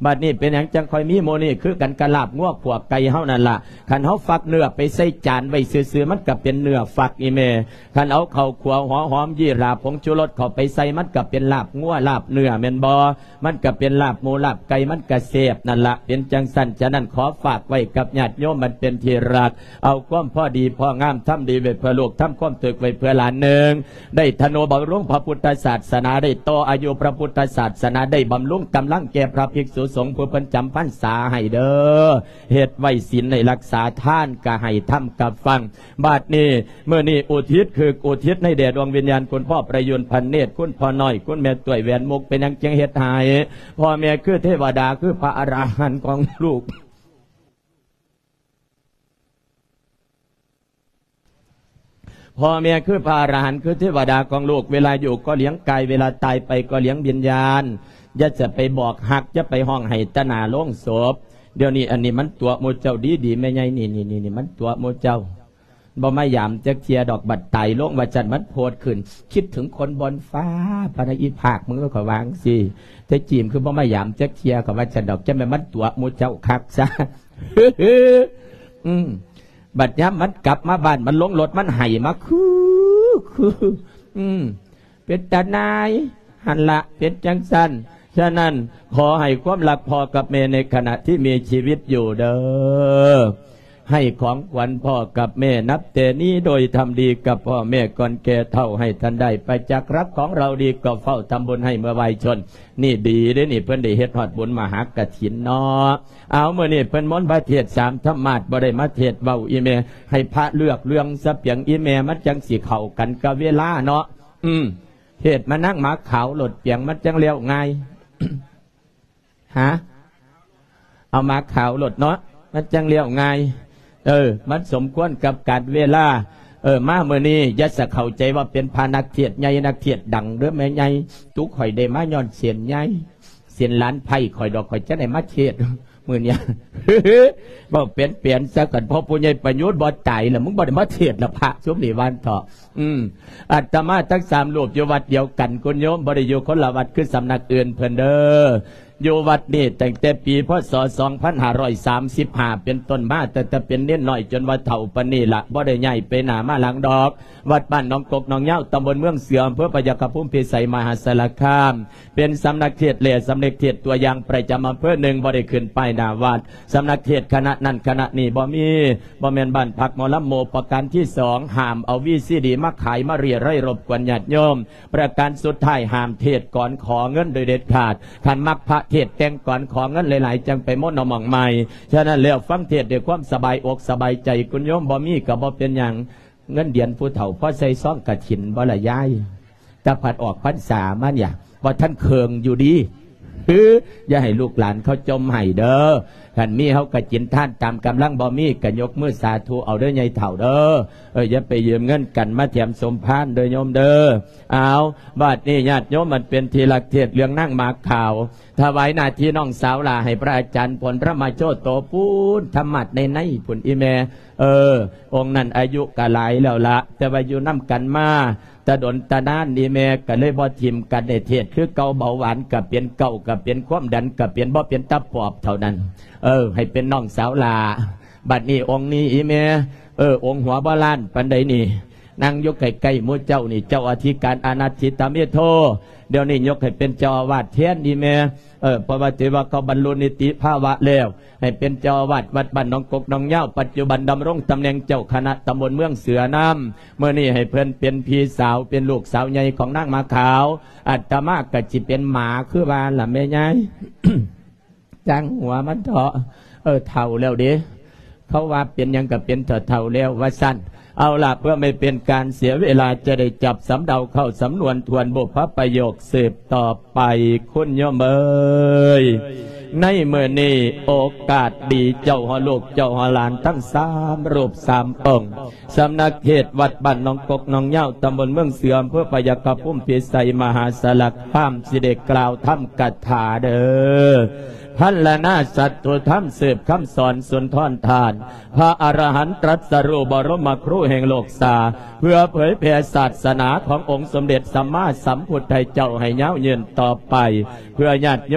ບາດນີ້ເປັນຫຍັງຈັ່ງຄ່ອຍມີໂມນີ້? ຄືກັນກັບລາບງົວຂົ້ວໄກ່ເຮົານັ້ນລະ. ຄັນເຮົາຟັກເນື້ອໄປໃສ່ຈານໄວ້ຊື່ໆ ມັນກໍເປັນເນື້ອຟັກອີ່ແມ່. ຄັນເອົາເຂົ້າຂົ້ວ ຫົວຫອມ ຢີ່ລາ ຜົງຊູລົດເຂົ້າໄປໃສ່ ມັນກໍເປັນລາບງົວ ລາບເນື້ອ ແມ່ນບໍ່? ມັນກໍເປັນລາບໝູ ລາບໄກ່ ມັນກໍແຊບນັ້ນລະ. ເປັນຈັ່ງຊັ້ນ, ສະນັ້ນ ຂໍຝາກໄວ້ກັບຍາດໂຍມອັນເປັນທີ່ຮັກ, ເອົາຄວາມພໍດີພໍງາມ ທຳດີໄວ້ເພື່ອລູກ, ທຳຄວາມຖືກໄວ້ເພື່ອຫຼານ. ໜຶ່ງ, ໄດ້ທະນຸບຳລຸງພະພຸດທະສາສະໜາ, ໄດ້ຕໍ່ອາຍຸພະພຸດທະສາສະໜາ, ໄດ້ບຳລຸງກຳລັງແກ່ພະພິກສຸສົງຜູ້ເພິ່ນຈຳພັນສາໃຫ້ເດີ້. ເຮັດໄວ້ສິນໃຫ້ຮັກສາ, ທານກໍໃຫ້, ທຳກໍຟັງ. ບາດນີ້ ມື້ນີ້ອຸທິດ ຄືອຸທິດໃຫ້ແດ່ດວງວິນຍານຄຸນພໍ່ປະຍຸນພັນເນດ, ຄຸນພໍ່ນ້ອຍ, ຄຸນແມ່ຕ້ວຍແຫວນມຸກ. ເປັນຫຍັງຈຶ່ງເຮັດໃຫ້? ພໍ່ແມ່ຄືເທວະດາ, ຄືພະອະລະຫັນຂອງລູກ. ພໍ່ແມ່ຄືພະອະລະຫັນ, ຄືເທວະດາຂອງລູກ. ເວລາຢູ່ກໍລ້ຽງກາຍ, ເວລາຕາຍໄປກໍລ້ຽງວິນຍານ. ຢ່າຈະໄປບອກຮັກ, ຢ່າໄປຮ້ອງໄຫ້ຕາໜ້າໂລງສົບ. ດຽວນີ້ອັນນີ້ມັນຕົວະໝູ່ເຈົ້າດີໆ ແມ່ໃຫຍ່ນີ້, ນີ້ໆໆ ມັນຕົວະໝູ່ເຈົ້າ. ບໍ່ມາຢາມຈັກເທື່ອດອກ, ບັດຕາຍລົງວ່າຊັ້ນ ມັນໂພດຂຶ້ນ, ຄິດເຖິງຄົນບ່ອນຟ້າ ພະນະອີພາກ ມຶງກໍວ່າຈັ່ງຊີ້. ແຕ່ຈີມຄືບໍ່ມາຢາມຈັກເທື່ອ ກໍວ່າຊັ້ນດອກ, ຈັ່ງແມ່ນມັນຕົວະໝູ່ເຈົ້າຄັກຊະ. ອືມ ບັດຍາມມັນກັບມາບ້ານ, ມັນລົງລົດ, ມັນໄຫ້ມາ ຄື ຄື ອືມ ເປັນຕານາຍ. ຫັ້ນລະ ເປັນຈັ່ງຊັ້ນ. ສະນັ້ນ ຂໍໃຫ້ຄວາມຮັກພໍ່ກັບແມ່ໃນຂະນະທີ່ມີຊີວິດຢູ່ເດີ້ ໃຫ້ຂອງຂວັນພໍ່ກັບແມ່ ນັບແຕ່ນີ້ໂດຍທຳດີກັບພໍ່ແມ່ກ່ອນແກ່ເຖົ້າ ໃຫ້ທ່ານໄດ້ປະຈັກຮັກຂອງເຮົາດີ ກໍເຝົ້າທຳບຸນໃຫ້ເມື່ອໄວຊົນ. ນີ້ດີເດ້ນີ້, ເພິ່ນໄດ້ເຮັດຮອດບຸນມະຫາກະຖິນເນາະ. ເອົາ ມື້ນີ້ເພິ່ນມົນພະເທດສາມທຳມາດ, ບໍ່ໄດ້ມາເທດເວົ້າອີແມ່, ໃຫ້ພະເລືອກເລື່ອງຊະ ປຽງອີແມ່, ມັນຈັ່ງຊິເຂົ້າກັນກັບເວລາເນາະ. ອືມ ເທດມານາງໝາກຂາວໂລດ ປຽງ, ມັນຈັ່ງແລ້ວງ່າຍ. ຫາ ເອົາໝາກຂາວໂລດເນາະ, ມັນຈັ່ງແລ້ວງ່າຍ. ເອີ ມັນສົມຄວນກັບການເວລາ. ເອີ ມາມື້ນີ້ຢ່າສະເຂົ້າໃຈວ່າເປັນພະນັກເທດໃຫຍ່ ນັກເທດດັງເດີ້ແມ່ໃຫຍ່. ຕຸຂ້ອຍໄດ້ມາຍ້ອນເສັ້ນໃຫຍ່ ເສັ້ນຫຼານໄພ້ຂ້ອຍດອກ, ຂ້ອຍຈັ່ງໄດ້ມາເທດມື້ນີ້. ເວົ້າເປັນໆຊະ ຄັນພໍ່ຜູ້ໃຫຍ່ປະຍຸດບໍ່ຕາຍລະ ມຶງບໍ່ໄດ້ມາເທດລະ ພະຊຸມນີ້ວ່າເຖາະ. ອືມ ອາດຕະມາທັງສາມຮູບຢູ່ວັດດຽວກັນ ຄຸນໂຍມ, ບໍ່ໄດ້ຢູ່ຄົນລະວັດຄືສຳນັກອື່ນເພິ່ນເດີ້. ຢູ່ວັດນີ້ຕັ້ງແຕ່ປີ ພ.ສ. ສອງພັນຫ້າຮ້ອຍສາມສິບຫ້າ ເປັນຕົ້ນມາ, ຕັ້ງແຕ່ເປັນເນນນ້ອຍຈົນວ່າເຖົ້າປານນີ້ລະ, ບໍ່ໄດ້ຍ້າຍໄປໜ້າມາຫຼັງດອກ. ວັດບ້ານໜອງກົກໜອງຍາວ, ຕຳບົນເມືອງເສືອ, ອຳເພີພະຍາຄະພູມພິໄສ ມະຫາສາລະຄາມ. ເປັນສຳນັກເທດແລະສຳນັກເທດຕົວຢ່າງປະຈຳອຳເພີໜຶ່ງ, ບໍ່ໄດ້ຂຶ້ນປ້າຍໜ້າວັດ. ສຳນັກເທດຄະນະນັ້ນຄະນະນີ້ບໍ່ມີ, ບໍ່ແມ່ນບ້ານພັກໝໍລຳໂມ. ປະການທີສອງ, ຫ້າມເອົາວີຊີດີມາຂາຍມາເລຍໄລ ລົບກວນຍາດໂຍມ. ປະການສຸດທ້າຍ, ຫ້າມເທດກອນຂໍເງິນໂດຍເດັດຂາດ. ຄັນມັກພະເທດແຕ່ງກອນຂໍເງິນຫຼາຍໆ ຈັ່ງໄປມົນເອົາໝ່ອງໃໝ່. ສະນັ້ນແລ້ວ ຟັງເທດດ້ວຍຄວາມສະບາຍອົກສະບາຍໃຈ, ຄຸນໂຍມບໍ່ມີກໍບໍ່ເປັນຫຍັງ. ເງິນດຽນຜູ້ເຖົ້າພໍໃສ່ຊອງກະຖິນບໍ່ລະຍາຍ? ແຕ່ພັດອອກພັນສາມານີ້ ບໍ່ທັນເຄິ່ງຢູ່ດີ. ຄື ຢ່າໃຫ້ລູກຫຼານເຂົາຈົ່ມໃຫ້ເດີ້. ຄັນມີເຮົາກະກິນທານຕາມກຳລັງ, ບໍ່ມີກະຍົກມືສາທຸເອົາເດີ້ ໃຫຍ່ເຖົ້າເດີ້. ເອີ ຢ່າໄປຢືມເງິນກັນມາແຖມສົມພານເດີ້ໂຍມເດີ້. ເອົາ ບາດນີ້ຍາດໂຍມອັນເປັນທີ່ຮັກ, ເທດເລື່ອງນາງໝາກຂາວ, ຖວາຍໜ້າທີ່ນ້ອງສາວຫຼ້າໃຫ້ພະອາຈານຜົນທຳມະໂຈໂຕພຸ້ນ, ທຳມາດໃນໆພຸ້ນ ອີແມ່. ເອີ ອົງນັ້ນອາຍຸກະຫຼາຍແລ້ວລະ, ແຕ່ວ່າຢູ່ນຳກັນມາຕະດົນຕະນານ, ອີແມ່ກະເລີຍບໍ່ຖິ້ມກັນ, ໃຫ້ເທດຄືເກົ່າ. ເບົາຫວານກະເປັນ, ເກົາກະເປັນ, ຄວາມດັນກະເປັນ, ບໍ່ເປັນຕາປອບເທົ່ານັ້ນ. ເອີ ໃຫ້ເປັນນ້ອງສາວຫຼ້າ. ບັດນີ້ອົງນີ້ ອີແມ່, ເອີ ອົງຫົວບໍ່ລ້ານປານໃດນີ້, ນັ່ງຢູ່ໃກ້ໆໝູ່ເຈົ້ານີ້, ເຈົ້າອະທິການອະນັດຖິຕະເມໂທ, ດຽວນີ້ຍົກໃຫ້ເປັນເຈົ້າອາວາດແທນ ອີແມ່. ເອີ ເພາະວ່າຖືວ່າເຂົາບັນລຸນິຕິພາວະແລ້ວ, ໃຫ້ເປັນເຈົ້າອາວາດວັດບ້ານໜອງກົກໜອງຍາວ, ປັດຈຸບັນດຳລົງຕຳແໜ່ງເຈົ້າຄະນະຕຳບົນເມືອງເສືອນຳ. ມື້ນີ້ໃຫ້ເພິ່ນເປັນພີ່ສາວ, ເປັນລູກສາວໃຫຍ່ຂອງນາງໝາຂາວ. ອາດຕະມາກໍຊິເປັນໝາຄືວ່າລະແມ່ຍາຍ. ຊ່າງຫົວມັນເຖາະ. ເອີ ເຖົ້າແລ້ວເດ້. ເຂົາວ່າເປັນຫຍັງກໍເປັນເຖົ້າໆແລ້ວວ່າຊັ້ນ. ເອົາລະ ເພື່ອໄມ່ເປັນການເສຍເວລາ, ຈະໄດ້ຈັບສຳເນົາເຂົ້າສຳນວນທວນບຸບພະປະໂຫຍກສືບຕໍ່ໄປ. ຄຸນໂຍມເອີຍ, ໃນມື້ນີ້ໂອກາດດີ, ເຈົ້າຮອດລູກເຈົ້າຮອດຫຼານທັງສາມຮູບສາມອົງ, ສຳນັກເທດວັດບ້ານໜອງກົກໜອງຍາວ, ຕຳບົນເມືອງເສືອ, ອຳເພີພະຍາຄະພູມພິໄສ ມະຫາສາລະຄາມ, ຊິໄດ້ກ່າວທຳກະຖາເດີ້. ພັນລະນາສັດຖຸທຳ ສືບຄຳສອນສຸນທອນທານ, ພະອະລະຫັນຕລັດສະຮູ້ບໍລົມມະຄູແຫ່ງໂລກສາ, ເພື່ອເຜີຍແຜ່ສາສະໜາຂອງອົງສົມເດັດສຳມາສຳພຸດທະເຈົ້າໃຫ້ຍາວຍືນຕໍ່ໄປ, ເພື່ອຍາດໂຍ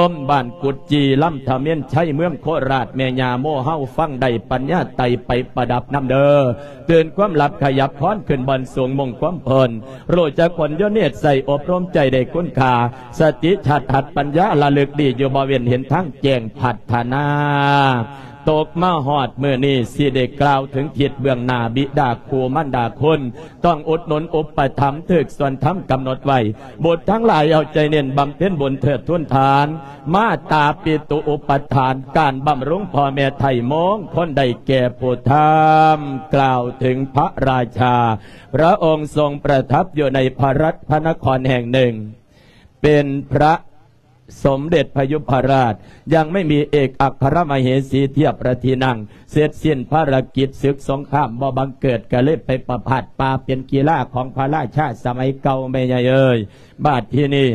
ມບ້ານ ກຸດຈີ່ ລຳທະເມນໄຊ ເມືອງໂຄລາດ ແມ່ຍ່າໂມເຮົາ ຟັງໄດ້ປັນຍາໄຕ່ໄປປະດັບນຳເດີ. ຕື່ນຄວາມຫຼັບຂະຫຍັບຄອນຂຶ້ນບ່ອນສູງມຸ້ງຄວາມພົ້ນ ຮູ້ຈັກຜົນໂຍນິດໃຊ້ອົບຮົມໃຈໄດ້ຄຸນຄ່າ ສະຕິຊາດຫັດປັນຍາລະລຶກດີຢູ່ບໍ່ເວັ້ນ ເຫັນທາງແຈ້ງພັດທະນາ. ຕົກມາຮອດມື້ນີ້ ຊິໄດ້ກ່າວເຖິງທິດເບື້ອງໜ້າ ບິດາຄູມານດາຄຸນ ຕ້ອງອຸດໜູນອຸປະຖຳ ຖືກສ່ວນທຳກຳນົດໄວ້. ບຸດທັງຫຼາຍເອົາໃຈເນັ້ນບຳເພັນບຸນເທີດທູນທານ ມາຕາປິຕຸອຸປະທານ ການບຳລຸງພໍ່ແມ່ໄຖ່ມງຄົນໄດ້ແກ່ຜູ້ທຳ. ກ່າວເຖິງພະລາຊາ ພະອົງຊົງປະທັບຢູ່ໃນພະລັດພະນະຄອນແຫ່ງໜຶ່ງ ເປັນພະ ສົມເດັດພະຍຸພະລາດ ຍັງໄມ່ມີເອກອັກຄະລະມະເຫສີທຽບພະທີ່ນັ່ງ ເສັດສິ້ນພາລະກິດສຶກສົງຄາມບໍ່ບັງເກີດ ກະເລີຍໄປປະພາດປ່າເປັນກິລາຂອງພະລາຊາສະໄໝເກົ່າ ແມ່ໃຫຍ່ເອີຍ. ບາດທີນີ້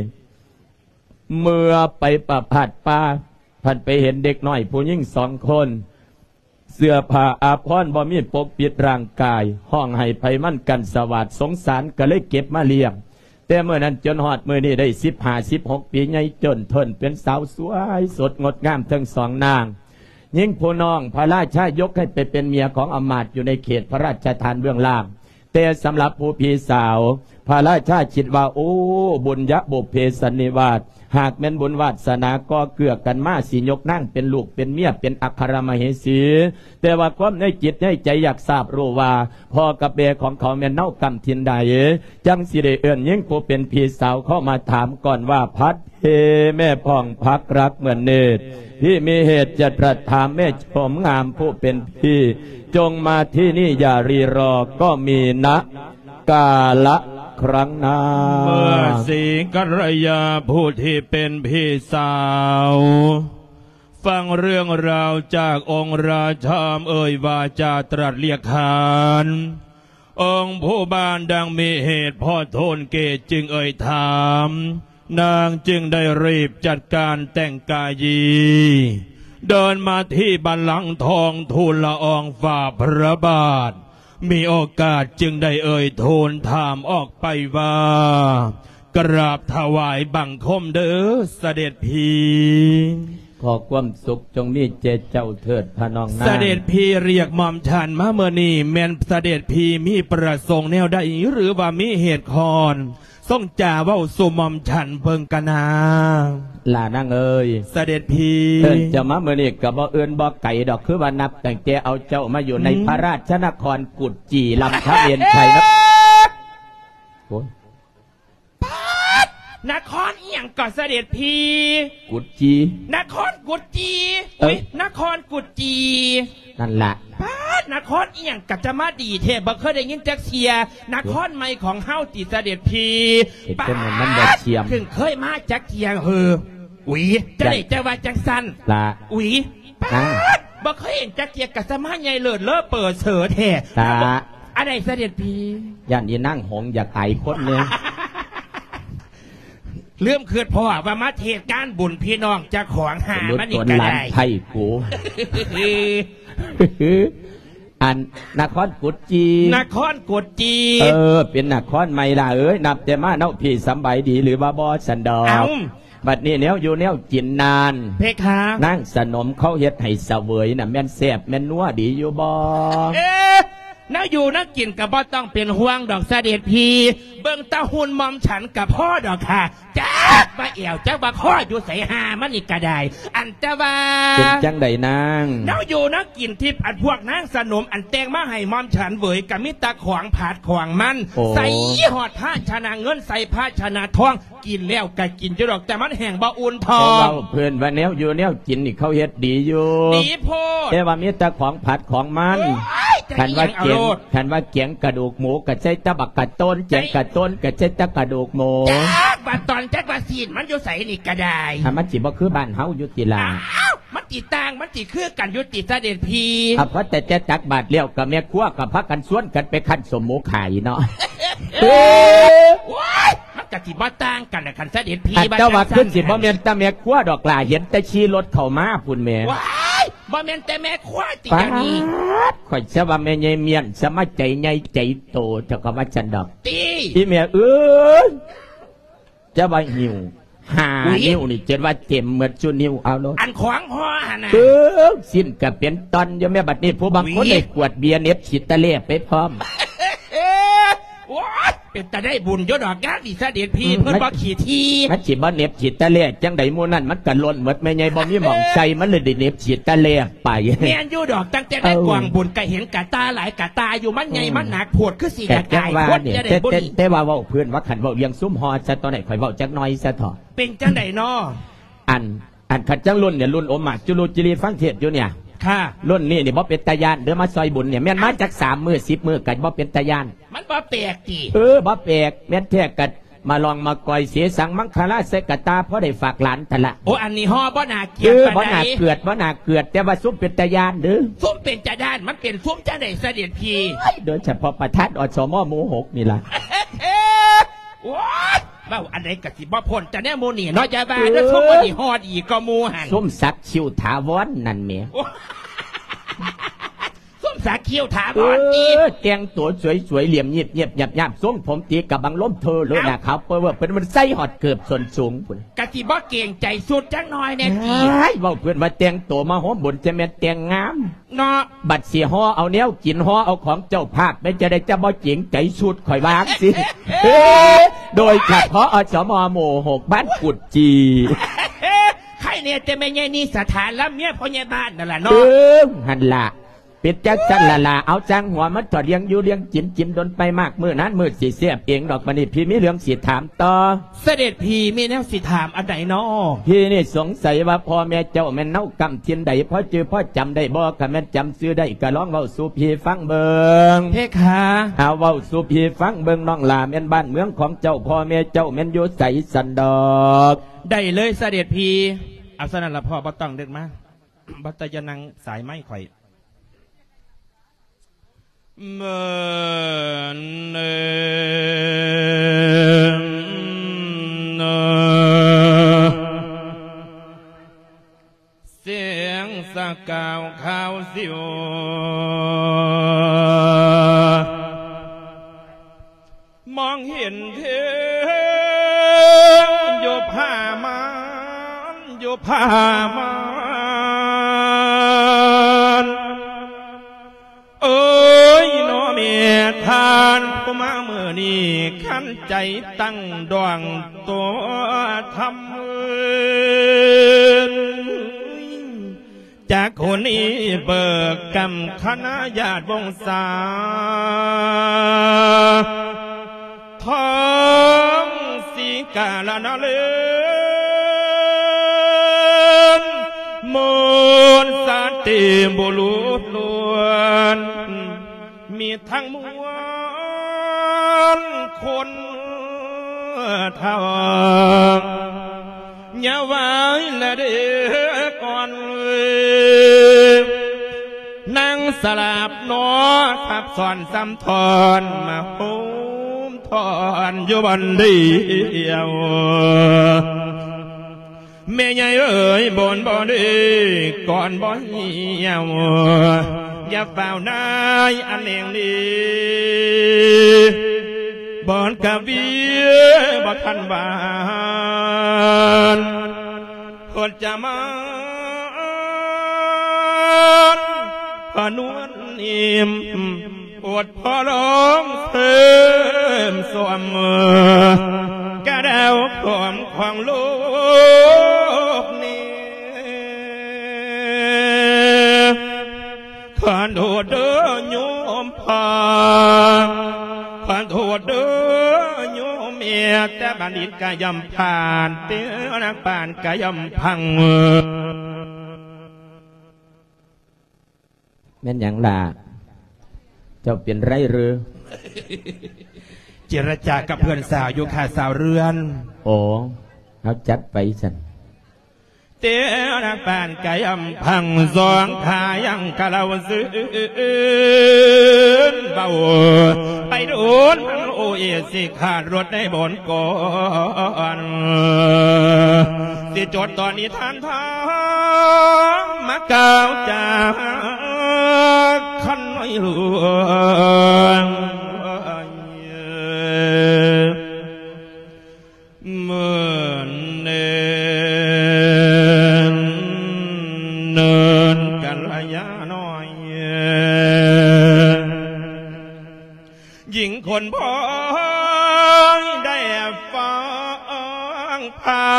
ເມື່ອໄປປະພາດປ່າ ພັດໄປເຫັນເດັກນ້ອຍຜູ້ຍິງສອງຄົນ ເສື້ອຜ້າອາພອນບໍ່ມີປົກປິດຮ່າງກາຍ ຮ້ອງໄຫ້ໄພມັນກັນສະຫວາດ ສົງສານກະເລີຍເກັບມາລ້ຽງ. ແຕ່ມື້ນັ້ນຈົນຮອດມື້ນີ້ໄດ້ສິບຫ້າ ສິບຫົກປີ ໃຫຍ່ຈົນເທີ້ນເປັນສາວສວຍສົດງົດງາມທັງສອງນາງ. ຍິງຜູ້ນ້ອງພະລາຊາຍົກໃຫ້ໄປເປັນເມຍຂອງອຳມາດຢູ່ໃນເຂດພະລາຊະທານເບື້ອງລ່າງ. ແຕ່ສຳລັບຜູ້ພີ່ສາວ ພະລາຊາຄິດວ່າ ໂອ້ ບຸນຍະບຸບເພສັນນິວາດ ຫາກແມ່ນບຸນວາດສະໜາກໍ່ເກື້ອກັນມາ ຊິຍົກນາງເປັນລູກເປັນເມຍ ເປັນອັກຄະລະມະເຫສີ. ແຕ່ວ່າຄວາມໃນຈິດໃນໃຈຢາກຊາບຮູ້ວ່າ ພໍ່ກັບແມ່ຂອງເຂົາແມ່ນເນົາກຳຖິ່ນໃດ ຈັ່ງຊິໄດ້ເອີ້ນຍິງຜູ້ເປັນພີ່ສາວເຂົ້າມາຖາມກ່ອນວ່າ ພັດເພແມ່ພອງພັກລັກເໝືອນເນດ ພີ່ມີເຫດຈະຕະຖາມແມ່ຊົມງາມຜູ້ເປັນພີ່ ຈົ່ງມາທີ່ນີ້ຢ່າຣີລໍ ກໍມີນະກາລະຄັ້ງໜ້າ. ເມື່ອສີກັນລະຍາຜູ້ທີ່ເປັນພີ່ສາວ ຟັງເລື່ອງລາວຈາກອົງລາຊາ ເອີ່ຍວາຈາຕລັດລຽກຂານ ອົງຜູ້ບ້ານດັ່ງມີເຫດພໍໂທນເກດຈຶ່ງເອີ່ຍຖາມ ນາງຈຶ່ງໄດ້ຣີບຈັດການແຕ່ງກາຍຢີ ເດີນມາທີ່ບັນລັງທອງທູນລະອອງຝ່າພະບາດ ມີໂອກາດຈຶ່ງໄດ້ເອີ່ຍທູນຖາມອອກໄປວ່າ ກະລາບຖວາຍບັງຄົມເດີສະເດັດພີ. ຂໍຄວາມສຸກຈົ່ງມີແກ່ເຈົ້າເທີດພະນ້ອງນາງ. ສະເດັດພີລຽກໝ່ອມສັນມາເມື່ອນີ້ ແມ່ນສະເດັດພີມີປະສົງແນວໃດ ຫຼືວ່າມີເຫດຄອນ ຊົງຈາເວົ້າສູ່ໝ່ອມສັນເບິ່ງກະນາ. ຫຼ້ານາງເອີຍ ສະເດັດພີ ເອີ້ນເຈົ້າມາມື້ນີ້ກະບໍ່ອື່ນບໍ່ໄກດອກ ຄືວ່ານັບຕັ້ງແຕ່ເອົາເຈົ້າມາຢູ່ໃນ ອືມ ພະລາຊະນະຄອນກຸດຈີ່ ລຳທະເມນໄຊນະ ໂອ້ຍ ປາດ! ນະຄອນອີ່ຫຍັງກໍສະເດັດພີ? ກຸດຈີ່. ນະຄອນກຸດຈີ່? ເອີ ອຸຍ ນະຄອນກຸດຈີ່ ນັ້ນລະ. ປາດ! ນະຄອນອີ່ຫຍັງກະຈະມາດີແທ້ ບໍ່ເຄີຍໄດ້ຍິນຈັກເທື່ອ. ນະຄອນໃໝ່ຂອງເຮົາຕິສະເດັດພີ? ເຮັດຈັ່ງນັ້ນມັນບໍ່ຊຽມ ປາດ! ເພິ່ງເຄີຍມາຈັກເທື່ອເຮີ. ອຸຍ ຈັ່ງໃດຈະວ່າຈັ່ງຊັ້ນລະ? ອຸຍ ປາດ! ບໍ່ເຄີຍເຫັນຈັກເທື່ອ ກະສະມາໃຫຍ່ເລີດເລີເປີເສີແທ້ລະ. ອັນໃດສະເດັດພີ? ຢ້ານອີນາງຫົງຢາກອາຍຄົນເນາະ. ລືມຄຶດພໍ້ວ່າມາເທດງານບຸນພີ່ນ້ອງເຈົ້າຂອງຫາມານີ້ກະໄດ້ ໄທກູ ອັນນະຄອນກຸດຈີ່. ນະຄອນກຸດຈີ່. ເອີ ເປັນນະຄອນໃໝ່ລະເອີຍ ນັບແຕ່ມາເນາະ ພີ່ສຳບາຍດີຫຼືວ່າບໍ່ຊັ້ນດອກ? ເອົ້າ ບັດນີ້ແນວຢູ່ແນວກິນນັ້ນ ເພຄະ ນາງສະໜົມເຂົາເຮັດໃຫ້ສະເຫວີຍນະ ແມ່ນແຊບແມ່ນນົວດີຢູ່ບໍ່? ເອ ແນວຢູ່ແນວກິນກະບໍ່ຕ້ອງເປັນຫ່ວງດອກສະເດັດພີ ເບິ່ງແຕ່ຫຸ່ນໝ່ອມສັນກະພໍດອກຄ່ະ. ຈັກວ່າແອວ ຈັກວ່າຄໍ ຢູ່ໃສຫາມັນນີ້ກະໄດ້. ອັນແຕ່ວ່າ ເປັນຈັ່ງໃດນາງ? ແນວຢູ່ແນວກິນທີ່ອັນພວກນາງສະໜົມອັນແຕ່ງມາໃຫ້ໝ່ອມສັນເຫວີຍ ກະມີແຕ່ຂອງຜັດຂອງມັນ. ໂອ້ ໃສ່ຮອດພາຊະນະເງິນ ໃສ່ພາຊະນະທອງ ກິນແລ້ວກະກິນຢູ່ດອກ ແຕ່ມັນແຮ່ງບໍ່ອຸ່ນທ້ອງ. ເວົ້າເພິ່ນວ່າແນວຢູ່ແນວກິນນີ້ເຂົາເຮັດດີຢູ່ ດີໂພດ ແຕ່ວ່າມີແຕ່ຂອງຜັດຂອງມັນ. ໂອ້ຍ ຄັນວ່າແກງ ຄັນວ່າແກງກະດູກໝູກະໃສ່ແຕ່ບັກກະໂຕນ ແກງກະໂຕນກະໃສ່ແຕ່ກະດູກໝູ. ຈັກວ່າຕອນ ຈັກວ່າຊີ້ນມັນຢູ່ໃສນີ້ກະໄດ້ ຖ້າມັນຊິບໍ່ຄືບ້ານເຮົາຢູ່ຕິລະ? ອ້າວ ມັນຊິຕ່າງ ມັນຊິຄືກັນຢູ່ຕິສະເດັດພີ? ອາ ພໍແຕ່ແຕ່ຕັກບາດແລ້ວ ກະແມ່ຄົວກະພາກັນຊວນກັນໄປຄັ້ນສົ້ມໝູຂາຍເນາະ. ເອີ ໂອ້ຍ ມັນກະຊິບໍ່ຕ່າງກັນລະຄັນສະເດັດພີ ອັນ ວ່າ ແຕ່ວ່າຄືຊິບໍ່ແມ່ນແຕ່ແມ່ຄົວດອກຫຼ້າ ເຫັນແຕ່ຂີ່ລົດເຂົ້າມາພຸ້ນແໝ່. ວ້າຍ ບໍ່ແມ່ນແຕ່ແມ່ຄົວຕິ ປາດ ດຽວນີ້ ຂ້ອຍຊະວ່າແມ່ໃຫຍ່ມ້ຽນ ສະມາໃຈໃຫຍ່ໃຈໂຕ ເຈົ້າກະວ່າຊັ້ນດອກ ຕິ ອີແມ່ເອີຍ. ຈະວ່າຫິວ ຫ້າ ອຸຍ ນິ້ວນີ້ ຈົນວ່າເຕັມໝົດຊຸນິ້ວ ເອົາໂລດ ອັນຂອງຫໍ່ຫັ້ນນະ ເອີ ຊີ້ນກະເປັນຕ່ອນຢູ່ແມ້ ບັດນີ້ຜູ້ບາງຄົນ ອຸຍ ໄດ້ກວດເບຍເໜັບຂີ້ຕະແລ່ໄປພ້ອມ. ໂອ້ຍ ເປັນຕາໄດ້ບຸນຢູ່ດອກ ງາມນີ້ສະເດັດພີ່ ອືມ ເພິ່ນບໍ່ຂີ້ຖີ່ ມັນຊິບໍ່ເໜັບຂີ້ຕະແລ່ຈັ່ງໃດ ໝູ່ນັ້ນມັນກະຫຼົ່ນໝົດ ແມ່ໃຫຍ່ບໍ່ມີໝ່ອງໃສ່ ມັນເລີຍໄດ້ເໜັບຂີ້ຕະແລ່ໄປ. ແມ່ນຢູ່ດອກ ຕັ້ງແຕ່ໃນ ເອີ ກອງບຸນກະເຫັນກະຕ່າຫຼາຍກະຕ່າຢູ່ ມັນໃຫຍ່ ອືມ ມັນໜັກໂພດ ຄືຊິຢາກອາຍຄົນ ອືມ ແຕ່ ແຕ່ ແຕ່ ແຕ່ວ່າເວົ້າເພິ່ນວ່າ ຄັນເວົ້າເລື່ອງຊຸມຫໍ່ຊະ ຕອນໃດຂ້ອຍເວົ້າຈັກໜ້ອຍຊະເຖາະ. ເປັນຈັ່ງໃດນໍ? ອັນ ອັນຄັນຈັ່ງລຸ້ນນີ້ ລຸ້ນອົມໝາກຈຸລຸຈິລີ ຟັງເທດຢູ່ນີ້ ຄ່ະ ລຸ້ນນີ້ນີ້ບໍ່ເປັນຕາຢ້ານເດີ້ ມາຊ່ອຍບຸນນີ້ ແມ່ນມາ ເອົ້າ ຈັກສາມມື້ ສິບມື້ກໍບໍ່ເປັນຕາຢ້ານ. ມັນບໍ່ແປກຕິ? ເອີ ບໍ່ແປກ ແມ່ນແທ້ກໍມາລອງມາກອຍເສສັງມັງຄະລາໃສ່ກະຕ່າ ພໍໄດ້ຝາກຫຼານຫັ້ນລະ. ໂອ້ ອັນນີ້ຫໍ່ບໍ່ໜ້າກຽດ ເອີ ປານໃດ ບໍ່ໜ້າເກືອດ ບໍ່ໜ້າເກືອດ ແຕ່ວ່າຊຸມເປັນຕາຢ້ານເດີ້. ຊຸມເປັນຕາຢ້ານ ມັນເປັນຊຸມຈັ່ງໃດສະເດັດພີ່? ໂດຍສະເພາະປະທານ ອສມ ໝູ່ຫົກນີ້ລະ. ໂອ້ຍ ເວົ້າອັນໃດກໍຊິບໍ່ພົ້ນ ແຕ່ແນວໝູ່ນີ້ເນາະ ຢ່າວ່າເດີ້ ເອີ ຊຸມໝູ່ນີ້ຮອດອີກກໍໝູ່ຫັ້ນ ສົມສັກ ຄິ້ວຖາວອນນັ້ນແໝ ໂອ້ຍ ສົມສັກ ຄິ້ວຖາວອນ ເອີ ຕິ ແຕ່ງຕົວສວຍໆ ຫຼຽມງຽບໆ ຫຍາບໆ ຊົງຜົມຕີກະບັງລົມເທີໂລດນະ ເອົ້າ ຂາວເປີເວີ້ ເພິ່ນມັນໃສ່ຮອດເກີບສົ້ນສູງພຸ້ນ ກະຊິບໍ່ເກງໃຈຊຸດຈັກໜ້ອຍແດ່ຕິ? ເອີຍ ເວົ້າເພິ່ນວ່າແຕ່ງຕົວມາໂຮມບຸນ ຈະແມ່ນແຕ່ງງາມ ເນາະ ບັດຊິຫໍ່ເອົາແນວກິນ ຫໍ່ເອົາຂອງເຈົ້າພາບ ແມ່ນຈະໄດ້ຈະບໍ່ເກງໃຈຊຸດ ຂ້ອຍວ່າຈັ່ງຊີ້ ໂດຍສະເພາະ ອສມ ໝູ່ຫົກ ບ້ານກຸດຈີ່ ໃຄແນ່ແຕ່ແມ່ໃຫຍ່ນີສະຖານ ລຳເມຍພໍ່ໃຫຍ່ບ້ານນັ້ນລະເນາະ ເອີ ຫັ້ນລະ ເປັນຈັ່ງຊັ້ນລະລະ ເອົາ ຊ່າງຫົວມັນເຖາະ ລ້ຽງຢູ່ລ້ຽງກິນ ກິນດົນໄປມາກ ມື້ນັ້ນມື້ຊິແຊບເອງດອກ ບັດນີ້ພີ່ມີເລື່ອງຊິຖາມ ຕໍ່ ສະເດັດພີ່ມີແນວຊິຖາມອັນໃດນໍ? ພີ່ນີ້ສົງໄສວ່າພໍ່ແມ່ເຈົ້າແມ່ນເນົາກ້ຳຖິ່ນໃດ ພໍຈື່ພໍຈຳໄດ້ບໍ່? ຄັນແມ່ນຈຳຊື່ໄດ້ກໍລອງເວົ້າສູ່ພີ່ຟັງເບິ່ງ ເພຄະ ເອົາ ເວົ້າສູ່ພີ່ຟັງເບິ່ງ ນ້ອງຫຼ້າ ແມ່ນບ້ານເມືອງຂອງເຈົ້າ ພໍ່ແມ່ເຈົ້າແມ່ນຢູ່ໃສຊັ້ນດອກ? ໄດ້ເລີຍສະເດັດພີ່. ເອົາ ສະນັ້ນລະພໍ່ ບໍ່ຕ້ອງເດີນມາ ບໍ່ຕ້ອງ ຢ່ານັ່ງສາຍໄມຂ້ອຍ. ເມີນເນີ ສຽງສະກ່າວຂາວສິວ ມອງເຫັນເທວຢູ່ຜາມ່ານ ຢູ່ຜາມ່ານ ເອີຍ ເນາະແມ່ທ່ານ ຜູ້ມາມື້ນີ້ ຄັນໃຈຕັ້ງດວງຕົວທຳ ຈາກຄົນນີ້ເບີກກຳຄະນະຍາດວົງສາ ທອງສີກາລະນະເລີນ ມວນສາຕິບຸລຸດລ້ວນ ມີທັງມວນຄົນເຖົ້າ ຢ່າໄຫວ້ລະເດີກ່ອນ ນາງສະຫຼາບໜໍ ທັບຊ້ອນຊ້ຳຊ້ອນ ມາໂຮມທ້ອນຢູ່ບ່ອນດຽວ ແມ່ໃຫຍ່ເອີຍ ບ່ອນບໍ່ດີ ກ່ອນບໍ່ຫ່ຽວ ຢ່າຟ້າວນາຍອັນແນງນີ້ ບ່ອນກະວີບໍ່ທັນຫວານ ໂພດຈະມານ ພະນວນນິມ ໂອດພໍ່ລອງເສີມສວມ ກະດາວຂອມຂອງໂລກນີ້ ຂອໂທດເດີໂຍມພໍ່ ຂອໂທດເດີໂຍມແມ່ ແຕ່ບັນດິດກະຍ່ອມຜ່ານ ແຕ່ນັກປານກະຍ່ອມພັງ. ແມ່ນຫຍັງລະ? ເຈົ້າເປັນໄລເຫຼື? ເຈລະຈາກັບເພື່ອນສາວຢູ່ຄ່າ ສາວເຮືອນ. ໂອ້ ເຮົາຈັດໄປຊັ້ນ. ເຕນະປານກະຍຳພັງ ສອງຂາຍັງກະເລົ່າຊື່ນ ເວົ້າໄປໂດນ ໂອເອ ຊິຂາດລົດໃນບ່ອນກ່ອນ ຊິຈົດຕອນນີ້ທ່ານທາງ ມາກ່າວຈາຄັນນ້ອຍຫຼວງ ເມີນ ເນີນກັນລະຍານ້ອຍ ຍິງຄົນພອຍໄດ້ຟັງພາ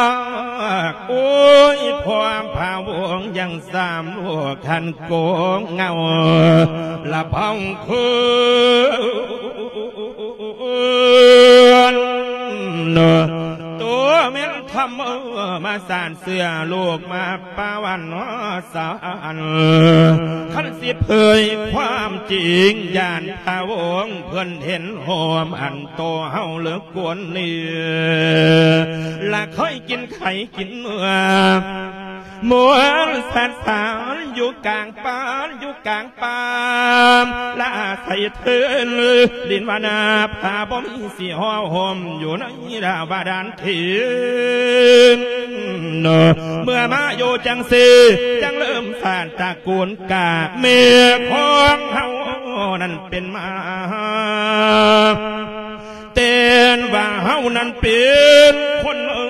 ກ ໂອ້ຍ ພວກພະວົງຍັງສາມລູກຄັນໂກງເງົາລະພອງຄືນ ໂຕແມ່ນທຳເອີ ມາສານເສື້ອລູກມາປາວັນສານ ຄັນຊິເຜີຍຄວາມຈິງ ຢ້ານພະວົງເພິ່ນເຫັນໂຮມອັນໂຕເຮົາເລີກກວນນີ້ ລະເຄີຍກິນໄຂ່ກິນເນື້ອ ມວນສັດສານຢູ່ກາງປ່າ ຢູ່ກາງປ່າ ລະອາໄສເທີນດິນວານາ ພາບໍ່ມີຊິຫໍ່ຫົ່ມ ຢູ່ໃນດາວບາດານເຂດ ເມື່ອມາຢູ່ຈັ່ງຊີ້ ຈັ່ງເລີ່ມສານຕະກູນກາກ ແມ່ຂອງເຮົານັ້ນເປັນມາ ແຕ່ນວ່າເຮົານັ້ນເປັນຄົນ ເອີ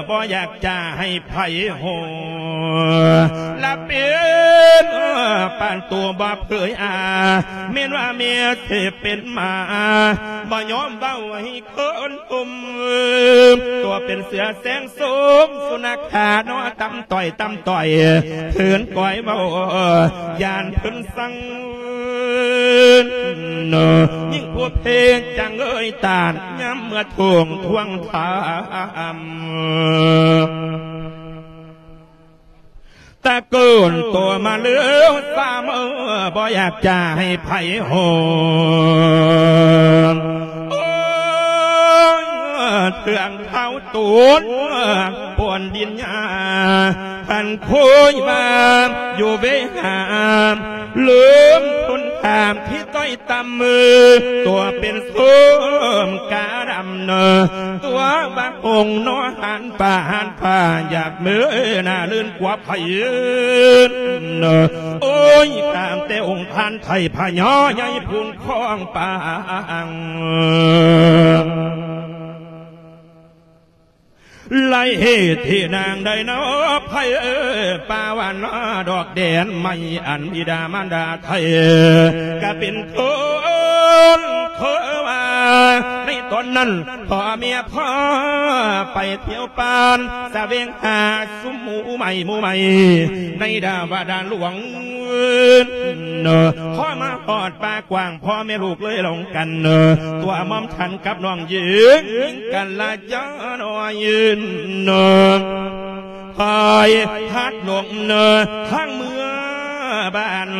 ບໍ່ຢາກຈະໃຫ້ໃຜຮູ້ ລະເປັນ ເອີ ປານໂຕບໍ່ເຜີຍອາ ແມ່ນວ່າເມຍເສເປັນໝາ ບໍ່ຍອມເວົ້າໃຫ້ຄົນ ໂອມ ຕົວເປັນເສືອແສງໂສມ ສຸນັກຂາເນາະ ຕຳຕ່ອຍ ຕຳຕ່ອຍ ເພິ່ນກ້ອຍເວົ້າ ຢ້ານເພິ່ນສັ່ງ ຍິ່ງຜູ້ເພງຈັງເອີຍຕານ ຍາມເມື່ອທວງ ທວງຖາມ ຕະໂກນຕົວມາເລີຍ ສາມເອີ ບໍ່ຢາກຈະໃຫ້ໃຜຮູ້ ໂອ້ຍ ເຄື່ອງເທົາຕູນ ປ່ວນດິນຫຍ້າ ພັນໂຄຍວ່າ ຢູ່ເວຫາ ເລີ່ມຄົນຖາມທີ່ ຕ້ອຍຕ່ຳມື ຕົວເປັນໂສມກາດຳເນີ ຕົວວ່າອົງໜໍຫານປ່າຫານປ່າ ຢາກເມີໜ້າລື່ນກວ່າໃຜເນີ ໂອ້ຍ ຕາມແຕ່ອົງທ່ານໄທພະຍາໃຫຍ່ພູນຄອງປາງ ໄລເຫດທີ່ນາງໄດ້ເນາະ ໃຜເອີ ປາວານດອກແດນໃໝ່ ອັນບິດາມານດາໄທ ກະເປັນຄົນເຄີວ່າ ໃນຕອນນັ້ນພໍ່ເມຍພໍ່ໄປທ່ຽວປານ ສະແຫວງຫາຊຸມໝູ່ໃໝ່ ໝູ່ໃໝ່ ໃນດາວະດານຫຼວງ ເນາະ ພໍມາຮອດປ່າກວ້າງ ພໍ່ແມ່ລູກເລີຍລົງກັນ ຕົວໝອມທັນກັບນ້ອງຍິງ ຍິງກັນລະຈານ້ອຍ ເນາະ ພາຍພັດລົງ ທາງເມືອບ້ານ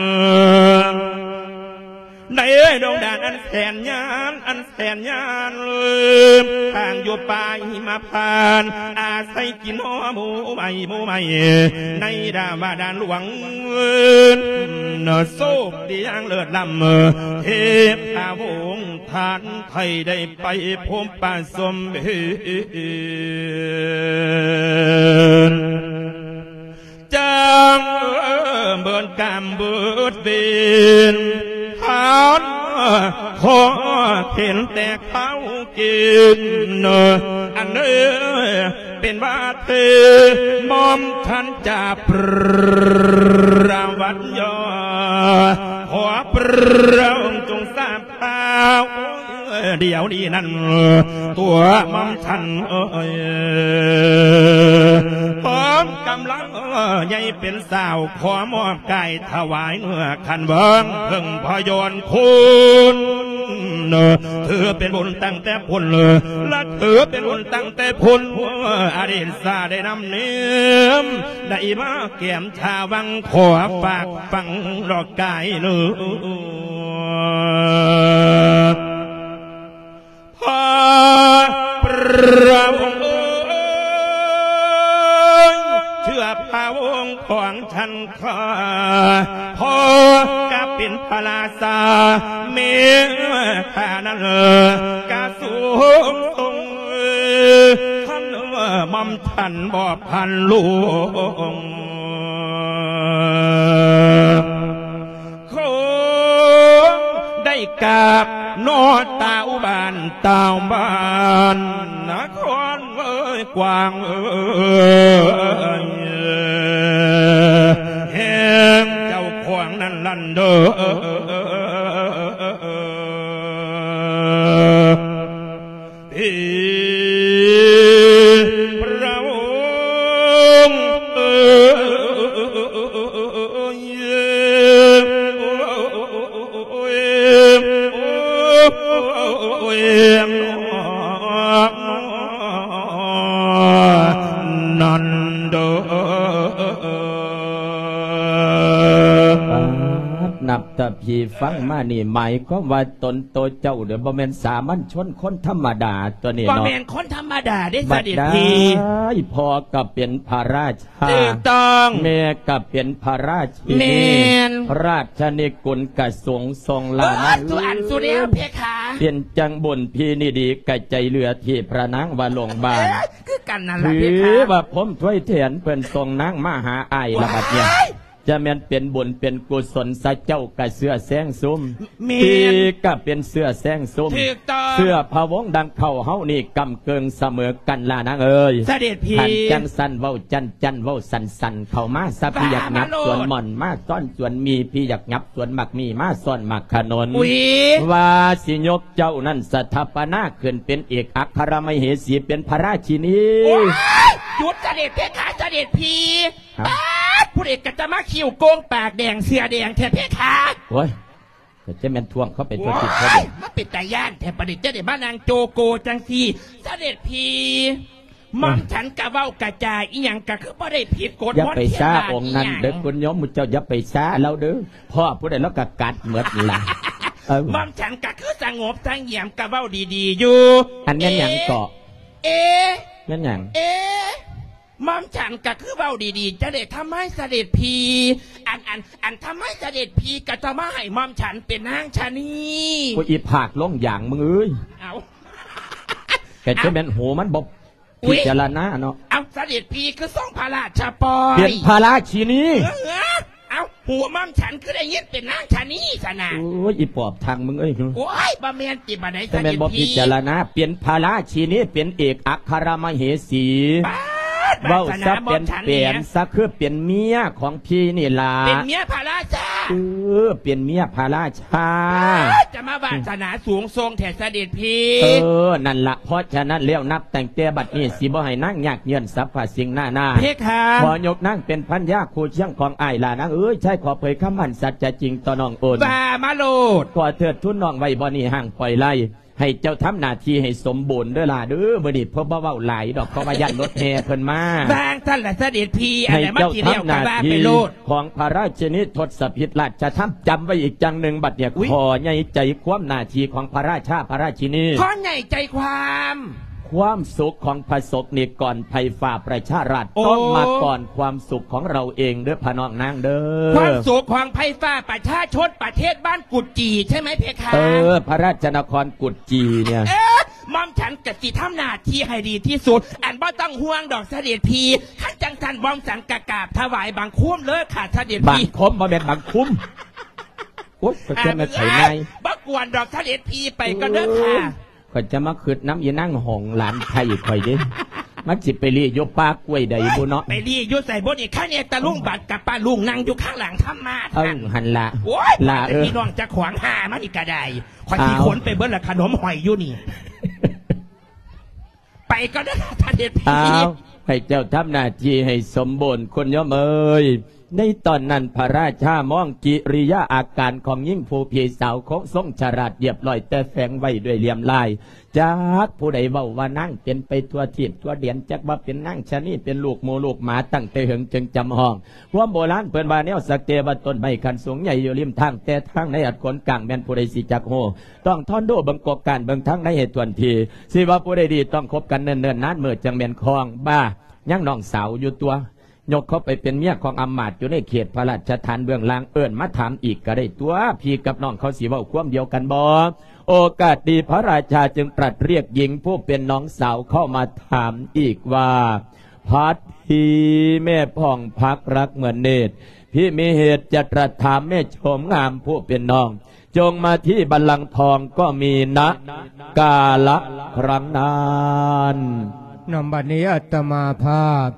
ໃນດົງດານອັນແສນຍານ ອັນ ແສນຍານ ທາງຢູ່ປ່າຫິມະພານ ອາໄສກິນຫໍ່ໝູ່ໃໝ່ ໝູ່ໃໝ່ ໃນດາວະດານຫຼວງ ໂຊກດີຢ່າງເລີດລ້ຳ ເທພະວົງທ່ານໄທໄດ້ໄປພົບປະສົມເຫດ ຈັ່ງເບີນກາມເບີດເວນ ທ່ານຂໍເຫັນແຕ່ເຂົ້າກິນ ອັນເອີ ເປັນວ່າເທ ໝອມທ່ານຈາປະວັດຍອ ຂໍພະອົງຈົ່ງຊາບຂ່າວ ດຽວນີ້ນັ້ນ ຕົວໝອມທ່ານເອີຍ ພ້ອມກຳລັງໃຫຍ່ເປັນສາວ ຂໍມອບກາຍຖວາຍເນື້ອຂັນເບິ່ງເພິ່ງພະຍອນຄຸນ ຖືເປັນບຸນຕັ້ງແຕ່ພຸ້ນ ລະຖືເປັນບຸນຕັ້ງແຕ່ພຸ້ນ ອະດີດຊາໄດ້ນຳເນມ ໄດ້ມາແກ້ມ ຖ້າຫວັງຂໍຝາກຝັງດອກກາຍເນີ ພະ ພະອົງເອີຍ ເຊື່ອພະອົງຂອງທ່ານຂ້າ ພໍ່ກະເປັນພະລາຊາ ແມ່ຂ້ານັ້ນກະສູງສົ່ງ ທ່ານໝອມ ທ່ານບໍ່ພັນລູກ ຄົງໄດ້ກາບເນາະ ຕາວບ້ານ ຕາວບ້ານ ນະຄອນເອີຍ ກວາງເອີຍ ເດີ ທີ່ພຣະອົງ ນັ້ນເດີ. ປາດ ນັບແຕ່ພີ່ຟັງມານີ້ ໝາຍຄວາມວ່າຕົນໂຕເຈົ້າເດີ ບໍ່ແມ່ນສາມັນຊົນຄົນທຳມະດາຕົວນີ້ເນາະ ບໍ່ແມ່ນຄົນທຳມະດາເດ້ ສະເດັດພີ່. ບັດໃດພໍ່ກໍເປັນພະລາຊາ ຖືກຕ້ອງ ແມ່ກໍເປັນພະລາຊິນີ ແມ່ນ ລາຊະນິກຸນກະສົງຊົງລານະ ເອີ ສຸອັນສຸແນວ ເອີ ເພຄາ ເປັນຈັ່ງບຸນພີ່ນີ້ດີກະໃຈເຫຼືອທີ່ພະນາງວ່າໂລງບານ ເອີ ຄືກັນນັ້ນລະເພຄາ ຖືວ່າພົມຖ້ວຍແທນເພິ່ນສົ່ງນາງມາຫາອ້າຍລະບັດນີ້ ວ້າຍ ຈະແມ່ນເປັນບຸນເປັນກຸສົນ ສະເຈົ້າກະເຊື່ອແຊງຊຸມ ແມ່ນ ພີ່ກະເປັນເຊື້ອແຊງຊຸມ ຖືກຕ້ອງ ເຊື້ອພະວົງດັ່ງເຜົ່າເຮົານີ້ກຳເກີງສະເໝີກັນລະນາງເອີຍ ສະເດັດພີ່. ຄັນຈັ່ງຊັ້ນເວົ້າຈັ່ນໆ ເວົ້າສັ້ນໆ ເຂົ້າມາຊະ ພີ່ຢາກຫຍັບສວນໝ່ອນ ມາຊ້ອນສວນໝີ່ ພີ່ຢາກຫຍັບສວນໝາກໝີ່ ມາຊ້ອນໝາກຂະໜົນ ອຸ້ຍ ວ່າຊິຍົກເຈົ້ານັ້ນສະຖາປະນາຂຶ້ນເປັນເອກອັກຄະລະມະເຫສີ ເປັນພະລາຊິນີ. ໂອ້ຍ ຢຸດສະເດັດເພຄາ ສະເດັດພີ່. ຮະ ປາດ ຜູ້ໃດກໍຈະມາຄິ້ວໂກ່ງປາກແດງເສື້ອແດງແທ້ເພຄາ. ໂອ້ຍ ກໍຈະແມ່ນທ່ວງເຂົ້າໄປທົ່ວທິດທົ່ວແດນ ໂອ້ຍ ມາເປັນຕາຢ້ານແທ້ ປານນີ້ຈະໄດ້ມານັ່ງໂຈໂກຈັ່ງຊີ້ ສະເດັດພີ່. ເອີ ໝ່ອມ ເອີ ສັນກະເວົ້າກະຈາອີ່ຫຍັງກະຄືບໍ່ໄດ້ຜິດກົດ ຢ່າໄປຊ້າອົງນັ້ນເດີ ຄຸນໂຍມ ໝູ່ເຈົ້າຢ່າໄປຊ້າລາວເດີ ພໍ້ຜູ້ໃດລາວກະກັດໝົດລະ. ເອີ ໝ່ອມສັນກະຄືສະຫງົບສະຫງຽມກະເວົ້າດີໆຢູ່. ອັນແມ່ນຫຍັງເກາະ? ເອ ແມ່ນຫຍັງ? ເອ ໝ່ອມສັນກະຄືເວົ້າດີໆ ຈະໄດ້ທຳໄມສະເດັດພີ່ ອັນ ອັນ ອັນທຳໄມສະເດັດພີ່ກະຕ້ອງມາໃຫ້ໝ່ອມສັນເປັນນາງຊະນີ. ໂອ້ຍ ອີພາກລົງຢາງມຶງເອີຍ ເອົ້າ ກະຈະແມ່ນຫູມັນບໍ່ ອຸ້ຍ ພິຈາລະນາເນາະ. ເອົ້າ ສະເດັດພີ່ຄືຊົງພະລາຊະປ່ອຍ ເປັນພະລາຊິນີ ເອີ ເອົ້າ ຫູໝ່ອມສັນຄືໄດ້ຍິນເປັນນາງຊະນີຊັ້ນນະ. ໂອ້ຍ ອີປອບທາງມຶງເອີຍ ໂອ້ຍ ບໍ່ແມ່ນຕິ ບັດໃດສະເດັດພີ່ ແມ່ນບໍ່ພິຈາລະນາ ເປັນພະລາຊິນີ ເປັນເອກອັກຄະລະມະເຫສີ. ປາດ ເວົ້າຊະ ວາສະນາໝ່ອມສັນເປັນ ເປັນຊະ ຄືເປັນເມຍຂອງພີ່ນີ້ລະ ເປັນເມຍພະລາຊາ. ເອີ ເປັນເມຍພະລາຊາ ປາດ ຈະມາວາສະນາສູງສົ່ງແທ້ສະເດັດພີ່. ເອີ ນັ້ນລະ ເພາະສະນັ້ນແລ້ວ ນັບຕັ້ງແຕ່ບັດນີ້ ຊິບໍ່ໃຫ້ນາງຍາກເຫຍື້ອນສັບພະສິ່ງນານາ ເພຄາ ຂໍຍົກນາງເປັນພັນຍາຄູ່ຄຽງຂອງອ້າຍລະນາງເອີຍ. ຊາຍຂໍເຜີຍຄຳໝັ້ນສັດຈະຈິງຕໍ່ນ້ອງໂອນ ວ່າມາໂລດ ຂໍເທີດທູນນ້ອງໄວ້ບ່ອນນີ້ຫ້າມປ່ອຍໄລ ໃຫ້ເຈົ້າທຳໜ້າທີ່ໃຫ້ສົມບູນເດີຫຼ້າເດີ. ມື້ນີ້ເພິ່ນບໍ່ເວົ້າຫຼາຍດອກ ເພາະວ່າຢ້ານລົດແຫ່ເພິ່ນມາ. ວ່າງຊັ້ນລະສະເດັດພີ່ ອັນໃດມັນຊິແລ້ວກໍວ່າໄປໂລດ ຂອງພະລາຊິນີທົດສະພິດລາຊະທຳ ຈຳໄວ້ອີກຢ່າງໜຶ່ງ ບັດນີ້ ອຸ້ຍ ຂໍໃຫຍ່ໃຈຄວາມໜ້າທີ່ຂອງພະລາຊາພະລາຊິນີ ຂໍໃຫຍ່ໃຈຄວາມ ຄວາມສຸກຂອງປະສົບນິກອນໄພຟ້າປະຊາລັດ ໂອ້ ຕ້ອງມາກ່ອນຄວາມສຸກຂອງເຮົາເອງເດີພະນ້ອງນາງເດີ. ຄວາມສຸກຂອງໄພຟ້າປະຊາຊົນປະເທດບ້ານກຸດຈີ່ ໃຊ່ໄໝເພຄາ? ເອີ ພະລາຊະນະຄອນກຸດຈີ່ເນີ້ຍ ເອີ ໝ່ອມສັນກະຊິທຳໜ້າທີ່ໃຫ້ດີທີ່ສຸດ ອັນບໍ່ຕ້ອງຫ່ວງດອກສະເດັດພີ່. ຄັນຈັ່ງຊັ້ນໝ່ອມສັນກະກາບຖວາຍບັງຄົມເລີຍຄ່ະສະເດັດພີ່. ບັງຄົມ ບໍ່ແມ່ນບັງຄຸມ. ໂອ້ຍ ຂ້ອຍຈະມາໄຂໃນ ບໍ່ກວນດອກສະເດັດພີ່ ໄປກ່ອນເດີຄ່ະ. ໂອ້ຍ ຂ້ອຍຈະມາຄຶດນຳອີນາງຫອງຫຼານໄພຂ້ອຍເດ້ ມັນຊິໄປລີ້ຢູ່ປ່າກ້ວຍໃດບຸເນາະ. ໄປລີ້ຢູ່ໃສບຸນີ້ ຄັນແນ່ຕະລຸງບັດກັບປ້າລຸງນັ່ງຢູ່ຂ້າງຫຼັງທຳມາ. ເອີ ຫັ້ນລະ ໂອ້ຍ ຫຼ້າເອີຍ ພີ່ນ້ອງເຈົ້າຂອງຫາມານີ້ກະໄດ້ ຂ້ອຍຊິຂົນໄປເບິດລະຂະໜົມຫອຍຢູ່ນີ້. ໄປກ່ອນເດີສະເດັດພີ່. ອ້າວ ໃຫ້ເຈົ້າທຳໜ້າທີ່ໃຫ້ສົມບູນ ຄຸນໂຍມເອີຍ. ໃນຕອນນັ້ນພະລາຊາມອງກິລິຍາອາການຂອງຍິງຜູ້ພີ່ສາວຄົງຊົງສະຫຼາດລຽບລ້ອຍ ແຕ່ແຝງໄວ້ດ້ວຍລຽມລາຍ. ຈັກຜູ້ໃດເວົ້າວ່ານາງເປັນໄປທົ່ວທີບທົ່ວແດນ ຈັກວ່າເປັນນາງຊະນີ ເປັນລູກໝູລູກໝາ ຕັ້ງແຕ່ເຫິງຈຶ່ງຈຳຫ້ອງ. ຄວາມໂບລານເພິ່ນວ່າ ແນວສັກແຕ່ວ່າຕົ້ນໄມ້ຂັ້ນສູງໃຫຍ່ຢູ່ລິມທາງ ແຕ່ທາງໃນອັດຂົນກາງ ແມ່ນຜູ້ໃດຊິຈັກຮູ້. ຕ້ອງທອນດູເບິ່ງກອກການເບິ່ງທາງໃນໃຫ້ຖ້ວນທີ ຊິວ່າຜູ້ໃດດີ ຕ້ອງຄົບກັນເນີນໆນານມື້ ຈັ່ງແມ່ນຄອງ. ບ້າ ຍັງນ້ອງສາວຢູ່ຕົວະ ຍົກເຂົາໄປເປັນເມຍຂອງອຳມາດຢູ່ໃນເຂດພະລາຊະຖານເບື້ອງລ່າງ ເອີ້ນມາຖາມອີກກໍໄດ້ຕົວະ ພີ່ກັບນ້ອງເຂົາຊິເວົ້າຄວາມດຽວກັນບໍ່? ໂອກາດດີ ພະລາຊາຈຶ່ງຕລັດຮຽກຍິງຜູ້ເປັນນ້ອງສາວເຂົ້າມາຖາມອີກວ່າ ພັດພີແມ່ຜ່ອງພັກລັກເໝືອນເນດ ພີ່ມີເຫດຈະຕລັດຖາມແມ່ໂສມງາມຜູ້ເປັນນ້ອງ ຈົ່ງມາທີ່ບັນລັງທອງກໍມີນະກາລະຄັ້ງນັ້ນ. ນຳບັດນີ້ອາດຕະມາພາບ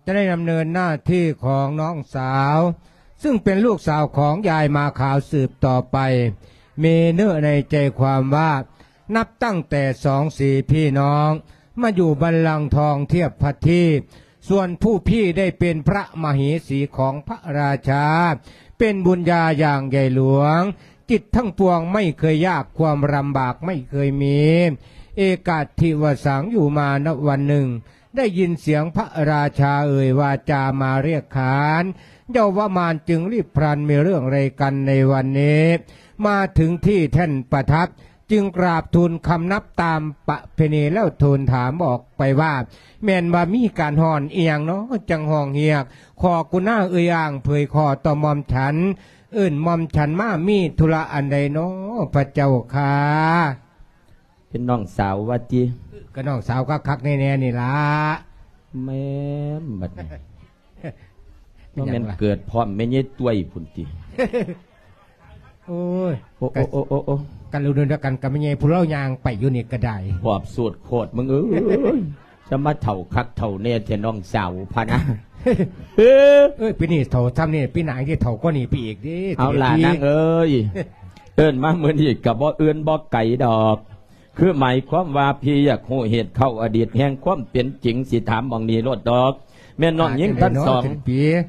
ຈະໄດ້ດຳເນີນໜ້າທີ່ຂອງນ້ອງສາວ ซึ่งเป็นลูกสาวของยายมาขาวสืบต่อไป มีเนื้อในใจความว่า นับตั้งแต่สองสีพี่น้องมาอยู่บัลลังก์ทองเทียบพระที่ ส่วนผู้พี่ได้เป็นพระมเหสีของพระราชา เป็นบุญญาอย่างใหญ่หลวง จิตทั้งปวงไม่เคยยาก ความลำบากไม่เคยมี เอกาทิวสัง อยู่มาณวันหนึ่ง ได้ยินเสียงพระราชาเอ่ยวาจามาเรียกขาน เยาวมารจึงรีบพลัน มีเรื่องอะไรกันในวันนี้ มาถึงที่แท่นประทับ จึงกราบทูลคำนับตามประเพณี แล้วทูลถามออกไปว่า แม่นว่ามีการฮ้อนอีหยังน้อ จั่งฮ้องเฮียก ขอกุณาเอ่ยอ้างเผยข้อต่อหม่อมฉัน เอิ้นหม่อมฉันมามีธุระอันใดน้อ พระเจ้าข้า เป็นน้องสาวว่าติ ก็น้องสาวคักๆแน่ๆนี่ล่ะ แม่นบัดนี้ บ่แม่นเกิดพร้อมแม่ใหญ่ต้วยพุ้นติ โอ้ย โอ้ โอ้ โอ้ โอ้ กันรุ่นเดียวกันกับแม่ใหญ่ผู้เลาย่างไปอยู่นี่ก็ได้ ปอบสูตรโคตรมึงเอ้ย จะมาเฒ่าคักเฒ่าแน่แท้น้องสาวพะนะ เอ้ย เอ้ย ปีนี้เฒ่าซ้ำนี่ ปีหน้าสิเฒ่ากว่านี้ไปอีกเด้ เอาล่ะ เสด็จพี่ นางเอ้ย เอิ้นมามื้อนี้ก็บ่อื่นบ่ไกลดอก คือหมายความว่าพี่อยากฮู้เหตุเข้าอดีตแห่งความเป็นจริง สิถามหม่องนี้โลดดอก แม่น้องหญิงทั้งสอง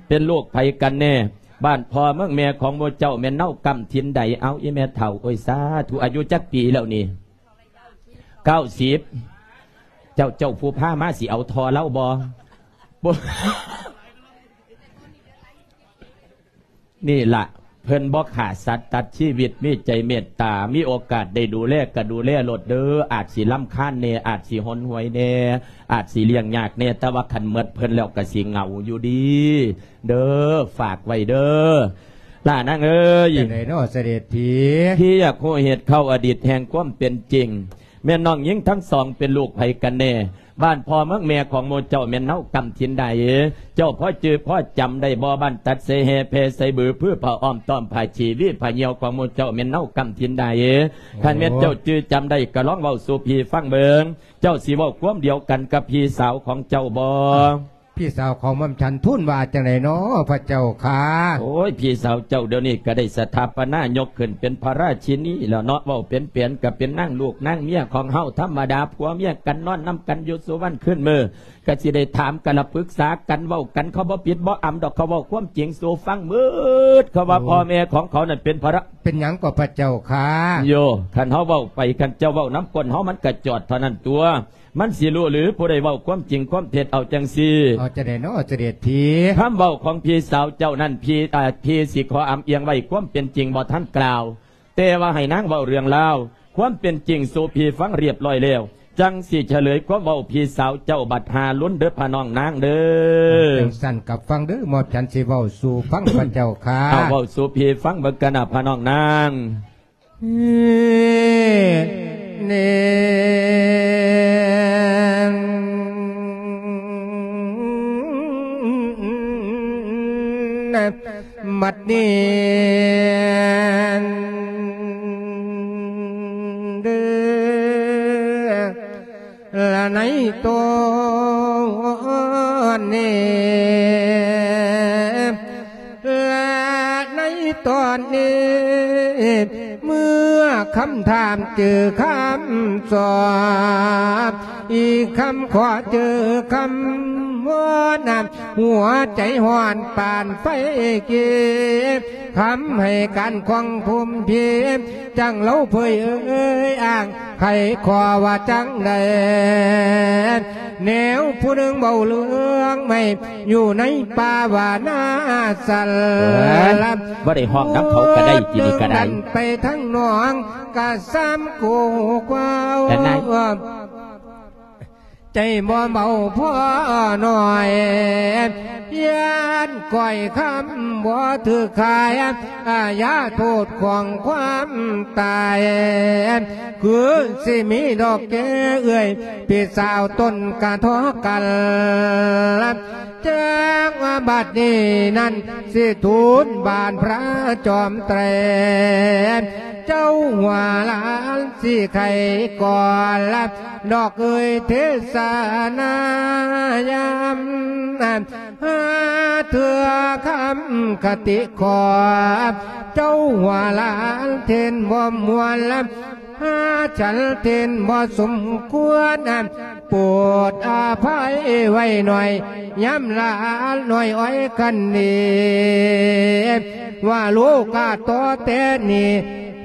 เป็นลูกไผกันแน่ บ้านพ่อเมืองแม่ของหมู่เจ้าแม่นเนาะกำถิ่นใด เอาอีแม่เฒ่า โอ้ย สาธุ อายุจักปีแล้วนี่ เก้าสิบ เจ้า เจ้าผู้พามาสิเอาท่อเลาบ่ บ่ นี่ล่ะ เพิ่นบ่ฆ่าสัตว์ตัดชีวิต มีใจเมตตา มีโอกาสได้ดูแลก็ดูแลโลดเด้อ อาจสิรำคาญแน่ อาจสิหนหวยแน่ อาจสิเลี้ยงยากแน่ แต่ว่าคันหมดเพิ่นแล้วก็สิเหงาอยู่ดี เด้อ ฝากไว้เด้อ ล่ะนางเอ้ย จั่งใดน้อเสด็จพี่ พี่อยากฮู้เหตุเข้าอดีตแห่งความเป็นจริง แม่น้องหญิงทั้งสองเป็นลูกไผกันแน่ บ้านพ่อเมืองแม่ของหมู่เจ้าแม่นเฮากำถิ่นใด เจ้าพอจื่อพอจำได้บ่ บ้านตัดเสแห่แพใส่บือ พื้นผ้าอ้อมต้อมผ้าชีวีผ้าเหี่ยวของหมู่เจ้าแม่นเฮากำถิ่นใด คันแม่นเจ้าจื่อจำได้ก็ลองเว้าสู่พี่ฟังเบิ่ง เจ้าสิเว้าความเดียวกันกับพี่สาวของเจ้าบ่ พี่สาวของหม่อมฉันทูลว่าจั่งใดน้อ พระเจ้าข้า โอ้ย พี่สาวเจ้าเดี๋ยวนี้ก็ได้สถาปนายกขึ้นเป็นพระราชินีแล้วเนาะ เว้าเป็นแผนก็เป็นนางลูกนางเมียของเฮาธรรมดา ผัวเมียกันนอนนำกันอยู่สู่วันคืนมื้อ ก็สิได้ถามกันละปรึกษากันเว้ากัน เขาบ่ปิดบ่อำดอก เขาเว้าความจริงสู่ฟังหมด เขาว่า โอ้ พ่อแม่ของเขานั่นเป็นพระ เป็นหยังก็พระเจ้าข้า โย คันเฮาเว้าไป คันเจ้าเว้านำก้นเฮามันก็จอดเท่านั้นตั๊ว มันสิฮู้หรือผู้ใดเว้าความจริงความเท็จ เอาจั่งซี้ เอาจั่งใดน้อเสด็จพี่ คำเว้าของพี่สาวเจ้านั้น พี่ อ่า พี่สิขออำเอียงไว้ ความเป็นจริงบ่ทันกล่าว แต่ว่าให้นางเว้าเรื่องราว ความเป็นจริงสู่พี่ฟังเรียบร้อยแล้ว จั่งสิเฉลยความเว้าพี่สาวเจ้าบัดหาลุนเด้อพะน้องนางเด้อ จั่งซั่นก็ฟังเด้อ หม่อมฉันสิเว้าสู่ฟังพระเจ้าข้า เอาเว้าสู่พี่ฟังเบิ่งกันนะพะน้องนาง บัดนี้เด้อ ละในตอนนี้ และในตอนนี้ เมื่อคำถามเจอคำตอบ อีกคำขอเจอคำวอน หัวใจฮ้อนปานไฟกิบ คำให้การของภูมิพี จั่งเล่าเผยเอ่ยอ้าง ใครขอว่าจั่งใด แนวผู้หนึ่งเว้าเรื่องไม่ อยู่ในป่าว่านาสัน เอิ้น บ่ได้ฮ้องนำเขาก็ได้ ทีนี้ก็ได้ ดันไปทางหนองกะซ้ำกูกว้าว แต่นาย ใจบ่เบาพอหน่อย ย่านก้อยคำบ่ถืกขาย อาญาโทษของความตาย คือสิมีดอกแก้เอื้อย พี่สาวต้นกะทอกัน จั่งว่าบัดนี้นั้นสิทูลบานพระจอมไตร เจ้าหัวหลานสิไขก่อน ดอกเอ่ยเทศนายาม ເທື່ອຄຳຄະຕິຂໍ ເຈົ້າຫົວຫຼານເທັນບໍ່ມ່ວນລະ ຫາສັນເທັນບໍ່ສົມຄວນ ໂປດອະໄພໄວ້ໜ້ອຍ ຍາມຫຼານນ້ອຍອ້ອຍຄັນດີ ວ່າລູກກະຕໍ່ແຕ່ນີ້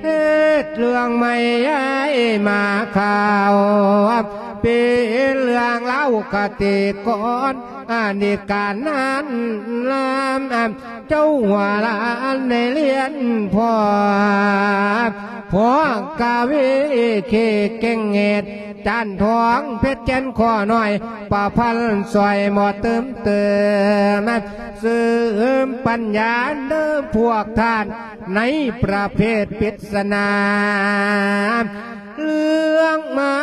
ເຮັດເລື່ອງໃໝ່ຍ້າຍມາຂ່າວ ເປັນເລື່ອງລາວຄະຕິກອນ ອະດີດການນານນາມ ເຈົ້າຫົວຫຼານໄດ້ລຽນພໍ່ ພໍ່ກະວີເຂດເກັ່ງເຫດ ຈານທອງເພັດແກ່ນຂໍໜ້ອຍ ປະພັນຊ່ອຍບໍ່ຕື່ມເຕີມ ເສີມປັນຍາເດີພວກທ່ານ ໃນປະເພດປິດສະໜາ ເລື່ອງມາ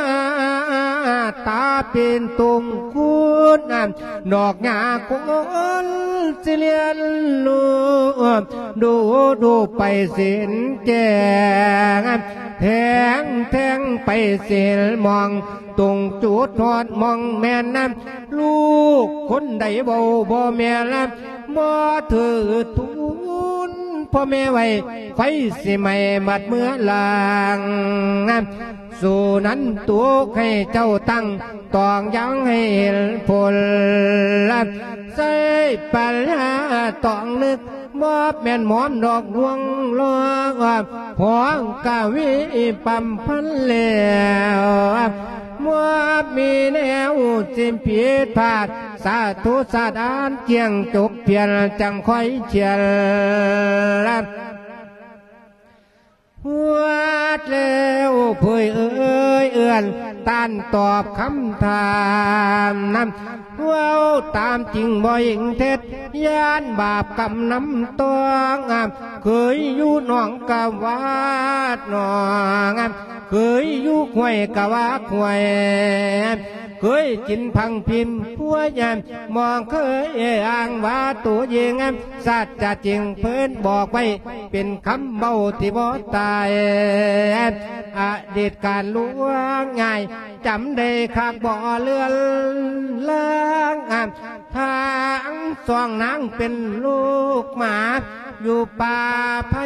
ຕາເປັນຕົງຄູນ ດອກຫຍ້າຄົນຊິລຽນຮູ້ ດູດູໄປເສັ້ນແຈ້ງ ແທງແທງໄປເສັ້ນໝ່ອງ ຕົງຈຸດຮອດໝ່ອງແມ່ນ ລູກຄົນໃດເວົ້າບໍ່ແມ່ນ ບໍ່ຖືກທຸນພໍ່ແມ່ໄວ້ ໄຟຊິໄໝ້ໝົດເມືອລາງ ສູ່ນັ້ນໂຕໃຫ້ເຈົ້າຕັ້ງ ຕ້ອງຍັງໃຫ້ເຫັນຜົນ ໃຊ້ປັນຍາຕ້ອງນຶກ ບໍ່ແມ່ນໝອມດອກລວງລອກ ພອງກະວີປຳພັນແລ້ວ ບໍ່ມີແນວຊິຜິດພາດ ສາທຸສາດອານ ຈຽງຈົບພຽນ ຈັ່ງຄ່ອຍຂຽນ ຮອດແລ້ວເຜີຍເອີຍເອື້ອນ ຕ້ານຕອບຄຳຖາມນຳ ເວົ້າຕາມຈິງບໍ່ເຫັນເທັດ ຢ້ານບາບກຳນຳຕ້ອງ ເຄີຍຢູ່ໜອງກະວາດໜອງ ເຄີຍຢູ່ຫ້ວຍກະວາກຫ້ວຍ ເຄີຍກິນຜັງພິມພົວຍາມ ບໍ່ເຄີຍອ້າງວ່າໂຕເອງ ສັດຈະຈິງເພິ່ນບອກໄວ້ ເປັນຄຳເວົ້າທີ່ບໍ່ຕາຍ ອະດີດການລ່ວງງ່າຍ ຈຳໄດ້ຄັກບໍ່ເລືອນລາງ ທາງສອງນາງເປັນລູກໝາ ຢູ່ປ່າໄຜ່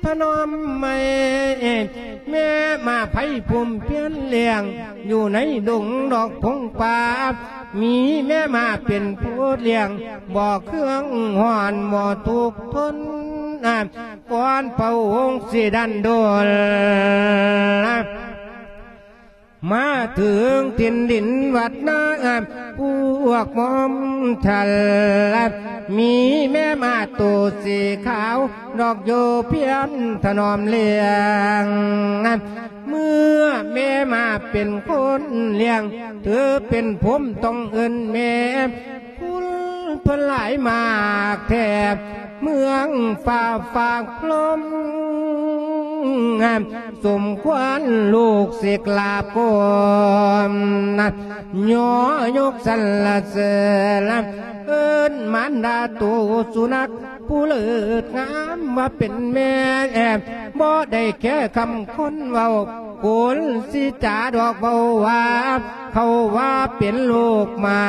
ພະນອມໃໝ່ ແມ່ໝາໄພພູມພຽນລ້ຽງ ຢູ່ໃນດົງດອກພົງປ່າ ມີແມ່ໝາເປັນຜູ້ລ້ຽງ ບໍ່ເຄືອງຮ້ອນບໍ່ທຸກທົນ ກ່ອນພະອົງຊິດັນດົນ ມາເຖິງຖິ່ນດິນວັດນາ ພວກໝອມທັນ ມີແມ່ໝາໂຕສີຂາວ ດອກໂຍພຽນຖະໜອມລ້ຽງ ເມື່ອແມ່ໝາເປັນຄົນລ້ຽງ ຖືເປັນພົມຕ້ອງເອີ້ນແມ່ ຄຸນເພິ່ນຫຼາຍມາກແທ້ ເມືອງຟ້າຝາກພົມ ສົມຄວນລູກສິກລາບກອມ ຍໍຍົກສັນລະເສີນ ເອີ້ນມານດາໂຕສຸນັກ ຜູ້ເລີດງາມວ່າເປັນແມ່ ບໍ່ໄດ້ແຄ່ຄຳຄົນເວົ້າ ໂກນສີຈາດອກເວົ້າວ່າ ເຂົາວ່າເປັນລູກໝາ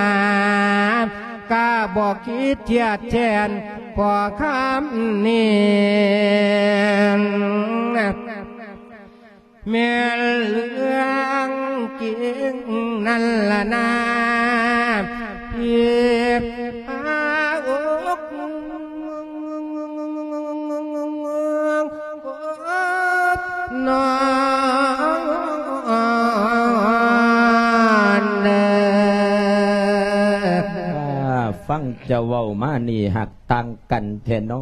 ກະບໍ່ຄິດທຽດແທນພໍ່ຄຳນີ້ ແມ່ນເລື່ອງຈິງນັ້ນລະນາ ທີ່ພາອົກ ນ້ອງເດີ. ຟັງເຈົ້າເວົ້າມານີ້ຮັກຕ່າງກັນແທ້ນໍ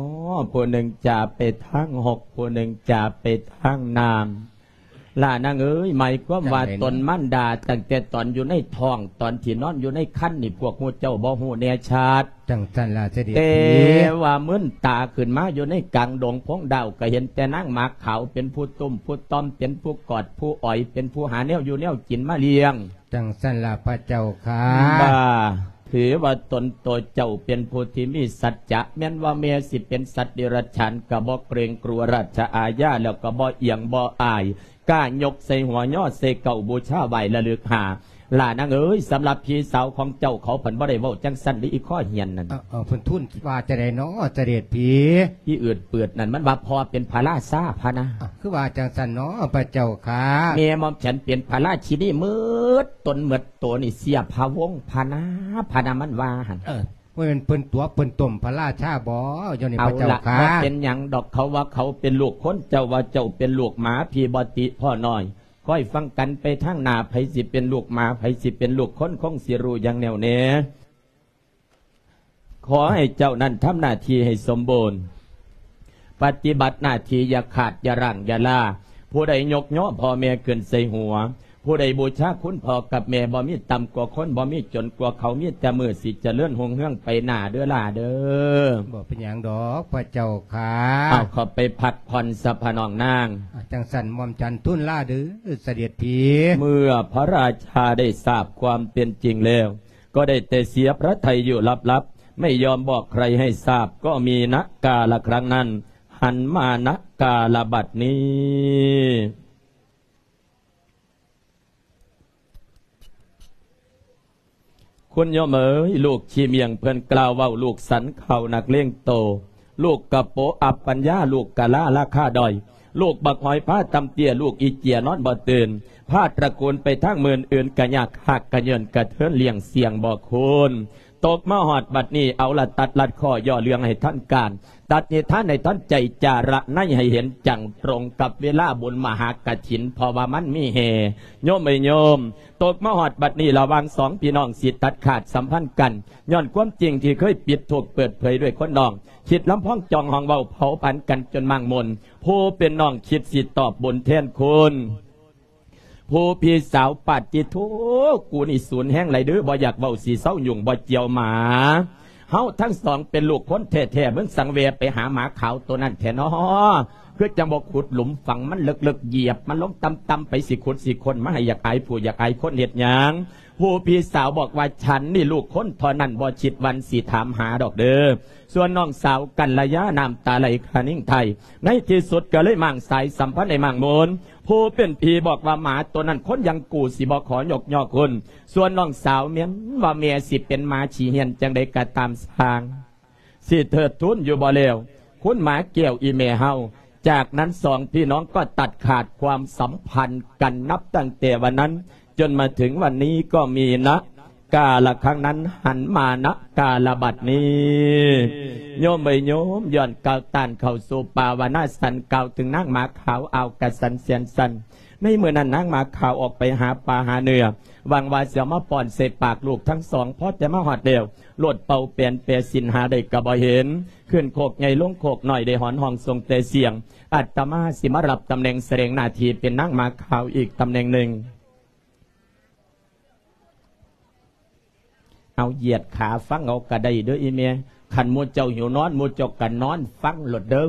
ຜູ້ໜຶ່ງຈະໄປທາງຫົກ ຜູ້ໜຶ່ງຈະໄປທາງນ້ຳ ຫຼ້ານາງເອີຍ ໝາຍຄວາມວ່າ ຈັ່ງໃດເນາະ? ຕົນມານດາຕັ້ງແຕ່ຕອນຢູ່ໃນທ້ອງ ຕອນທີ່ນອນຢູ່ໃນຄັນນີ້ ພວກໝູ່ເຈົ້າບໍ່ຮູ້ແນ່ຊັດ. ຈັ່ງຊັ້ນລະເສດຖີ. ແຕ່ວ່າມືນຕາຂຶ້ນມາຢູ່ໃນກາງດົງພົງດາວ ກໍເຫັນແຕ່ນາງໝາກຂາວເປັນຜູ້ຕຸ້ມຜູ້ຕ່ອມ ເປັນຜູ້ກອດຜູ້ອອຍ ເປັນຜູ້ຫາແນວຢູ່ແນວກິນມາລ້ຽງ. ຈັ່ງຊັ້ນລະພະເຈົ້າຂ້າ. ວ່າ ຖືວ່າຕົນໂຕເຈົ້າເປັນຜູ້ທີ່ມີສັດຈະ ແມ່ນວ່າແມ່ຊິເປັນສັດເດຍລະຈະສານ ກໍບໍ່ເກງກົວລາຊະອາຍາ ແລ້ວກໍບໍ່ອຽງບໍ່ອາຍ ກ້າຍົກໃສ່ຫົວຍໍໃສ່ເກົ້າ ບູຊາໄຫວ້ລະລຶກຫາ ຫຼ້ານາງເອີຍ, ສຳລັບພີ່ສາວຂອງເຈົ້າ ເຂົາພັນບໍ່ໄດ້ເວົ້າຈັ່ງຊັ້ນເດ້ ອີ່ຄໍຮຽນນັ້ນ. ເອີ ເອີ ເພິ່ນທູນວ່າຈັ່ງໃດນໍ ສະເດັດພີ່? ອີ່ອືດປືດນັ້ນ ມັນວ່າພໍ່ເປັນພະລາຊາພະນາ. ເອົ້າ ຄືວ່າຈັ່ງຊັ້ນນໍ ພະເຈົ້າຂ້າ? ແມ່ໝ່ອມສັນເປັນພະລາຊິນີໝົດຕົນໝົດໂຕນີ້ ເສຍພະວົງພະນາ ພະນາ ມັນວ່າຫັ້ນ. ເອີ ບໍ່ແມ່ນເພິ່ນຕົວະເພິ່ນຕົ້ມພະລາຊາບໍ ດຽວນີ້ ເອົາລະ ພະເຈົ້າຂ້າ? ບໍ່ເປັນຫຍັງດອກ, ເຂົາວ່າເຂົາເປັນລູກຄົນ, ເຈົ້າວ່າເຈົ້າເປັນລູກໝາ, ພີ່ບໍ່ຕິພໍ່ນ້ອຍ. ຄອຍຟັງກັນໄປທາງໜ້າ, ໃຜຊິເປັນລູກໝາ, ໃຜຊິເປັນລູກຄົນ, ຄົງຊິຮູ້ຢ່າງແນ່ວແນ່. ຂໍໃຫ້ເຈົ້ານັ້ນທຳໜ້າທີ່ໃຫ້ສົມບູນ, ປະຕິບັດໜ້າທີ່ຢ່າຂາດ, ຢ່າລ້າງ, ຢ່າລາ. ຜູ້ໃດຍົກຍໍພໍ່ແມ່ຂຶ້ນໃສ່ຫົວ, ຜູ້ໃດບູຊາຄຸນພໍ່ກັບແມ່, ບໍ່ມີຕ່ຳກວ່າຄົນ, ບໍ່ມີຈົນກວ່າເຂົາ, ມີແຕ່ມື້ຊິຈະເລີນຮຸ່ງເຮືອງໄປໜ້າເດີ້ຫຼ້າເດີ້. ບໍ່ເປັນຫຍັງດອກພະເຈົ້າຂ້າ. ເອົາ ເຂົ້າໄປພັກຜ່ອນຊະພະນ້ອງນາງ. ອາ ຈັ່ງຊັ້ນໝ່ອມສັນທູນລາເດີ້ສະເດັດພີ່. ເມື່ອພະລາຊາໄດ້ຊາບຄວາມເປັນຈິງແລ້ວ ກໍໄດ້ແຕ່ເສຍພະໄທຢູ່ລັບໆ ໄມ່ຍອມບອກໃຄໃຫ້ຊາບ, ກໍມີນະກາລະຄັ້ງນັ້ນ ຫັນມານະກາລະບັດນີ້. ຄຸນໂຍມເອີຍ, ລູກຂີ້ໝ້ຽງເພິ່ນກ່າວເວົ້າ, ລູກສັນເຂົ້ານັກເລງໂຕ, ລູກກະໂປະອັບປັນຍາ, ລູກກະລາລາຄາດ້ອຍ, ລູກບັກຫອຍພາຕ່ຳເຕ້ຍ, ລູກອີເຈຍນອນບໍ່ຕື່ນ, ພາຕະກູນໄປທາງມື້ອື່ນກະຍາກ, ຮາກກະເຍີ້ນກະເທີນ, ລ້ຽງສ່ຽງບໍ່ຄູນ. ຕົກມາຮອດບັດນີ້ ເອົາລະ ຕັດລັດຂໍ້ ຍໍເລື່ອງໃຫ້ທັນການ, ຕັດນິທານໃຫ້ທັນໃຈ, ຈາລະໄນໃຫ້ເຫັນຈັ່ງຕົງກັບເວລາບຸນມະຫາກະຖິນ, ເພາະວ່າມັນມີແຫ່. ໂຍມເອີຍໂຍມ, ຕົກມາຮອດບັດນີ້ ລະຫວ່າງສອງພີ່ນ້ອງຊິຕັດຂາດສຳພັນກັນ, ຍ້ອນຄວາມຈິງທີ່ເຄີຍປິດທຸກເປີດເຜີຍດ້ວຍຄົນນ້ອງ, ຄິດລຳພອງຈອງຫ້ອງເວົ້າເຜົາຜັນກັນຈົນມ້າງມົນ, ຜູ້ເປັນນ້ອງຄິດຊິຕອບບຸນແທນຄຸນ. ຜູ້ພີ່ສາວ ປາດຕິໂທ ກູນີ້ສູນແຮງຫຼາຍເດີ້, ບໍ່ຢາກເວົ້າ ຊິເຊົາຫຍຸ້ງ ບໍ່ຈຽວໝາ. ເຮົາທັງສອງເປັນລູກຄົນແທ້ໆ, ມຶງສັງແວໄປຫາໝາຂາວໂຕນັ້ນແທ້ນໍ. ຄືຈັ່ງບໍ່ຂຸດຫຼຸມຝັງມັນເລິກໆ, ຢຽບມັນລົງຕ່ຳໆ, ໄປຊິຂຸດຊິຄົ້ນມາໃຫ້ຢາກອາຍຜູ້ຢາກອາຍຄົນເຮັດຫຍັງ? ຜູ້ພີ່ສາວບອກວ່າ ສັນນີ້ລູກຄົນເທົ່ານັ້ນ, ບໍ່ຄິດວັນຊິຖາມຫາດອກເດີ້. ສ່ວນນ້ອງສາວກັນລະຍາ ນ້ຳຕາໄຫຼຄານິງໄທ, ໃນທີ່ສຸດກໍເລີຍມ້າງສາຍສຳພັນໃຫ້ມ້າງມົນ. ຜູ້ເປັນພີ່ບອກວ່າ ໝາໂຕນັ້ນຄົນຢ່າງກູຊິບໍ່ຂໍຍົກຍໍ້ຄຸນ. ສ່ວນນ້ອງສາວ ແມ່ນວ່າແມ່ຊິເປັນໝາຂີ້ເຫື່ອນຈັ່ງໃດກໍຕາມຊ່າງ, ຊິເທີດທູນຢູ່ບໍ່ແລ້ວ ຄຸນໝາແກ້ວອີ່ແມ່ເຮົາ. ຈາກນັ້ນສອງພີ່ນ້ອງກໍຕັດຂາດຄວາມສຳພັນກັນ, ນັບຕັ້ງແຕ່ວັນນັ້ນ ຈົນມາເຖິງວັນນີ້ກໍມີນະກາລະຄັ້ງນັ້ນ ຫັນມານະກາລະບັດນີ້. ໂຍມເອີຍໂຍມ, ຍ້ອນກ່າວຕ້ານເຂົ້າສູ່ປ່າວານາສັນ, ກ່າວເຖິງນາງໝາຂາວ ອ່າວກະສັນແສນສັນ. ໃນມື້ນັ້ນນາງໝາຂາວອອກໄປຫາປ່າຫາເນື້ອ, ຫວັງວ່າຊິເອົາມາປ້ອນໃສ່ປາກລູກທັງສອງ. ພໍແຕ່ມາຮອດແລ້ວ ໂລດເປົ່າແປນແປສິນຫາໄດ້ກໍບໍ່ເຫັນ, ຂຶ້ນໂຄກໃຫຍ່ລົງໂຄກນ້ອຍ ໄດ້ຫອນຮ້ອງສົ່ງແຕ່ສຽງ. ອາດຕະມາຊິມາຮັບຕຳແໜ່ງສະແດງໜ້າທີ່ເປັນນາງໝາຂາວອີກຕຳແໜ່ງໜຶ່ງ. ເອົາ ຢຽດຂາຟັງເອົາກະໄດ້ເດີ້ອີ່ແມ່. ຄັນໝູ່ເຈົ້າຫິວນອນ, ໝູ່ເຈົ້າກະນອນຟັງໂລດເດີ້.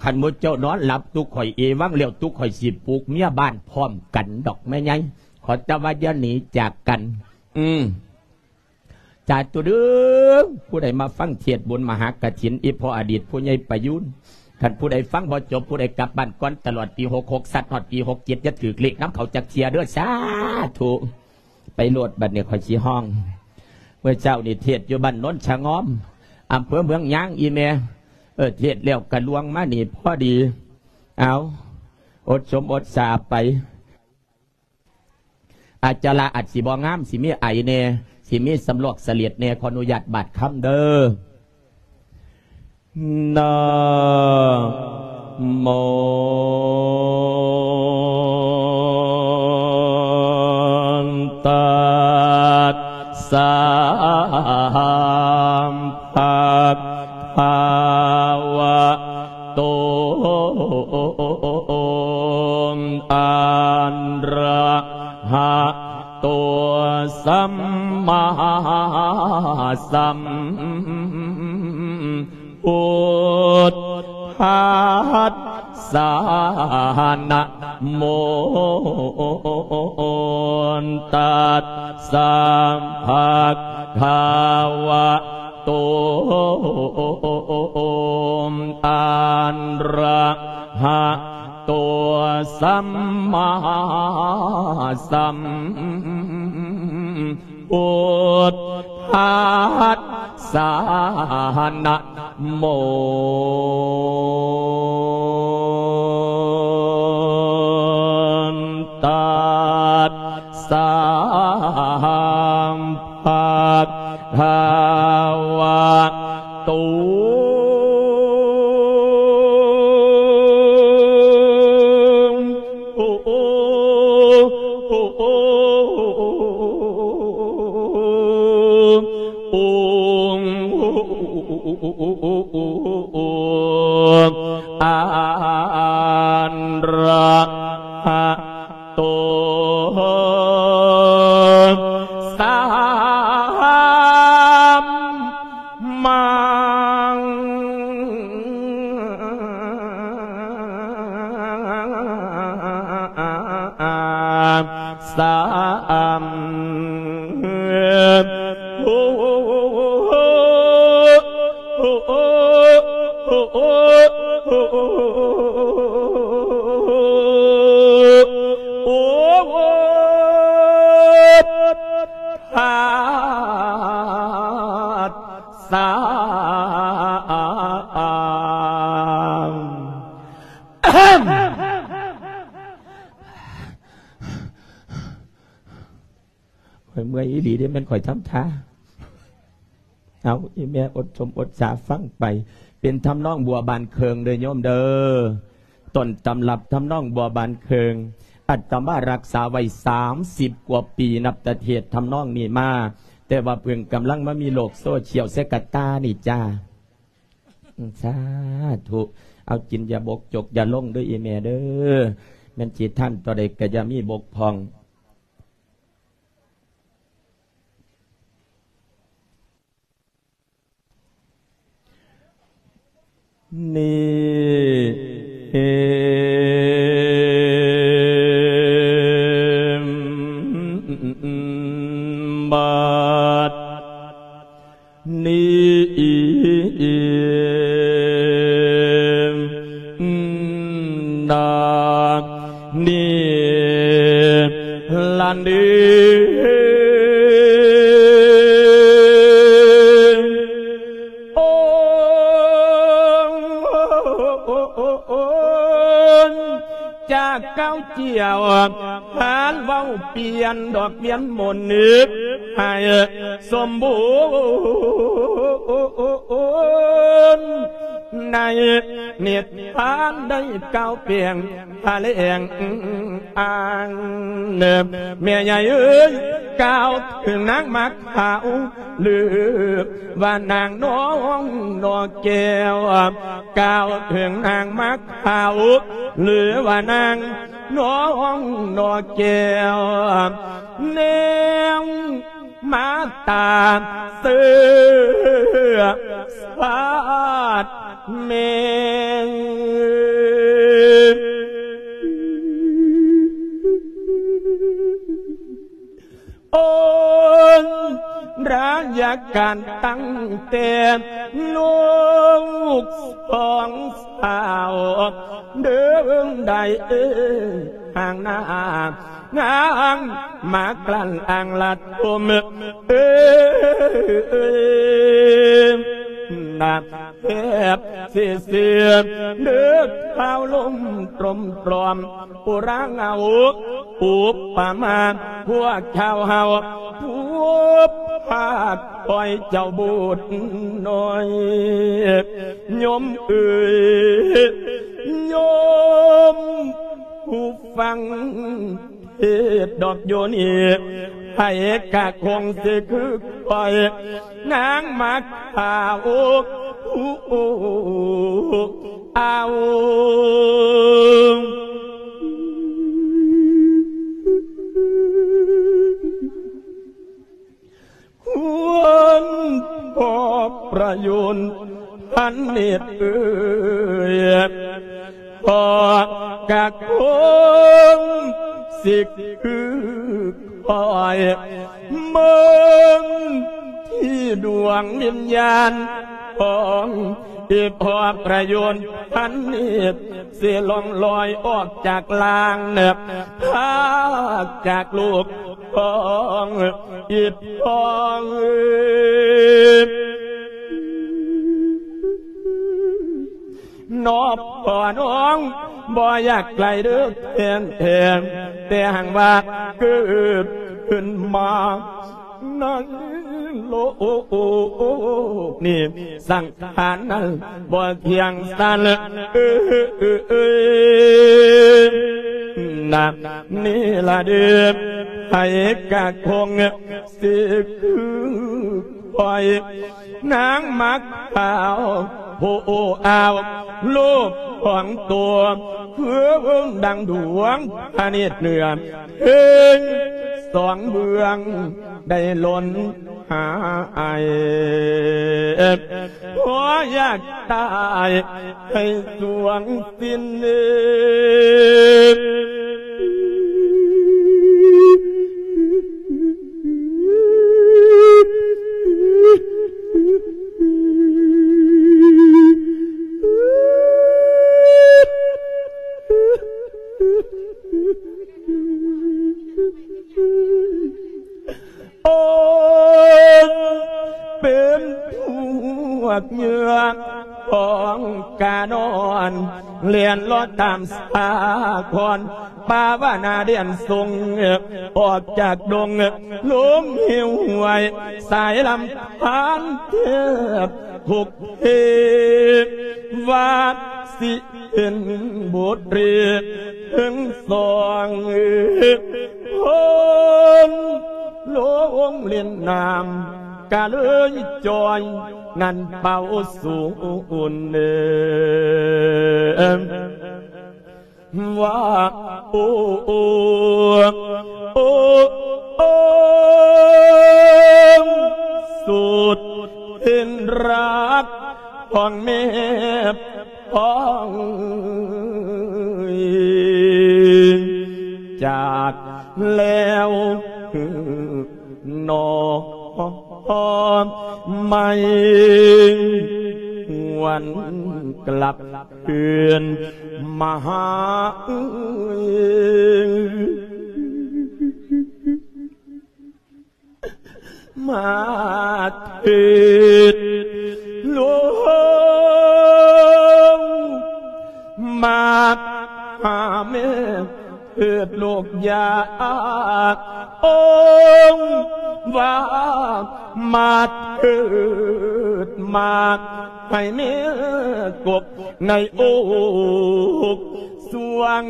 ຄັນໝູ່ເຈົ້ານອນຫຼັບ, ຕຸກຂ້ອຍເອວັງແລ້ວ, ຕຸກຂ້ອຍຊິປຸກເມຍບ້ານພ້ອມກັນດອກແມ່ໃຫຍ່. ຂໍແຕ່ວ່າຢ່າໜີຈາກກັນ. ອືມ ສາທຸເດີ້. ຜູ້ໃດມາຟັງເທດບຸນມະຫາກະຖິນ ອີ່ພໍ່ອະດີດຜູ້ໃຫຍ່ປະຍູນ, ຄັນຜູ້ໃດຟັງບໍ່ຈົບ, ຜູ້ໃດກັບບ້ານກ່ອນຕະຫຼອດປີຫົກຫົກ ສັດຮອດປີຫົກເຈັດ ຢ່າຖືກເລກນຳເຂົາຈັກເທື່ອເດີ້. ສາທຸ. ໄປໂລດ, ບັດນີ້ຂ້ອຍຊິຮ້ອງ. ເມື່ອເຊົ້ານີ້ເທດຢູ່ບ້ານໂນນສະຫງອມ, ອຳເພີເມືອງຍາງ ອີ່ແມ່. ເອີ ເທດແລ້ວກະລວງມານີ້ພໍດີ. ເອົາ ອົດສົມອົດສາໄປ. ອາຈາລະອາດຊິບໍ່ງາມ, ຊິມີໄອແດ່, ຊິມີສຳລອກສະເລັດແດ່, ຂໍອະນຸຍາດບາດຄຳເດີ້. ນະໂມ ຕັດສະ ພະຄະວະໂຕ ອະຣະຫະໂຕ ສຳມາສຳພຸດທັດສະ ນະໂມ ຕັດສະ ພະຄະວະ ໂຕ ອະຣະຫະໂຕ ສຳມາສຳ ພຸດທັດສະ ນະໂມ ຕັດສະ ພະຄະວະໂຕ. ອັນຣະຫະໂຕ ສຳມາ ສຳ ໂອ ໂອ ໂອ ທັດສະ ຂ້ອຍເມື່ອຍອີ່ຫຼີເດ້ ແມ່ນຂ້ອຍທຳທ່າ. ເອົາ ອີ່ແມ່ອົດຊົມອົດສາຟັງໄປ. ເປັນທຳນອງບົວບານເຄິ່ງເດີໂຍມເດີ. ຕົ້ນຕຳລັບທຳນອງບົວບານເຄິ່ງ ອາດຕະມາຮັກສາໄວ້ສາມສິບກວ່າປີ ນັບແຕ່ເທດທຳນອງນີ້ມາ, ແຕ່ວ່າເພິ່ງກຳລັງມາມີໂລກໂຊຊຽວໃສ່ກະຕ່ານີ້ຈ້າ. ສາທຸ. ເອົາ ກິນຢ່າບົກຈົກຢ່າລົງເດີອີ່ແມ່ເດີ. ແມ່ນຊິທັນຕົວໃດກະຢ່າມີບົກຜ່ອງ. ນີ້ບັດ ນີ້ນາ ນີ້ລະເດີ ໂອ ຈາກເກົ່າຈຽວ ຫານເວົ້າປ່ຽນດອກວຽນມົນນຶກໃຫ້ສົມບູນ ໃນນິທານໄດ້ກ່າວແປງພະແລງອ້າງ ແມ່ໃຫຍ່ເອີຍ ກ່າວເຖິງນາງໝາກຂາວ ຫຼືວ່ານາງໜໍໜໍແກ້ວ ກ່າວເຖິງນາງໝາກຂາວ ຫຼືວ່ານາງໜໍໜໍແກ້ວ ແນວມາຕາເຊື້ອຊາດແມ່ ໂອນ ລະຍະການຕັ້ງແຕ່ລູກສອງສາວ ເດີງໃດເອີຍ ຫ່າງໜ້າງາງມາກລັ້ນອ່າງລະທົມ ເອີຍ ນະ ແທບຊິເສຍເດີ ທ້າວລົມຕົມຕອມ ອຸລາງເອົາອຸປະມາ ພວກຊາວເຮົາຜູ້ພາກຄອຍເຈົ້າບຸດນ້ອຍ ໂຍມເອີຍ ໂຍມຜູ້ຟັງ ເທດດອກໂຍນີ ໃຜກະຄົງຊິຄືຂ້ອຍ ນາງໝາກຂາວ ອາວ ຄວນພໍ່ປະໂຫຍດພັນເນດເອີຍ ພໍ່ກະຄົງຊິຄືຂ້ອຍ ເບິ່ງທີ່ດວງວິນຍານຂອງ ອີພອປະໂຍນພັນນິດ ຊິລ່ອງລອຍອອກຈາກລ່າງ ພາກຈາກລູກຂອງອີພອ ນອບພໍ່ນ້ອງບໍ່ຢາກໄກເດີແທນແທນ ແຕ່ຫາກວ່າເກີດຂຶ້ນມາໃນໂລກນີ້ ສັງຂານນັ້ນບໍ່ທ່ຽງສັນ ນະ ນີ້ລະເດີ ໃຜກະຄົງຊິຄື ຂ້ອຍນາງມັກຂາວ ໂພອາວ ໂລກຂອງຕົວ ຄືດັ່ງດວງພະເນດເໜືອ ເອີຍ ສອງເບື້ອງໄດ້ຫຼົ່ນຫາຍ ພໍຢາກຕາຍ ໃຫ້ສວງສິ້ນເອີຍ ໂອ້ຍ ເປັນພວກເຫຍື່ອຂອງການອນ ແລ່ນເລາະຕາມສາຄອນ ປາວະນາແດນຊົງ ອອກຈາກດົງ ລົງເຫວຫ້ວຍ ສາຍລຳທານແທບທຸກເທ ວ່າຊິເປັນບົດເຣກເທິງສອງ ຄົນລົງຫຼິ້ນນ້ຳ ກະເລີຍຈ່ອຍ ນັ້ນເປົ່າສູນເດີ ວ່າ ໂອ້ ໂອ້ ໂອ້ ໂອ້ ສຸດເປັນຮັກຂອງແມ່ ຂອງຈາກແລ້ວໜໍ ໄໝ່ຫວນກລັບຄືນມາຫາເອີຍ ມາເທີດລູກ ມາຫາແມ່ ເກີດໂລກຢາກ ໂອ້ ວ່າມາເກີດ ມາໃຫ້ແມ່ກົບໃນອົກສວງ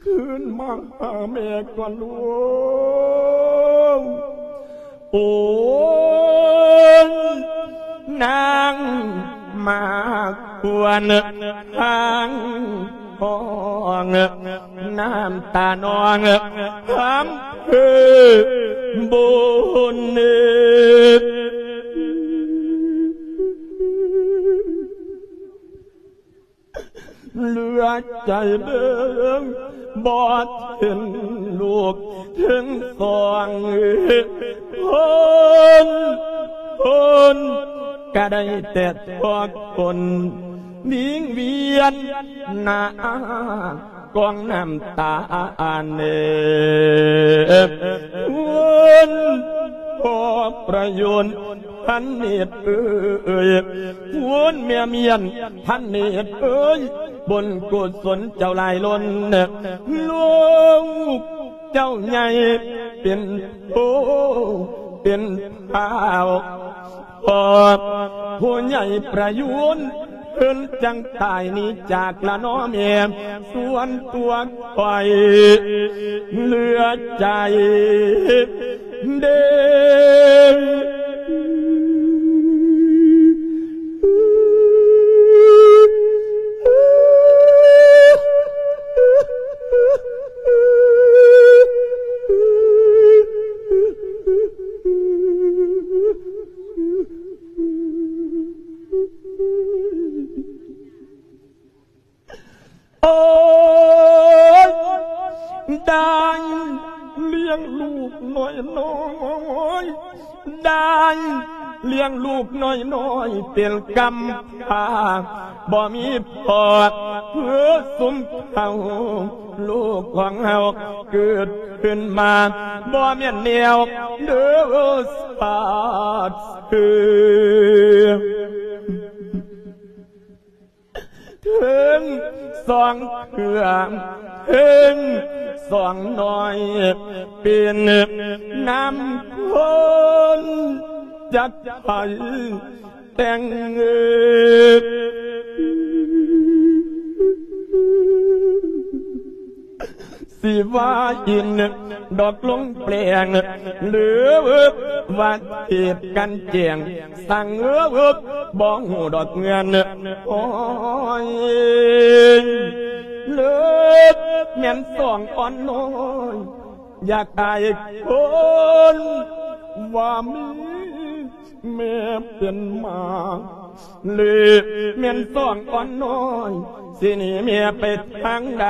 ຄືນມາຫາແມ່ກ່ອນລູກ ໂອ້ຍ ນາງມາຄວນທາງ ຮ້ອງນ້ຳຕານອງ ຄຳເພີບຸນ ເຫຼືອໃຈເບິ່ງບໍ່ເຫັນລູກເຖິງສອງ ຄົນ ຄົນກະໄດ້ແຕ່ທອກຄົນ ວິງວຽນໜ້າກອງນ້ຳຕາເນີ ຄົນພໍ່ປະໂຍນ ພັນເນດເອີຍ ຄຸນແມ່ມຽນພັນເນດເອີຍ ບຸນກຸສົນເຈົ້າຫຼາຍລົ້ນ ລູກເຈົ້າໃຫຍ່ເປັນໂພເປັນພາວ ພໍ່ຜູ້ໃຫຍ່ປະຍູນ ເພິ່ນຈັ່ງຕາຍໜີຈາກລະນໍແມ່ ສ່ວນຕົວຂ້ອຍເຫຼືອໃຈເດີ. ໂອ້ຍ ໄດ້ລ້ຽງລູກນ້ອຍໆເປັນກຳພ້າ ບໍ່ມີພໍ່ເພື່ອຊຸມເຂົາ ລູກຂອງເຮົາເກີດຂຶ້ນມາ ບໍ່ແມ່ນແນວເດີສາດເທື່ອ ເຖິງສອງເຄືອງ ເຖິງສອງນ້ອຍ ເປັນນ້ຳຄົນຈັກໃຜແຕ່ງເງິບ ຊິວ່າອິນດອກລົງແປງ ຫຼືວ່າເທດກັນແຈງ ສັງເອີບບໍ່ຮູ້ດອກເງິນ ໂອ້ຍ ເລີດແມ່ນສອງອ່ອນນ້ອຍ ຢາກອາຍຄົນວ່າມີແມ່ເປັນໝາ ຫຼືແມ່ນສອງອ່ອນນ້ອຍ ຊິໜີແມ່ໄປທາງໃດ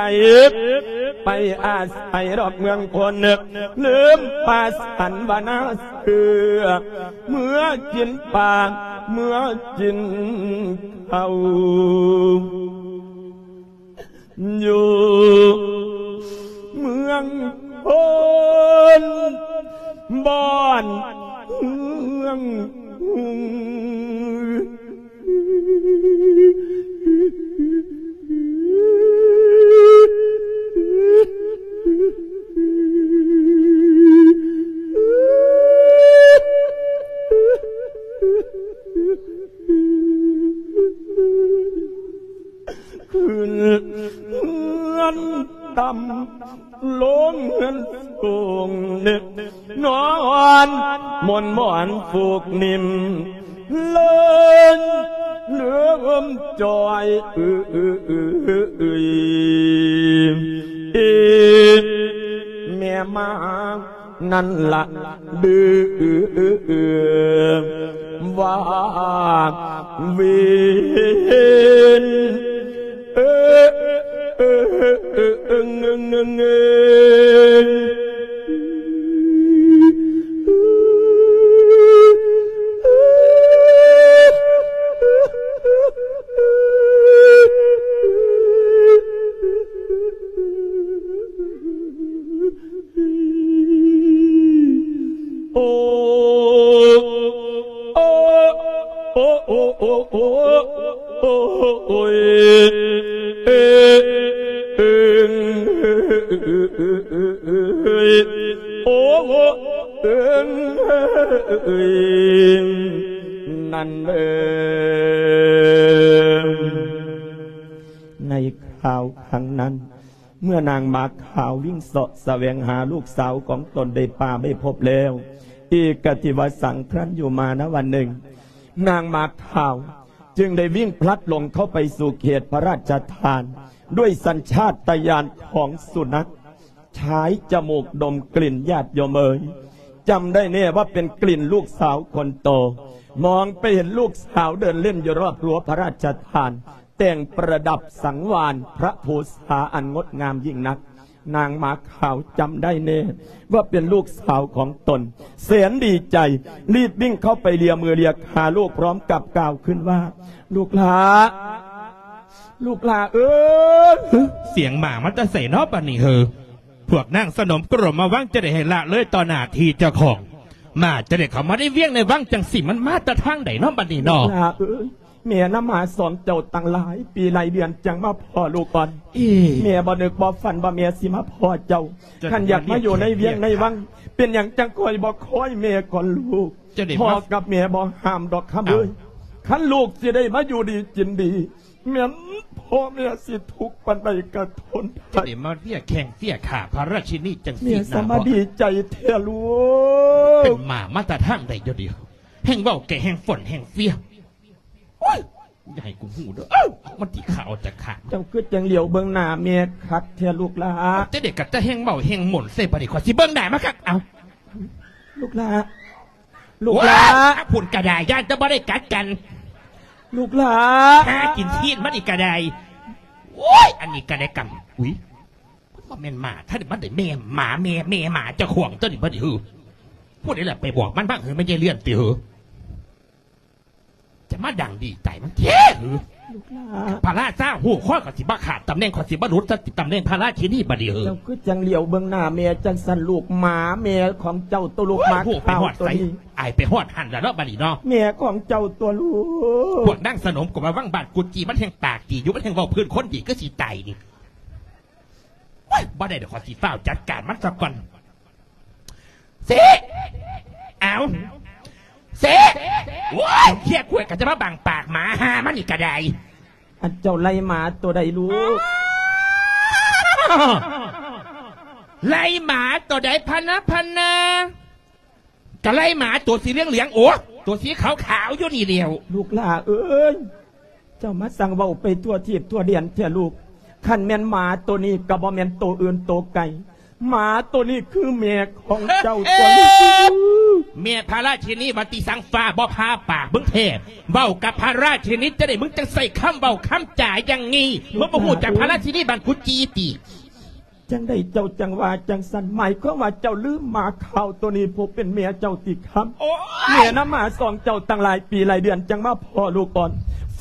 ໄປອາໄສດອກເມືອງຄົນ ລືມປ່າສັນວະນາເສືອ ເມືອກິນປ່າ ເມືອກິນເຂົ້າ ຢູ່ເມືອງໂພນ ບ່ອນເມືອງຮຸ່ງ ຂຶ້ນເຮືອນຕ່ຳ ລົງເຮືອນສູງ ນອນໝອນໝອນຟູກນິ້ມ ເລີນເລີ່ມຈ່ອຍ ອື ອື ອື ອື ແມ່ມາ ນັ້ນລະດື້ວາວິນ ເອີ ເອີ ເອີ ເອີ ເອີ ເອີ ເອີ ເອີ ໂອ້ ໂອ້ ໂອ້ ໂອ້ ໂອ້ ໂອ້ ໂອ້ຍ ເອີ ເອີ ເອີ ເອີ ເອີ ເອີ ໂອ້ ເອີ ເອີ ນັ້ນເອີ ໃນຄາວຄັ້ງນັ້ນ ເມື່ອນາງໝາຂາວວິ່ງເສາະສະແຫວງຫາລູກສາວຂອງຕົນໃນປ່າໄມ່ພົບແລ້ວ ເອກະທິວະສັງ ຄຄັ້ນຢູ່ມານະວັນໜຶ່ງ ນາງໝາຂາວຈຶ່ງໄດ້ວິ່ງພລັດຫຼົງເຂົ້າໄປສູ່ເຂດພະລາຊະທານ ດ້ວຍສັນຊາດຕະຍານຂອງສຸນັກ ຊາຍຈະມູກດົມກິ່ນ ຍາດໂຍມເອີຍ ຈຳໄດ້ແນ່ວ່າເປັນກິ່ນລູກສາວຄົນໂຕ ມອງໄປເຫັນລູກສາວເດີນເລ່ນຢູ່ຮອບຮົ້ວພະລາຊະທານ ແຕ່ງປະດັບສັງວານພະພູສາອັນງົດງາມຍິ່ງນັກ ນາງໝາຂາວຈຳໄດ້ແນ່ວ່າເປັນລູກສາວຂອງຕົນ ແສນດີໃຈ ລີບວິ່ງເຂົ້າໄປເລຍມືເລຍຂາລູກ ພ້ອມກັບກ່າວຂຶ້ນວ່າ ລູກຫຼ້າ ລູກຫຼ້າເອີຍ ສຽງໝາມາແຕ່ໃສເນາະບັດນີ້ເຮີ ພວກນາງສະໜົມກົມມາວັງ ຈະໄດ້ໃຫ້ລະເລີຍຕໍ່ໜ້າທີ່ເຈົ້າຂອງ ໝາຈະໄດ້ເຂົ້າມາໃນວຽງໃນວັງຈັ່ງຊີ້ ມັນມາແຕ່ທາງໃດເນາະບັດນີ້ເນາະ ຫຼ້າເອີຍ ແມ່ນຳໝາສອງເຈົ້າຕັ້ງຫຼາຍປີຫຼາຍເດືອນຈັ່ງມາພໍ້ລູກອ່ອນ ເອີ ແມ່ບໍ່ນຶກບໍ່ຝັນວ່າແມ່ຊິມາພໍ້ເຈົ້າ ຄັນຢາກມາຢູ່ໃນວຽງໃນວັງ ເປັນຫຍັງຈັ່ງຄ່ອຍບໍ່ຄ່ອຍແມ່ກ່ອນລູກ ພໍ່ກັບແມ່ບໍ່ຫ້າມດອກຄຳເອີຍ ຄັນລູກຊິໄດ້ມາຢູ່ດີກິນດີ ແມ່ນພໍ່ແມ່ຊິທຸກປານໃດກະທົນໄດ້ ຈະໄດ້ມາເຟຍແຂ່ງເຟຍຂ້າພະລາຊິນີຈັ່ງຊີ້ ແມ່ສະມາດີໃຈແທ້ລູກ ເປັນໝາມາແຕ່ທາງໃດຢູ່ດຽວ ແຮ່ງເວົ້າແກ່ແຮ່ງຝົນແຮ່ງເຟຍ ໂອ້ຍ ຢ່າໃຫ້ກູຮູ້ເດີ ເອົ້າ ມັນຊິຂ້າອອກຈາກຂ້າ ເຈົ້າຄືຈັ່ງຫຼຽວເບິ່ງໜ້າແມ່ຄັກແທ້ລູກຫຼ້າ ເຈົ້າເດກະຈະແຮ່ງເວົ້າແຮ່ງມົນໃສ່ ບາດນີ້ຂ້ອຍຊິເບິ່ງໜ້າມັນຄັກ ເອົ້າ ລູກຫຼ້າ ລູກຫຼ້າ ພຸ້ນກະໄດ້ ຢ້ານຈະບໍ່ໄດ້ກັດກັນ ລູກຫຼ້າ ຫາກິນຊີ້ນມັນອີກກະໄດ້ ໂອ້ຍ ອັນນີ້ກະໄດ້ກຳ ອຸ້ຍ ມັນບໍ່ແມ່ນໝາ ຖ້າມັນໄດ້ແມ່ໝາ ແມ່ ແມ່ໝາເຈົ້າຂອງຕົວນີ້ບໍ່ໄດ້ ຫື ຜູ້ໃດລະໄປບອກມັນວ່າ ເອີ ແມ່ນຍາຍເລື່ອນຕິເຫີ? ຈະມາດັງດີໃຈມັນແທ້ເຫີ? ລູກຫຼ້າ ພະລາຊາຮູ້ ຂ້ອຍກໍຊິບໍ່ຂາດຕຳແໜ່ງ ຂ້ອຍຊິບໍ່ຫຼຸດຕຳແໜ່ງພະລາຊິນີບັດນີ້ເຫີ? ເຈົ້າຄືຈັ່ງຫຼຽວເບິ່ງໜ້າແມ່ຈັ່ງຊັ້ນລູກ? ໝາແມ່ຂອງເຈົ້າຕົວລູກ ໂອ້ຍ ໝາ ຮູ້ໄປຮອດໃສ ຂາວຕົວນີ້ ອາຍໄປຮອດຫັ້ນລະເນາະບັດນີ້ເນາະ ແມ່ຂອງເຈົ້າຕົວລູກ. ພວກນາງສະໜົມກໍວ່າວັງບ້ານກຸດຈີ່ ມັນແຮ່ງປາກດີຢູ່ ມັນແຮ່ງເວົ້າພື້ນຄົນດີຄືຊິຕາຍນີ້. ໂອ້ຍ ບໍ່ໄດ້ດອກ ຂ້ອຍຊິຟ້າວຈັດການມັນຊະກ່ອນ. ຊິ ເອົາ ຊິ ໂອ້ຍ ເຄຍກວດກໍຈະມາບັງປາກໝາຫ່າມັນນີ້ກໍໄດ້. ອັນເຈົ້າໄລ່ໝາຕົວໃດລູກ? ໄລ່ໝາຕົວໃດພະນະ ພະນະ? ກະໄລ່ໝາຕົວສີເຫຼືອງໆ ໂອ້ ຕົວສີຂາວໆ ຢູ່ນີ້ແລ້ວ. ລູກຫຼ້າເອີຍ ເຈົ້າມາຊ່າງເວົ້າໄປທົ່ວທີບທົ່ວແດນແທ້ລູກ. ຄັນແມ່ນໝາໂຕນີ້ກະບໍ່ແມ່ນໂຕອື່ນໂຕໄກ ໝາໂຕນີ້ຄືແມ່ຂອງເຈົ້າຕົວລູກ. ແມ່ພະລາຊິນີວ່າຕິສັງ ຟ້າບໍ່ຜ່າປາກມຶງແທ້. ເວົ້າກັບພະລາຊິນີຈັ່ງໃດ ມຶງຈັ່ງໃຊ້ຄຳເວົ້າຄຳຈາຢ່າງນີ້ ມຶງບໍ່ຮູ້ຈັກພະລາຊິນີບ້ານກຸດຈີ່ຕິ? ຈັ່ງໃດເຈົ້າຈັ່ງວ່າຈັ່ງຊັ້ນ? ໝາຍຄວາມວ່າເຈົ້າລືມໝາຂາວໂຕນີ້ຜູ້ເປັນແມ່ເຈົ້າຕິຄຳ? ໂອ້ຍ ແມ່ນຳໝາສອງເຈົ້າຕັ້ງຫຼາຍປີຫຼາຍເດືອນ ຈັ່ງມາພໍ້ລູກອ່ອນ.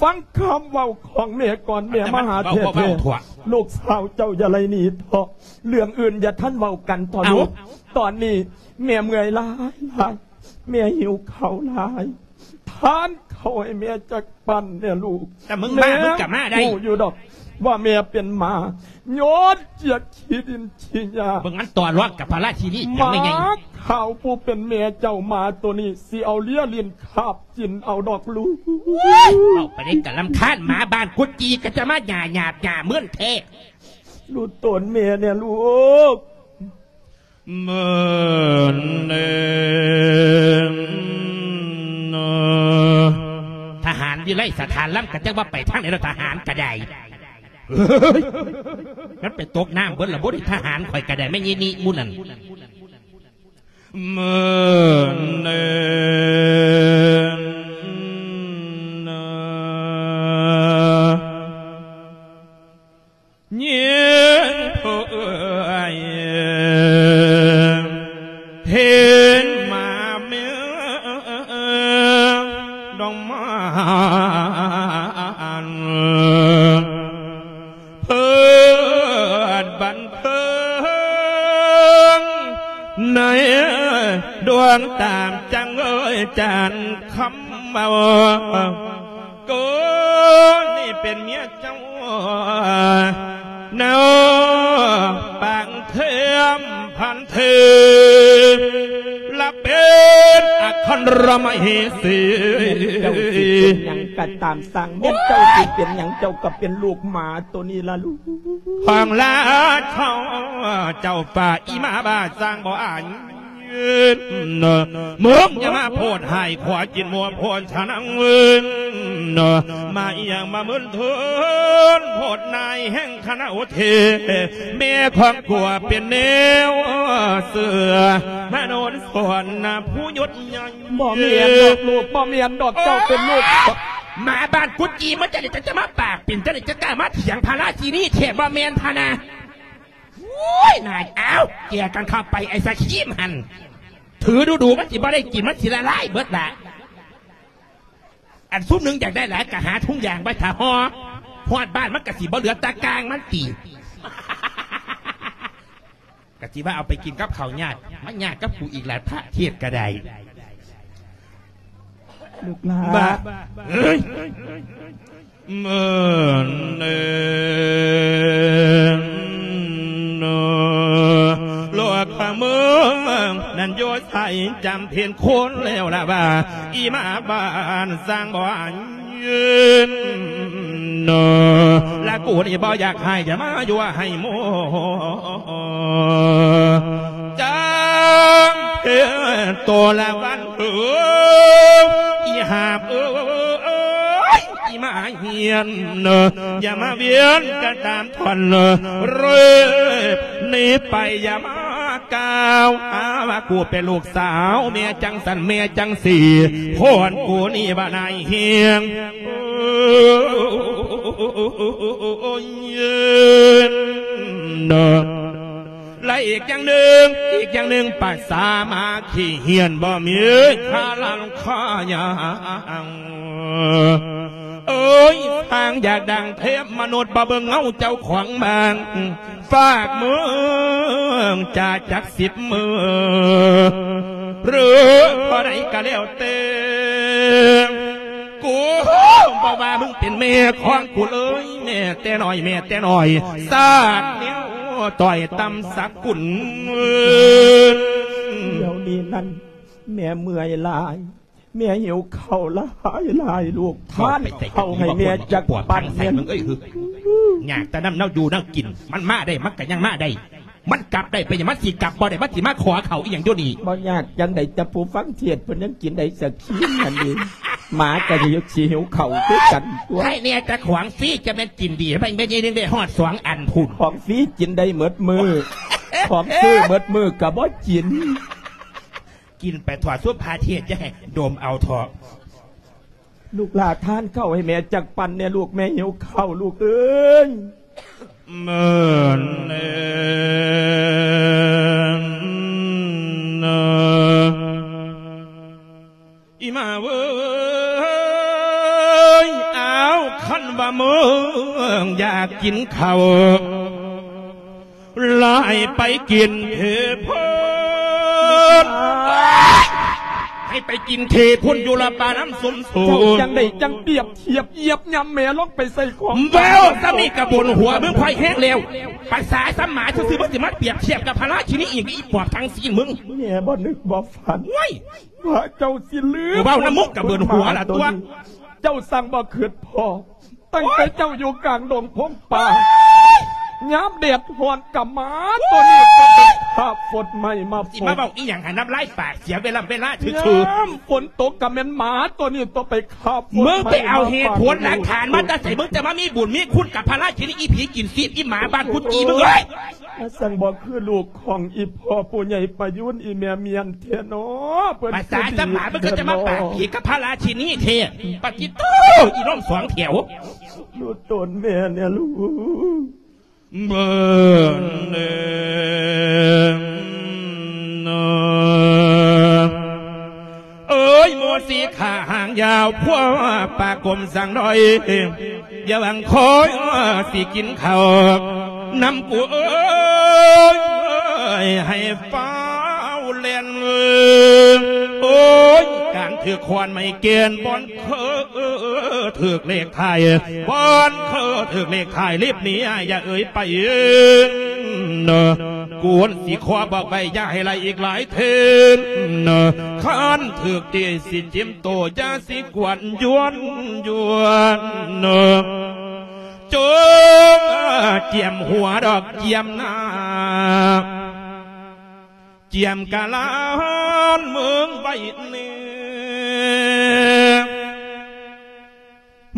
ຟັງຄຳເວົ້າຂອງແມ່ກ່ອນ ແມ່ມາຫາແທ້ໆ. ລູກສາວເຈົ້າຢ່າໄລ່ໜີເຖາະ ເລື່ອງອື່ນຢ່າທັນເວົ້າກັນເຖາະລູກ. ຕອນນີ້ແມ່ເມື່ອຍຫຼາຍໆ ແມ່ຫິວເຂົ້າຫຼາຍ. ທານເຂົ້າໃຫ້ແມ່ຈັກປັ້ນແດ່ລູກ. ແຕ່ມຶງມາ ແມ່ ມຶງກໍມາໄດ້ ຮູ້ຢູ່ດອກວ່າແມ່ເປັນໝາ ຍ້ອນຈຽກຂີ້ດິນຂີ້ຫຍ້າ. ເບິ່ງມັນຕໍ່ລອງກັບພະລາຊິນີ ໝາຂາວຜູ້ເປັນແມ່ເຈົ້າ ໝາໂຕນີ້ຊິເອົາເລຍຫຼິ້ນຄາບກິນເອົາດອກລູກ. ເວົ້າໄປໄດ້ກະລຳຄານ ໝາບ້ານກຸດຈີ່ກໍຈະມາຫຍ້າຫຍາບຫຍ້າເມີນແທ້. ຮູ້ຕົນແມ່ແດ່ລູກ. ເມີນເນນ ທະຫານວິໄລສະຖານລຳ ກະຈັກວ່າໄປທາງໃດແລ້ວ ທະຫານກະໄດ້. ເຮີ້ຍ ມັນໄປຕົກນ້ຳເບິດລະບໍ່ໄດ້ ທະຫານຂ້ອຍກະໄດ້ ແມ່ນອີ່ນີ້ໝູ່ນັ້ນ. ເມີນເນນ ຍິງຜູ້ເອື້ອຍ ເຫັນໝາເມືອງດອງມານ ເພິດບັນເທີງ ໃນດວງຕາມຈັງເອີຍ ຈານຄຳເວົ້າ. ໂກນີ້ເປັນເມຍເຈົ້າ ເນາະ ປາງເທີມພັນເທີ ລະເປັນອະຄັນລະມະເຫສີ. ແມ່ນເຈົ້າຊິເປັນຫຍັງກະຕາມຊ່າງ ແມ່ນເຈົ້າຊິເປັນຫຍັງ ເຈົ້າກະເປັນລູກໝາໂຕນີ້ລະລູກ. ຂອງລາເຈົ້າ ເຈົ້າປ່າອີ່ໝາບ້າຊ່າງບໍ່ອາຍ ມຶງຢ່າມາໂພດຮ້າຍ ຂົວກິນມົວໂພດຊະນັງ ມາອີ່ຫຍັງມາມຶນເທີນ ໂພດນາຍແຫ່ງຄະນະໂອເທ ແມ່ຂອງກົວເປັນແນວເສືອ ມາໂນນສອນນະຜູ້ຍົດໃຫຍ່. ບໍ່ແມ່ນດອກລູກ ບໍ່ແມ່ນດອກ ເຈົ້າເປັນລູກ ໝາບ້ານກຸດຈີ່ ມາຈັ່ງໃດ ຈະມາປາກເປັນຈັ່ງໃດ ຈະກ້າມາຖຽງພະລາຊິນີແທ້ ບໍ່ແມ່ນພະນະ. ໂອ້ຍ ນາຍ ອ້າວ ເກຍກັນເຂົ້າໄປ ໄອ້ສະຄຣີມຫັ້ນ ຖືດູໆ ມັນຊິບໍ່ໄດ້ກິນ ມັນຊິລະລາຍເບິດລະ. ອັນຊຸມໜຶ່ງຢາກໄດ້ຫຼາຍກະຫາຖົງຢາງໄວ້ຖ້າຫໍ່ ຮອດບ້ານມັນກະຊິບໍ່ເຫຼືອຕາກາງມັນຕິ. ກະຊິວ່າເອົາໄປກິນກັບເຂົ້າຍາດ ມາຍາດກັບກູອີກລະ ພະເທດກະໄດ້. ລູກຫຼ້າ ບາດ ເອີຍ ເມີນເອີນ ໂນ ໂລກພະເມືອງນັ້ນຢູ່ໃສ ຈຳເປັນຄົນແລ້ວລະວ່າ ອີ່ໝາບ້ານສ້າງບໍ່ອາຍ ເນາະ ລະກູນີ້ບໍ່ຢາກໃຫ້ ຢ່າມາຍົວໃຫ້ໂມ ຈຳເປັນໂຕລະວັນເອີຍ ອີ່ຫາບເອີຍ ອີ່ໝາຮຽນ ເນາະ ຢ່າມາວຽນກັນຕາມ ທ່ອນເລີຍ ໜີໄປຢ່າມາກ່າວຫາວ່າ ກູເປັນລູກສາວແມ່ຈັ່ງຊັ້ນແມ່ຈັ່ງຊີ້ ພອນກູນີ້ວ່ານາຍຮຽງ ໂອ້ຍ ເນາະ. ແລະອີກຢ່າງໜຶ່ງ, ອີກຢ່າງໜຶ່ງ ພາສາມາຂີ້ເຫື່ອນບໍ່ມີຄ່າລ້ານຄ່າຫຍັງ. ໂອ້ຍ ສ້າງຢາກດັງເທບມະນຸດ ບໍ່ເບິ່ງເງົາເຈົ້າຂອງບ້ານ ຝາກເມືອງຈາຈັກສິບມື້ ຫຼືເທົ່າໃດກໍແລ້ວແຕ່ ກູບໍ່ວ່າມຶງເປັນແມ່ຂອງກູເລີຍ ແມ່ແຕ່ນ້ອຍ ແມ່ແຕ່ນ້ອຍ ຊາດແນວຕ້ອຍຕ່ຳສັກກຸນ. ດຽວນີ້ນັ້ນ ແມ່ເມື່ອຍຫຼາຍ ແມ່ຫິວເຂົ້າຫຼາຍໆ ລູກ ທານເຂົ້າໃຫ້ແມ່ຈັກປັ້ນແດ່. ຍາກແຕ່ນຳແນວຢູ່ແນວກິນ ມັນມາໄດ້ ມັນກໍຍັງມາໄດ້ ມັນກັບໄດ້ ເປັນຫຍັງມັນຊິກັບບໍ່ໄດ້ ມັນຊິມາຂໍເຂົ້າອີ່ຫຍັງຢູ່ນີ້? ບໍ່ຍາກຈັ່ງໃດ ແຕ່ຜູ້ຟັງເທດເພິ່ນຍັງກິນໄດ້ສັກຄີນນັ້ນເດ ໝາກໍຊິຫິວເຂົ້າຄືກັນຕົວະ. ໃຫ້ແນ່ ແຕ່ຂອງຟຣີຈະແມ່ນກິນດີ ແມ່ນໃຫຍ່ໜຶ່ງໄດ້ຮອດສອງອັນພຸ້ນ. ຂອງຟຣີກິນໄດ້ໝົດມື້ ຂອງຊື້ໝົດມື້ກໍບໍ່ກິນ. ກິນໄປເຖາະ ສຸພາເທດ ຢ່າໃຫ້ດົມເອົາເຖາະ. ລູກຫຼ້າທານເຂົ້າໃຫ້ແມ່ຈັກປັ້ນແດ່ລູກ ແມ່ຫິວເຂົ້າລູກເອີຍ. ແມ່ນແລ້ວນະ ອີ່ໝາເອີຍ ອ້າວ ຄັນວ່າມຶງຢາກກິນເຂົ້າ ລາຍໄປກິນເທພຸ້ນ ໃຫ້ໄປກິນເທພຸ້ນ ຢູ່ລະປ່ານ້ຳຊຸມສູນ. ເຈົ້າຈັ່ງໃດຈັ່ງປຽບທຽບຢຽບຫຍ້ຳແມ່ລົງໄປໃສ່ຂອງ ເວົ້າສ່ຳນີ້ກະບຸນຫົວມຶງພໍແຮງແລ້ວ. ພາສາສ່ຳໝາຊື່ໆ ມຶງຊິມາປຽບທຽບກັບພະລາຊິນີອີກ ອີປອບທັງຊີ້ນມຶງ. ແມ່ບໍ່ນຶກບໍ່ຝັນ ໂອ້ຍ ວ່າເຈົ້າຊິລືມ ເວົ້ານຳມຶງກະເບິ່ນຫົວລະຕົວະ. ເຈົ້າຊ່າງບໍ່ຄິດພໍ ຕັ້ງແຕ່ເຈົ້າຢູ່ກາງດົງພົງປ່າ ຍາມແດດຮ້ອນກະໝາໂຕນີ້ກໍໄປຄາບຟົດໄມ້ມາຟົດ. ຊິມາເວົ້າອີ່ຫຍັງໃຫ້ນ້ຳລາຍປາກເສຍເວລາເວລາຊື່ໆ. ຍາມຝົນຕົກກະແມ່ນໝາໂຕນີ້ຕົວໄປຄາບຟົດໄມ້ມາຟາດ. ມຶງໄປເອົາເຫດຜົນຫຼັກຖານມາແຕ່ໃສ? ມຶງຈະມາມີບຸນມີຄຸນກັບພະລາຊິນີ ອີຜີກິນຊີບ ອີໝາບ້ານກຸດຈີ່ມຶງເອີຍ. ມາຊ່າງບໍ່ຄືລູກຂອງອີພໍ່ຜູ້ໃຫຍ່ປະຍຸນ ອີແມ່ມຽນແທ້ນໍ. ພາສາຈຳໝາ ມຶງຄືຈະມາປາກດີກັບພະລາຊິນີແທ້. ປະຕິດໂທ້ ອີນົມສອງແຖວ ດູຕົນແມ່ແດ່ລູກ. ເບິ່ງແນ່ເອີຍ ໝູສີຂາຫາງຍາວ ພວກປາກົມສັງດອຍ ຢ່າຫວັງຄອຍຊິກິນເຂົ້ານຳກູເອີຍ ໃຫ້ຟ້າວແລ່ນ. ໂອ້ຍ ການຖືກຂອນໄມ້ແກ່ນ ບ່ອນເຄີຖືກເລກທ້າຍ ບ່ອນເຄີຖືກເລກທ້າຍ ລີບໜີ ຢ່າເອີຍໄປ. ກູຊິຂໍບອກໄວ້ ຢ່າໃຫ້ໄລ່ອີກຫຼາຍເທື່ອ ຄັນຖືກຕີຊິຈິ້ມໂຕ ຢ່າຊິກວນຢວນຢວນ ຈົ່ງກຽມຫົວດອກກຽມໜ້າ ກຽມກະລານເມືອງໄວ້ແນ່.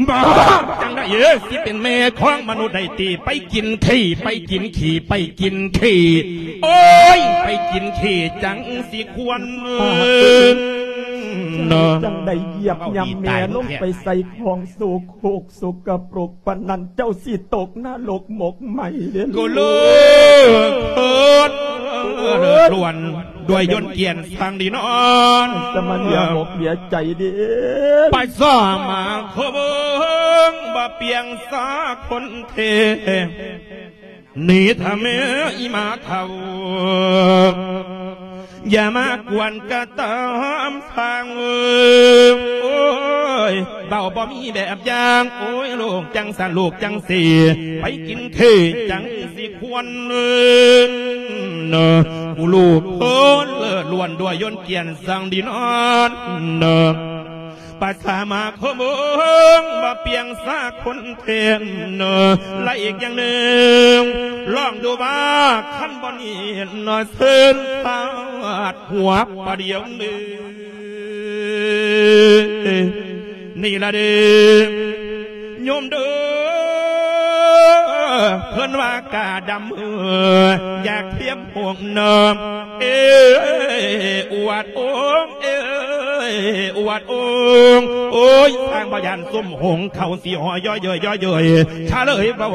ບາບຈັ່ງໃດເອີຍ ຊິເປັນແມ່ຂອງມະນຸດໄດ້ຕິ ໄປກິນຂີ້ ໄປກິນຂີ້ ໄປກິນຂີ້ ໂອ້ຍ ໄປກິນຂີ້ ຈັ່ງຊິຄວນເນາະ. ຈັ່ງໃດຢຽບຫຍ້ຳແມ່ລົງໄປໃສ່ຂອງໂສໂຄກ ສົກກະປົກປານນັ້ນ ເຈົ້າຊິຕົກນະລົກໝົກໄໝ້ເດ້ລູກ. ກູລູກເພິ່ນເລີດລ້ວນ ດ້ວຍຍົນກຽນສັງດີນອນ ສະມານຢ່າໝົກເບຍໃຈເດ້. ໄປສາມາຄົງບໍ່ປຽງສາຄົນເທ ໜີຖ້າແມ່ອີໝາເຖົ້າ ຢ່າມາກວນກະຕາມທາງເອີຍ. ໂອ້ຍ ເວົ້າບໍ່ມີແບບຢ່າງ ໂອ້ຍ ລູກຈັ່ງຊັ້ນ ລູກຈັ່ງຊີ້ ໄປກິນເທຈັ່ງຊິຄວນເນາະ. ກູລູກເພິ່ນເລີດລ້ວນດ້ວຍຍົນກຽນສັງດີນອນເນາະ. ປະສາມາຄົງບໍ່ປຽງສາຄົນເທນເນາະ. ແລະອີກຢ່າງໜຶ່ງ ລອງດູວ່າຄັນບໍ່ນີ້ເນາະ ເຊີນພາດຫົວປະດຽວນີ້ ນີ້ລະເດີ ໂຍມເດີ ເພິ່ນວ່າກາດຳ ຢາກທຽມ ໂອງນາມ ເອ ອວດໂອງ ເອ ອວດໂອງ. ໂອ້ຍ ທາງບໍ່ຢ້ານຊຸມຫົງເຂົາຊິຫໍ່ຍໍ້ເຍີ້ຍ ຍໍ້ເຍີ້ຍ ຊະເລີຍເວົ້າ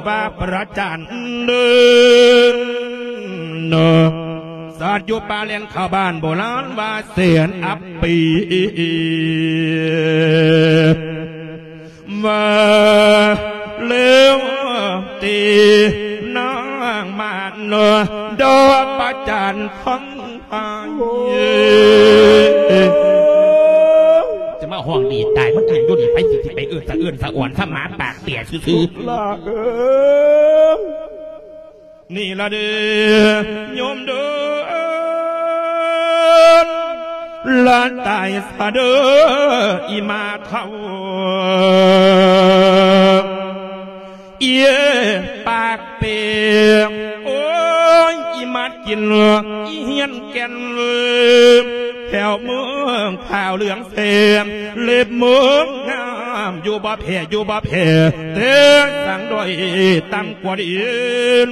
ວ່າປະຈານເດີ. ສັດຢູ່ປ່າແລນເຂົ້າບ້ານ ໂບລານວ່າແສນອັບປີ ວ່າແລ້ວຕິນາງມານດອກປະຈັນຂອງ ຈະມາຮ້ອງດີຕາຍ ມັນທາງຢູ່ນີ້ ໃຜຊິ ຊິໄປເອີ້ນສະເອີ້ນສະອອນ ສະໝາປາກເປຍຊື່ໆ ລາເອີຍ ນີ້ລະເດີ ໂຍມເດີ ລະຕາຍສະເດີ ອີ່ໝາເຖົ້າ ເອີຍ ປາກເປຍ ໂອ້ຍ ອີ່ໝາດກິນ ອີ່ຮຽນແກ່ນ ແຖວເມືອງຂາວເຫຼືອງແສງ ເລັບເມືອງງາມ ຢູ່ບໍ່ແພ້ ຢູ່ບໍ່ແພ້ ແຕ່ສັງດ້ອຍຕັ້ງກວ່າດີນ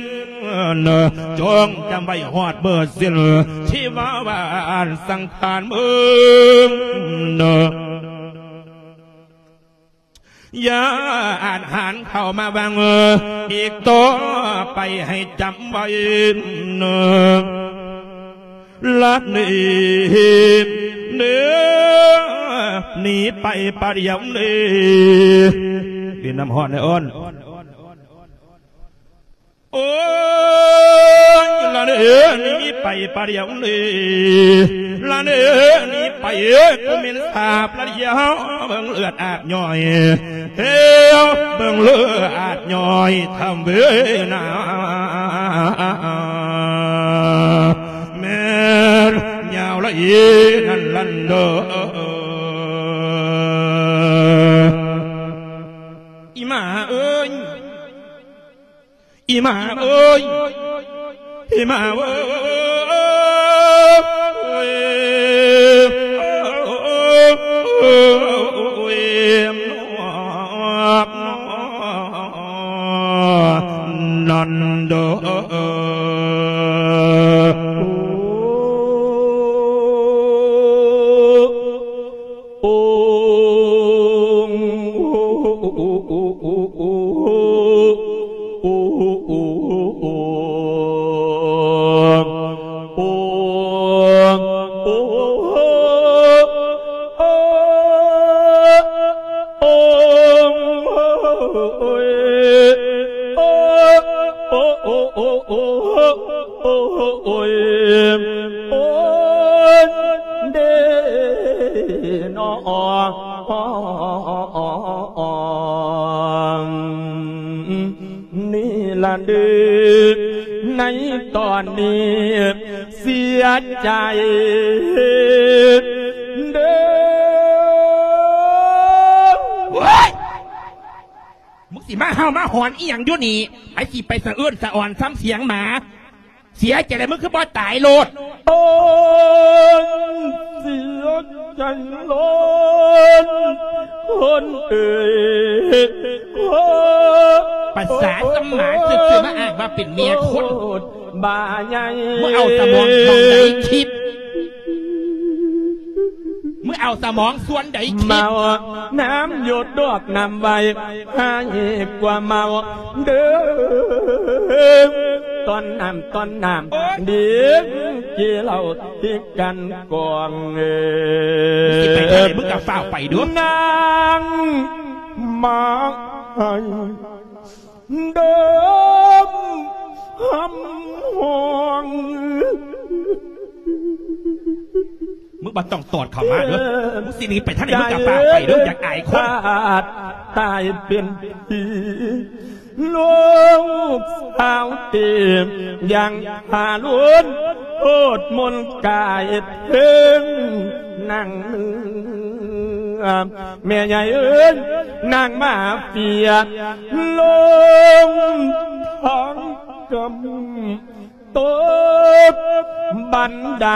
ຈົ່ງຈຳໄວ້ຮອດເບີສິ້ນ ທີ່ວ່າວານສັງຂານເມືອງ ຢ່າອາດຫານເຂົ້າມາຫວັງອີກຕໍ່ໄປ ໃຫ້ຈຳໄວ້ ລະໜີ ໜີ ໜີໄປປະດຽວນີ້ ກິນນ້ຳຮ້ອນແດ່ອ້ນ. ໂອ້ຍ ລະເນີ ໜີໄປປະດຽວນີ້ ລະເນີ ໜີໄປ ເອີຍ ກູເໝັນສາບລະດຽວ ເບິ່ງເລືອດອາບຍ່ອຍ ເອີຍ ເບິ່ງເລືອດອາບຍ່ອຍ ທຳເວນາ ແມ່ນຍາວລະອີນັ້ນລັນເດີ ອີ່ໝາເອີຍ. ອີ່ໝາເອີຍ ອີ່ໝາເອີຍ ນັ້ນເດີ. ໂອງ ໂອງ ໂອງ ໂອງ ໂອງ ໂອງ ໂອງ ໂອ້ຍ ໂອ້ຍ ໂອ້ຍ ໂອ້ຍ ເດເນາະ ນີ້ລະເດີ ໃນຕອນນີ້ເສຍໃຈເດີ. ໂອ້ຍ! ມຶງຊິມາເຫົ່າມາຫອນອີ່ຫຍັງຢູ່ນີ້? ໃຜຊິໄປສະເອີ້ນສະອອນສ່ຳສຽງໝາ? ເສຍໃຈແລ້ວ ມຶງຄືບໍ່ຕາຍໂລດ? ໂອ້ຍ ເສຍໃຈໂລດ ຄົນເອີຍ ໂອ້ຍ ປະສາດສະໝານຊື່ໆ ມາອ້າງວ່າເປັນເມຍຄົນ ໂອ້ຍ ບ້າໃຫຍ່ ມຶງເອົາສະໝອງສ່ວນໃດຄິດ? ມຶງເອົາສະໝອງສ່ວນໃດຄິດ? ເມົານ້ຳຢົດດອກນ້ຳໄວ ຮ້າຍກວ່າເມົາເດີ ຕ້ອນນ້ຳ ຕ້ອນນ້ຳ ໂອ້ຍ ເດ ກິນເຫຼົ້າຕິດກັນກອງເອີຍ ຊິໄປທາງໃດ ມຶງກະຟ້າວໄປເດີ ນາງມາໃຫ້ ເດີມຫຳຫ້ອງ ມຶງບໍ່ຕ້ອງຕອດເຂົ້າມາເດີ ມຶງຊິໜີໄປທາງໃດ ມຶງກະຟ້າວໄປເດີ ຢາກອາຍຄົນ ຕາຍເປັນຜີ ລູກສາວເຕັມ ຍັງຫາລຸນໂທດມົນກາຍເຖິງນາງເໜືອ ແມ່ໃຫຍ່ເອີຍ ນາງມາເຟຍລົງທາງກຳ ຕົກບັນໄດ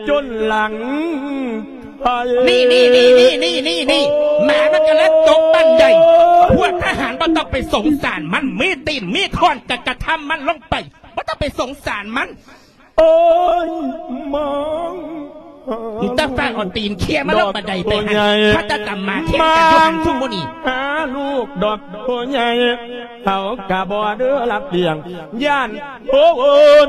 ຈົນຫຼັງໄທ ນີ້ໆໆໆໆ ໝາມັນກະເລີຍຕົກບັນໄດ ພວກທະຫານບໍ່ຕ້ອງໄປສົງສານມັນ ມີຕີນມີຄ້ອນກະກະທຳມັນລົງໄປ ບໍ່ຕ້ອງໄປສົງສານມັນ. ໂອ້ຍ ມອງ ມີແຕ່ຟ້າວເອົາຕີນເຄຍມາລົງບັນໄດໄປຫັ້ນ ພາຕາຕຳໝາກແຂ່ງກັນຢູ່ຫັ້ນຊຸມື້ນີ້ ຫາລູກດອກໂພໃຫຍ່ ເຮົາກະບໍ່ເດີລະປຽງ ຢ້ານໂພໂອນ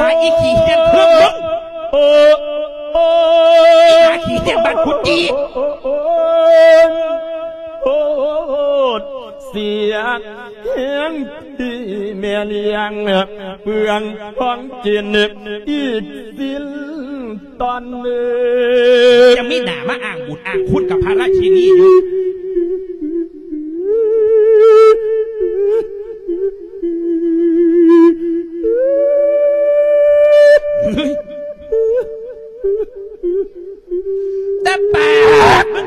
າອີ່ຂີ້ເຫ້ນເຄື່ອງມຶງ ໂອ້ ໂອ້ ອີ່ໝາຂີ້ເຫ້ນບ້ານກຸດຈີ່ ໂອ້ ໂອ້ ໂອ້ ເສຍແຮງທີ່ແມ່ລ້ຽງ ເປືອງຂອງກິນອີກສິ້ນຕອນເດີ ຍັງມີໜ້າມາອ້າງບຸນອ້າງຄຸນກັບພະລາຊິນີຢູ່.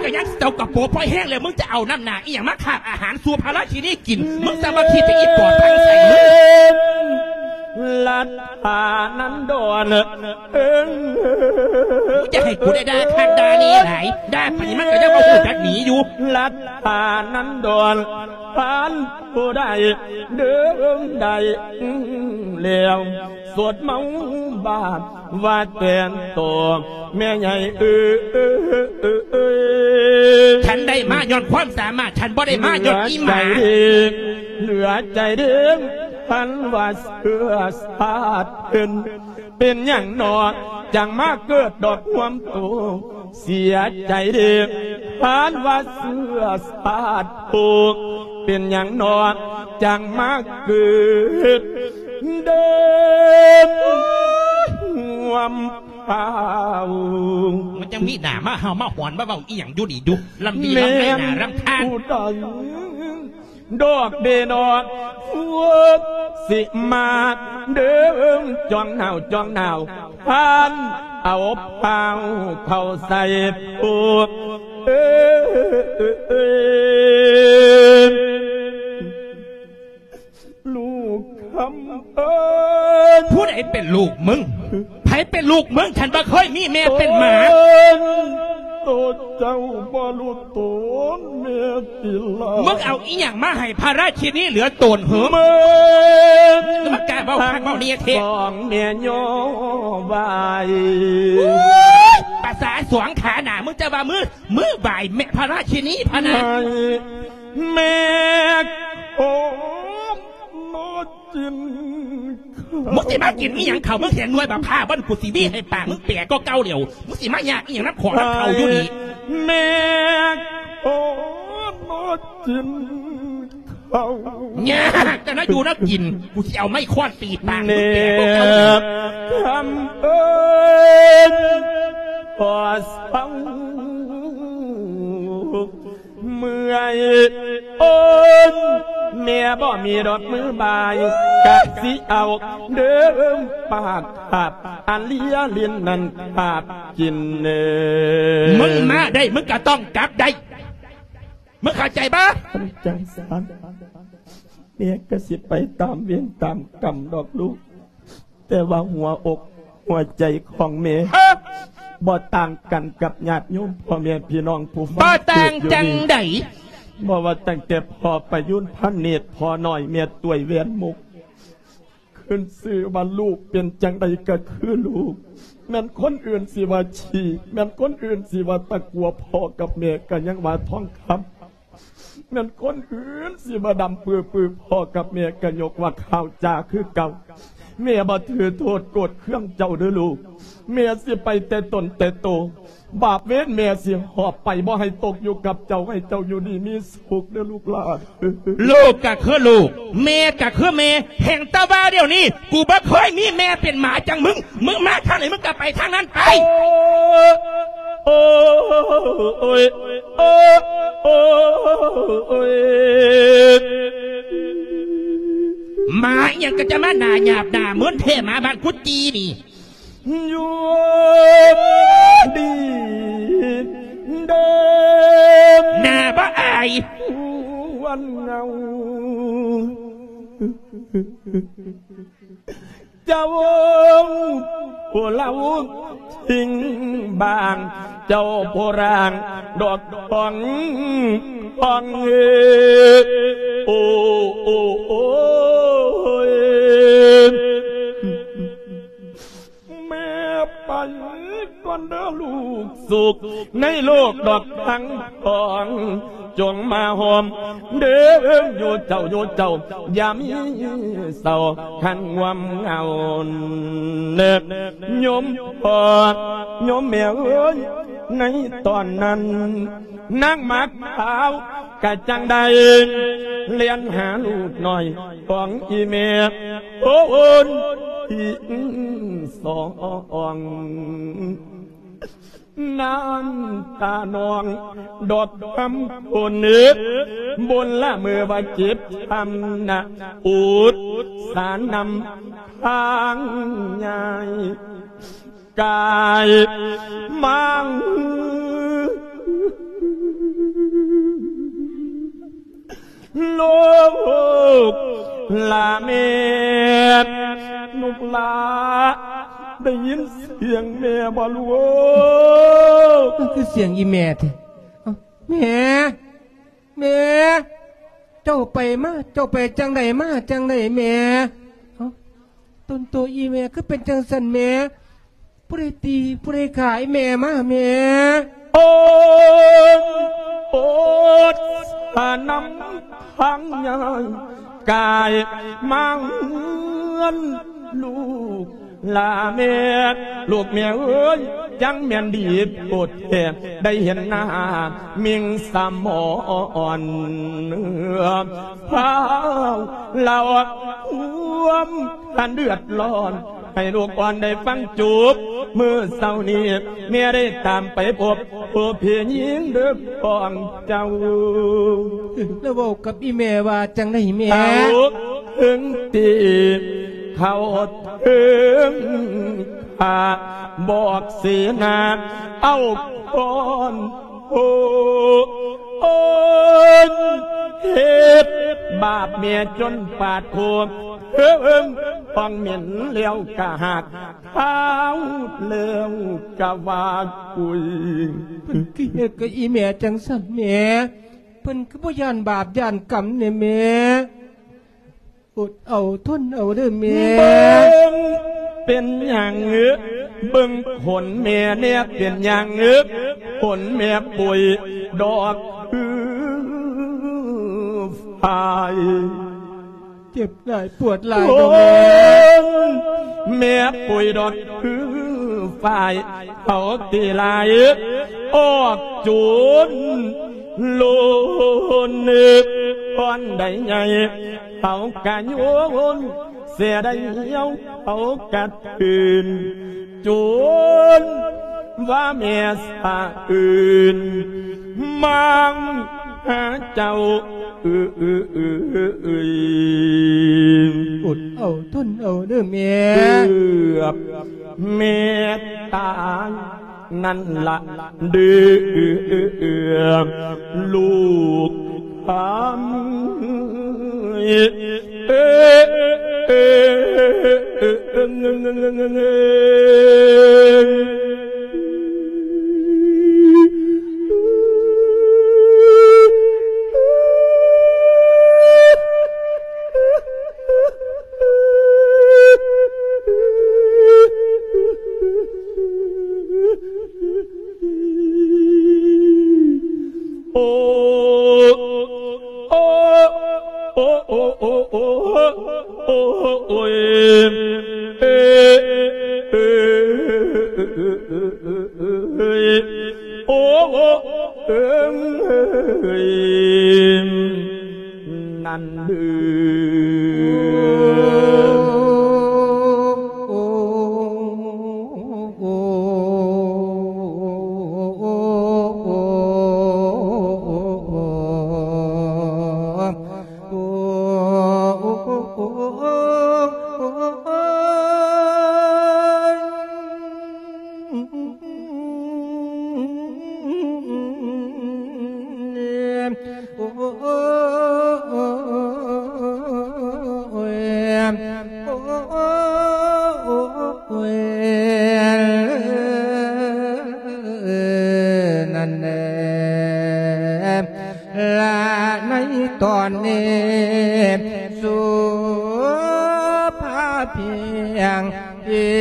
ກໍຍັງເຈົ້າກະໂປະພໍແຮງແລ້ວ ມຶງຈະເອົານ້ຳໜາອີ່ຫຍັງມາຄາບອາຫານສູ່ພະລາຊິນີກິນ? ມຶງຈະມາຄິດຈະອີ່ປອດທາງໃສ? ລັດຖານັນດອນ ເອີ ມຶງຈະໃຫ້ກູໄດ້ດ່າຄັກດ່າແນ່ຫຼາຍ ດ່າປານນີ້ມັນກໍຍັງບໍ່ຮູ້ຈັກໜີຢູ່. ລັດຖານັນດອນ ທ່ານຜູ້ໃດເດີນໄດ້ແລ້ວ ສົດເມົາບາດວ່າແຕ່ນໂຕ ແມ່ໃຫຍ່ເອີຍ. ທ່ານໄດ້ມາຍ້ອນຄວາມສາມາດ ທ່ານບໍ່ໄດ້ມາຍ້ອນອີ່ໝາ. ເຫຼືອໃຈເດ້ ເຫຼືອໃຈເດ້ ທ່ານວ່າເຊື້ອຊາດເພິ່ນ ເປັນຫຍັງໜໍ ຈັ່ງມາເກີດດອກຮ່ວມໂຕ? ເສຍໃຈເດ້ ທ່ານວ່າເຊື້ອຊາດຜູ້ ເປັນຫຍັງໜໍ ຈັ່ງມາເກີດເດີນຮ່ວມພາວ? ມັນຍັງມີໜ້າມາເຫົ່າມາຫອນມາເວົ້າອີ່ຫຍັງຢູ່ນີ້ຢູ່ ລຳດີລຳໄລໜ້າລຳຄານ. ແມ່ນຜູ້ໃດ ດອກເບນອກ ພວກຊິມາເດີນຈ້ອງໜາວຈ້ອງໜາວ ທ່ານເອົາພ້າວເຂົ້າໃສ່ຜູ້ ເອີຍ ລູກຄຳເອີຍ. ຜູ້ໃດເປັນລູກມຶງ? ໃຜເປັນລູກມຶງ? ທ່ານບໍ່ເຄີຍມີແມ່ເປັນໝາ. ໂຕເຈົ້າບໍ່ຮູ້ໂຕນແມ່ຕິລາ. ມຶງເອົາອີ່ຫຍັງມາໃຫ້ພະລາຊິນີເຫຼືອໂຕນເຫີ? ແມ່ນ ມັນກ້າເວົ້າຄັກເວົ້າແນ່ແທ້. ສອງແມ່ຍ່ອບາຍ. ໂອ້ຍ ພາສາສອງຂາໜ້າ ມຶງຈະວ່າມື ມືບາຍແມ່ພະລາຊິນີພະນະ. ໃຫ້ແມ່ໂຄມມາກິນເຂົ້າ. ມຶງຊິມາກິນອີ່ຫຍັງເຂົ້າ? ມຶງເຫັນໜ່ວຍບັກພ້າວບໍ່? ກູຊິຫວີໃຫ້ປາກມຶງແປກວ່າເກົ່າແລ້ວ. ມຶງຊິມາຍາກອີ່ຫຍັງນຳຂອງນຳເຂົ້າຢູ່ນີ້? ໃຫ້ແມ່ໂຄມມາກິນ ເອົາ ຍາກແຕ່ນະຢູ່ນະກິນ ກູຊິເອົາໄມ້ຄ້ອນຕີປາກ ແນບຄຳເອີ້ນ ພໍເຊົາເມື່ອຍໂອນ ແມ່ບໍ່ມີດອກມືບາຍ ກະຊິເອົາເດີມປາກຄາບ ອັນເລຍຫຼິ້ນນັ້ນຄາບກິນເດີ. ມຶງມາໄດ້ ມຶງກະຕ້ອງກັບໄດ້. ມຶງເຂົ້າໃຈບໍ່? ຄັນຈັ່ງຊັ້ນ ແມ່ກໍຊິໄປຕາມເວນຕາມກຳດອກລູກ, ແຕ່ວ່າຫົວອົກຫົວໃຈຂອງແມ່ ເອີ ບໍ່ຕ່າງກັນກັບຍາດໂຍມພໍ່ແມ່ພີ່ນ້ອງຜູ້ຟັງ ບໍ່ຕ່າງ ເທດຢູ່ນີ້ ຈັ່ງໃດ? ບໍ່ວ່າຕັ້ງແຕ່ພໍ່ປະຍຸນ ພະເນດ ພໍ່ນ້ອຍ ແມ່ຕ້ວຍ ແວ່ນມຸກ ຂຶ້ນຊື່ວ່າລູກເປັນຈັ່ງໃດກໍຄືລູກ, ແມ່ນຄົນອື່ນຊິວ່າຂີ້, ແມ່ນຄົນອື່ນຊິວ່າຕະກົວ, ພໍ່ກັບແມ່ກໍຍັງວ່າທອງຄຳ, ແມ່ນຄົນອື່ນຊິວ່າດຳປືໆ, ພໍ່ກັບແມ່ກໍຍົກວ່າຂາວຈ້າຄືເກົ່າ. ແມ່ບໍ່ຖືໂທດໂກດເຄືອງເຈົ້າເດີ້ລູກ, ແມ່ຊິໄປແຕ່ຕົນແຕ່ໂຕ. ບາບເວນແມ່ຊິຫອບໄປ ບໍ່ໃຫ້ຕົກຢູ່ກັບເຈົ້າ, ໃຫ້ເຈົ້າຢູ່ດີມີສຸກເດີ້ລູກຫຼານ. ລູກກໍຄືລູກ, ແມ່ກໍຄືແມ່, ແຮ່ງແຕ່ວ່າດຽວນີ້ ກູບໍ່ເຄີຍມີແມ່ເປັນໝາຈັ່ງມຶງ. ມຶງມາທາງໃດ ມຶງກໍໄປທາງນັ້ນໄປ. ໂອ້ ໂອ້ ໂອ້ ໂອ້ ໂອ້ ໂອ້ຍ ໝາອີ່ຫຍັງກໍຈະມາໜ້າຫຍາບໜ້າເມີນແທ້ ໝາບ້ານກຸດຈີ່ນີ້. ຢູ່ດີເດີ ໜ້າບໍ່ອາຍ ວັນເງົາ ເຈົ້າຜູ້ລາວ ຖິ້ມບາງ ເຈົ້າຜູ້ຮ່າງດອກທອງ ທອງເອີ ໂອ້ ໂອ້ ໂອ້ຍ. ແມ່ໄປກ່ອນເດີລູກສຸກ ໃນໂລກດອກທັງສອງ ຈົ່ງມາຮ່ວມເດີ ຢູ່ເຈົ້າ ຢູ່ເຈົ້າ ຢ່າມີເສົ້າຄັນງວມເຫງົາເນີ ໂຍມພໍ່ ໂຍມແມ່ເອີຍ. ໃນຕອນນັ້ນ ນາງໝາກຂາວກະຈັ່ງໄດ້ ແລ່ນຫາລູກນ້ອຍຂອງອີ່ແມ່ ໂອນອີ່ສອງ ນ້ຳຕານອງດອກຄຳຄົນເອີ ບົນລະເມີວ່າເຈັບທຳນະ ອຸດສານຳທາງຍາຍ ກາຍມາງ ລູກຫຼ້າແມ່ ລູກຫຼ້າ ໄດ້ຍິນສຽງແມ່ບໍ່ລູກ? ມັນຄືສຽງອີແມ່ແທ້. ເອົ້າ ແມ່ ແມ່ ເຈົ້າໄປມາ ເຈົ້າໄປຈັ່ງໃດມາຈັ່ງໃດແມ່? ເອົ້າ ຕົນໂຕອີແມ່ຄືເປັນຈັ່ງຊັ້ນແມ່? ຜູ້ໃດຕີ ຜູ້ໃດຂ້າອີແມ່ມາແມ່? ໂອດ ໂອດສະນຳທາງຍາຍກາຍມາເຮືອນ ລູກຫຼ້າແມ່ ລູກແມ່ເອີຍ ຈັ່ງແມ່ນດີໂພດແທ້ ໄດ້ເຫັນໜ້າມິ່ງສະໝອນ ພາວລາວຄວາມ ອັນເດືອດຮ້ອນ ໃຫ້ລູກອ່ອນໄດ້ຟັງຈົບ. ມື້ເຊົ້ານີ້ແມ່ໄດ້ຕາມໄປພົບຜູ້ພີ່ຍິງເດີຂອງເຈົ້າ. ແລ້ວເວົ້າກັບອີແມ່ວ່າຈັ່ງໃດແມ່? ເອົາເຖິງຕີເຂົ້າເຖິງຂ້າ ບອກເສນາເອົາກ່ອນ ໂອ້ ໂອ້ຍ ເຮັດບາບແມ່ຈົນປາດໂຄ ເຮີ້ມ ຟອງເໝັນແລ້ວກະຫາກ ຂາວແລ້ວກະວ່າກຸຍ. ເພິ່ນຄືເຮັດກັບອີແມ່ຈັ່ງຊັ້ນແມ່? ເພິ່ນຄືບໍ່ຢ້ານບາບຢ້ານກຳແດ່ແມ່? ອົດເອົາທົນເອົາເດີແມ່. ເບິ່ງເປັນຫຍັງ ເບິ່ງຂົນແມ່ແດ່ ເປັນຫຍັງ ຂົນແມ່ປຸຍດອກຄືຝ້າຍ. ເຈັບຫຼາຍປວດຫຼາຍດອກແມ່. ແມ່ປຸຍດອກຄືຝ້າຍ ເຂົາຕີຫຼາຍອອກໂຈນ ໂລນເອີກບ່ອນໃດໃຫຍ່ ເຂົາກະໂຍນ ເສຍໄດ້ເຫ່ຽວເຂົາກະເທີນ ໂຈນວ່າແມ່ສະເອີນມາຫາເຈົ້າເອີຍ. ອົດເອົາທົນເອົາເດີແມ່. ເກືອບແມ່ຕາຍ ນັ້ນລະເດີ ລູກຄຳ ເອີ ເອີ ເອີ ເອີ ເອີ ເອີ ເອີ ເອີ ເອີ. ໂອ ໂອ ໂອ ໂອ ໂອ ໂອ ໂອ ໂອ ເອີ ເອີ ເອີ ເອີ ເອີ ເອີ ເອີ ເອີ ເອີ ໂອ ໂອ ເອີ ເອີ ເອີ ນັ້ນເດີ. ນັ້ນແຫຼະ ລະໃນຕອນນີ້ ສຸພາພຽງເຮັ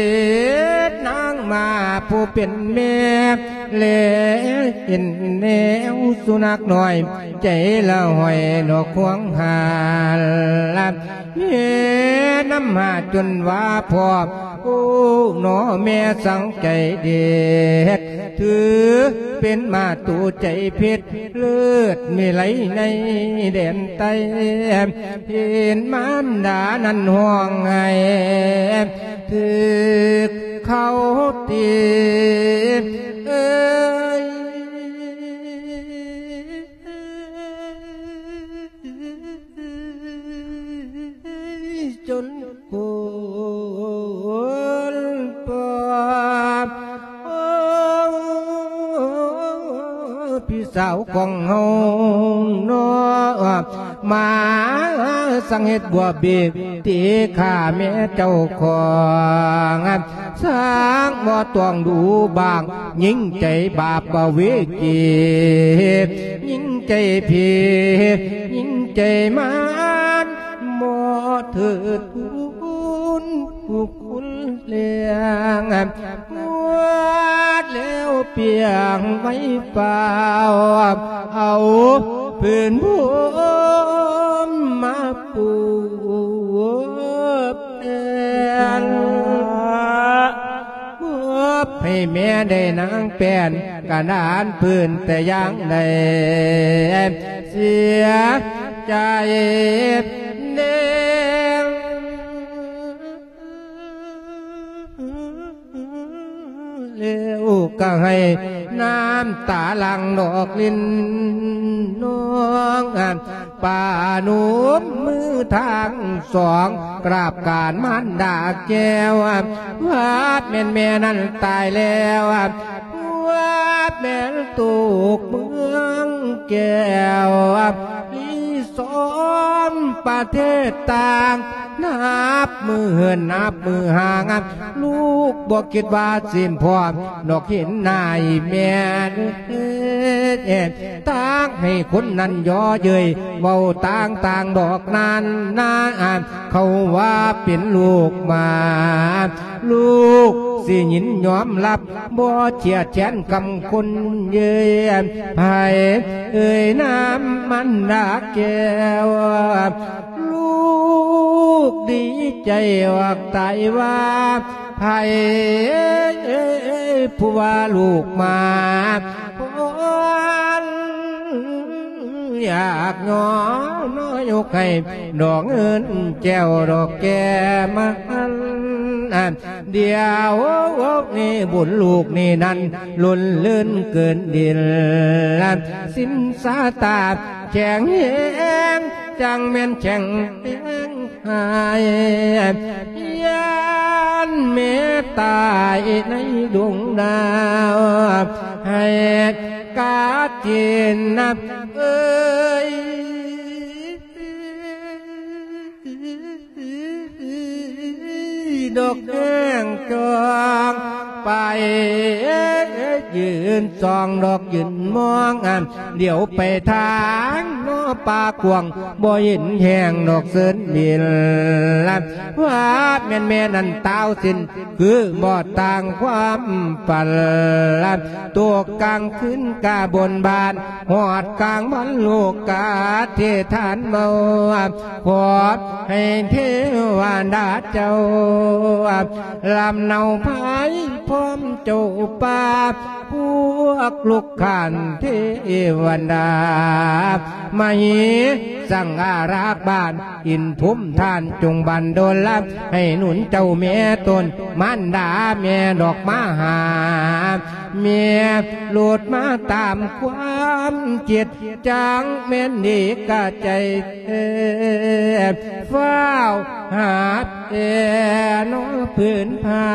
ດນາງມາຜູ້ເປັນແມ່ ແລເຫັນແນວສຸນັກນ້ອຍ ໃຈລະຫ້ອຍນອກຄວາງຫາລ ແມ່ນຳຫາຈົນວ່າພ້ອມ ໂອ້ ໜໍແມ່ສັງໃຈເດັດ ຖືເປັນມາໂຕໃຈເພັດ ເລີດມີໄລໃນແດນໃຕ້ ເຫັນມານດານັ້ນຮ້ອງໄຫ້ ຖືກເຂົາຕີ ເອີຍ ຈົນໂກນປອບ ພີ່ສາວຂອງເຮົາເນາະ ມາສັ່ງເຮັດບົວເບດ ຕີຂ້າແມ່ເຈົ້າຂອງ ຊ່າງບໍ່ຕ້ອງດູບາງ ຍິງໃຈບາບເວຈີ ຍິງໃຈເພ ຍິງໃຈມານ ບໍ່ເທີດ ຄຸນແລງ ໝົດແລ້ວປຽງໄວ້ຟ້າວ ເອົາພື້ນພົມມາປູແປນ ມອບໃຫ້ແມ່ໄດ້ນາງແປ້ນ ກະນານພື້ນແຕ່ຢ່າງໃດ ເສຍໃຈແນງ ແລ້ວກະໃຫ້ນ້ຳຕາຫຼັ່ງນອກລິນນອງ ປະນົມມືທັງສອງ ກາບການມານດາແກ້ວ ວ່າແມ່ນແມ່ນັ້ນຕາຍແລ້ວ ວ່າແມ່ນຕົກເມືອງແກ້ວ ລີສອມປະເທດຕ່າງ ນັບມື້ເຫີນນັບມື້ຫ່າງ ລູກບໍ່ຄິດວ່າຊິພໍດອກເຫັນໜ້າອີ່ແມ່ ຕາກໃຫ້ຄົນນັ້ນຍໍເຍີ້ຍ ເວົ້າຕ່າງໆດອກນັ້ນນາ ເຂົາວ່າເປັນລູກໝາ ລູກຊິຍິນຍອມຮັບ ບໍ່ເຈຍດແຄ້ນຄຳຄົນເຍີ້ຍ ໃຜເອີ່ຍນາມມັນດາແກ້ວ ລູກດີໃຈອອກຕາຍວ່າ ໃຜຜູ້ວ່າລູກໝາ ຍາກຍ້ອນຍກໃຫ້ດອກເງິນແກ້ວດອກແກ້ມາ ດຽວນີ້ບຸນລູກນີ້ນັ້ນ ລົ້ນເລີນເກີນດິນ ສິນສາຕາແຂງແຮງ ຈັ່ງແມ່ນແຂງແຮງ ຫາຍ ຢ້ານແມ່ຕາຍໃນດວງດາວ ໃຫ້ກາຕິນນະເອີຍ ດອກແຫ້ງຈອງໄປ ຢືນສ່ອງດອກຢືນມອງ ດຽວໄປທາງນອປ່າກວ້າງ ບໍ່ເຫັນແຫ້ງດອກເຊີນບິນ ວ່າແມ່ນແມ່ນັ້ນຕາວສິ້ນ ຄືບໍ່ຕ່າງຄວາມຝັນ ຕົກກາງຄືນກະບົນບານ ຮອດກາງວັນລູກກະທິຖານເມົາ ຂໍໃຫ້ເທວະດາເຈົ້າ ລຳເນົາພາຍພ້ອມເຈົ້າປ່າ ພວກລູກຂ້ານເທວະດາ ມະເຫສັງອາລັກບ້ານ ອິນທຸມທ່ານຈົ່ງບັນດົນລະ ໃຫ້ໜູນເຈົ້າແມ່ຕົນ ມານດາແມ່ດອກມະຫາ ແມ່ໂລດມາຕາມຄວາມຈິດ ຈັ່ງແມ່ນດີກະໃຈແທ້ ຟ້າວຫາແຕ່ນອຜືນຜ້າ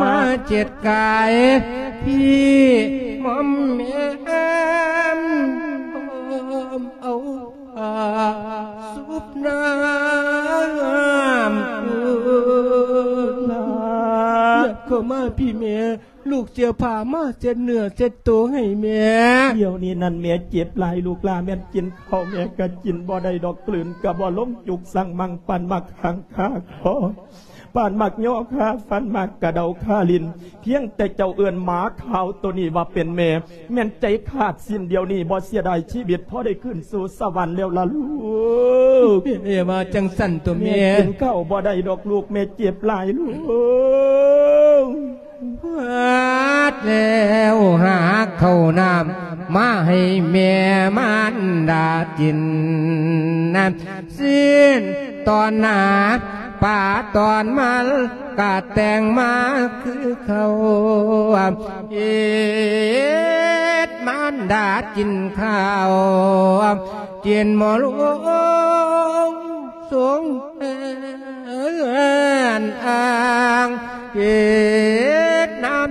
ມາເຈັດກາຍ ທີ່ໝອມແໝມ ເອົາຜ້າຊຸບນ້ຳ ເຂົ້າມາພີ່ແມ່ ລູກເສື້ອຜ້າມາເຊັດເນື້ອເຊັດໂຕໃຫ້ແມ່. ດຽວນີ້ນັ້ນແມ່ເຈັບຫຼາຍ ລູກຫຼ້າແມ່ນກິນເຂົ້າແມ່ກະກິນບໍ່ໄດ້ດອກ ກືນກະບໍ່ລົງ ຈຸກສັງມັງ ປານໝາກຫາງຄາຄໍ ປານໝາກຍໍຄາຟັນ ໝາກກະເດົາຄາຫຼິ້ນ ພຽງແຕ່ເຈົ້າເອີ້ນໝາຂາວໂຕນີ້ວ່າເປັນແມ່ ແມ່ນໃຈຂາດສິ້ນດຽວນີ້ ບໍ່ເສຍດາຍຊີວິດ ພໍໄດ້ຂຶ້ນສູ່ສະຫວັນແລ້ວລະລູກ. ແມ່ວ່າຈັ່ງຊັ້ນຕົວແມ່ ແມ່ກິນເຂົ້າບໍ່ໄດ້ດອກລູກ ແມ່ເຈັບຫຼາຍລູກ. ພາດແລ້ວຫາເຂົ້ານ້ຳມາໃຫ້ແມ່ມານດາກິນ ຊີ້ນຕອນໜາ ປາຕອນມັນກະແຕ່ງມາຄືເກົ່າ ເຮັດມານດາກິນເຂົ້າ ກິນໝໍລົງສົງແມ່ນອ່າງ ເຮັດນ້ຳ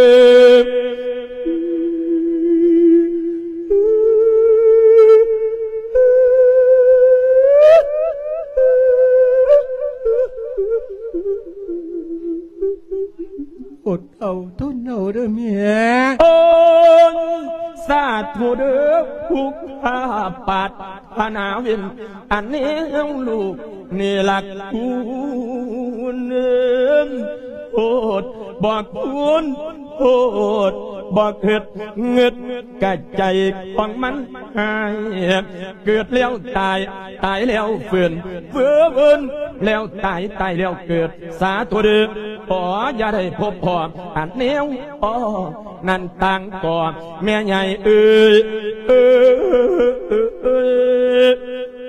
ອົດເອົາ ທົນເອົາເດີແມ່. ໂອ້ຍ ສາທຸເດີ ຜູ້ຂ້າປາດຖະໜາເວນ ອັນແນວລູກນີ້ລະຄຸນ ໂພດບໍ່ຄຸນ ໂພດບໍ່ຄິດ ງຶດກະໃຈຂອງມັນຫາຍ ເກີດແລ້ວຕາຍ ຕາຍແລ້ວຟື້ນ ຟື້ນແລ້ວຕາຍ ຕາຍແລ້ວເກີດ ສາທຸເດີ ຂໍຢ່າໄດ້ພົບພໍ້ອັນແນວ ອໍ ນັ້ນຕ່າງກໍແມ່ໃຫຍ່ເອີຍ ເອີຍ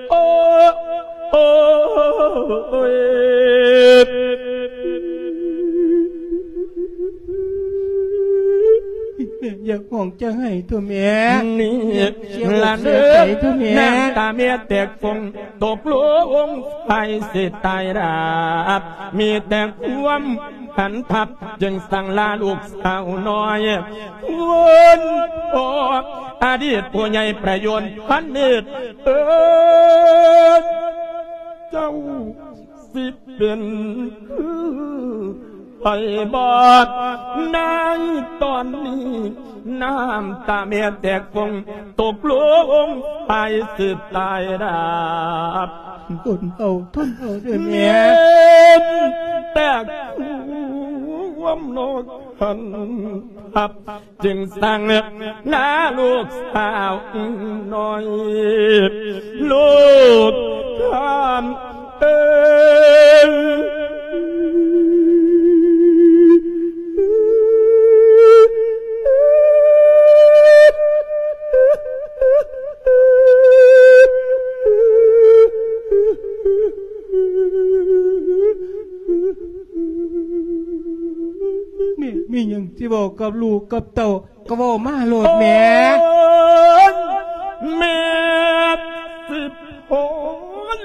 ໂອ້ ໂອ້ຍ ແມ່ຢ່າຮ້ອງຈະໄຫ້ໂທ້ແມ່ ນີ້ ເສຍອົກເສຍໃຈໂທ້ແມ່ ນ້ຳຕາແມ່ແຕກຟົງ ຕົກລົງໄປຊິຕາຍດາບ ມີແຕ່ຄວາມຫັນທັບ ຈຶ່ງສັ່ງລາລູກສາວນ້ອຍ ຄົນພໍ່ ອະດີດຜູ້ໃຫຍ່ປະໂຍນພັນເນດ ເອີຍ ເຈົ້າ ຊິເປັນຄືໄພບາດ ໃນຕອນນີ້ ນ້ຳຕາແມ່ແຕກຟົງ ຕົກລົງໄປຊິຕາຍດາບ ທົນເອົາ ທົນເອົາເດີແມ່ ແມ່ນແຕກຄວາມນອກຫັນທັບ ຈຶ່ງສັ່ງລາລູກສາວນ້ອຍ ລູກຂ້າເອີຍ ມີຫຍັງຊິເວົ້າກັບລູກກັບເຕົ້າ ກໍເວົ້າມາໂລດແມ່. ໂອ້ຍ ແມ່ຊິໂພນ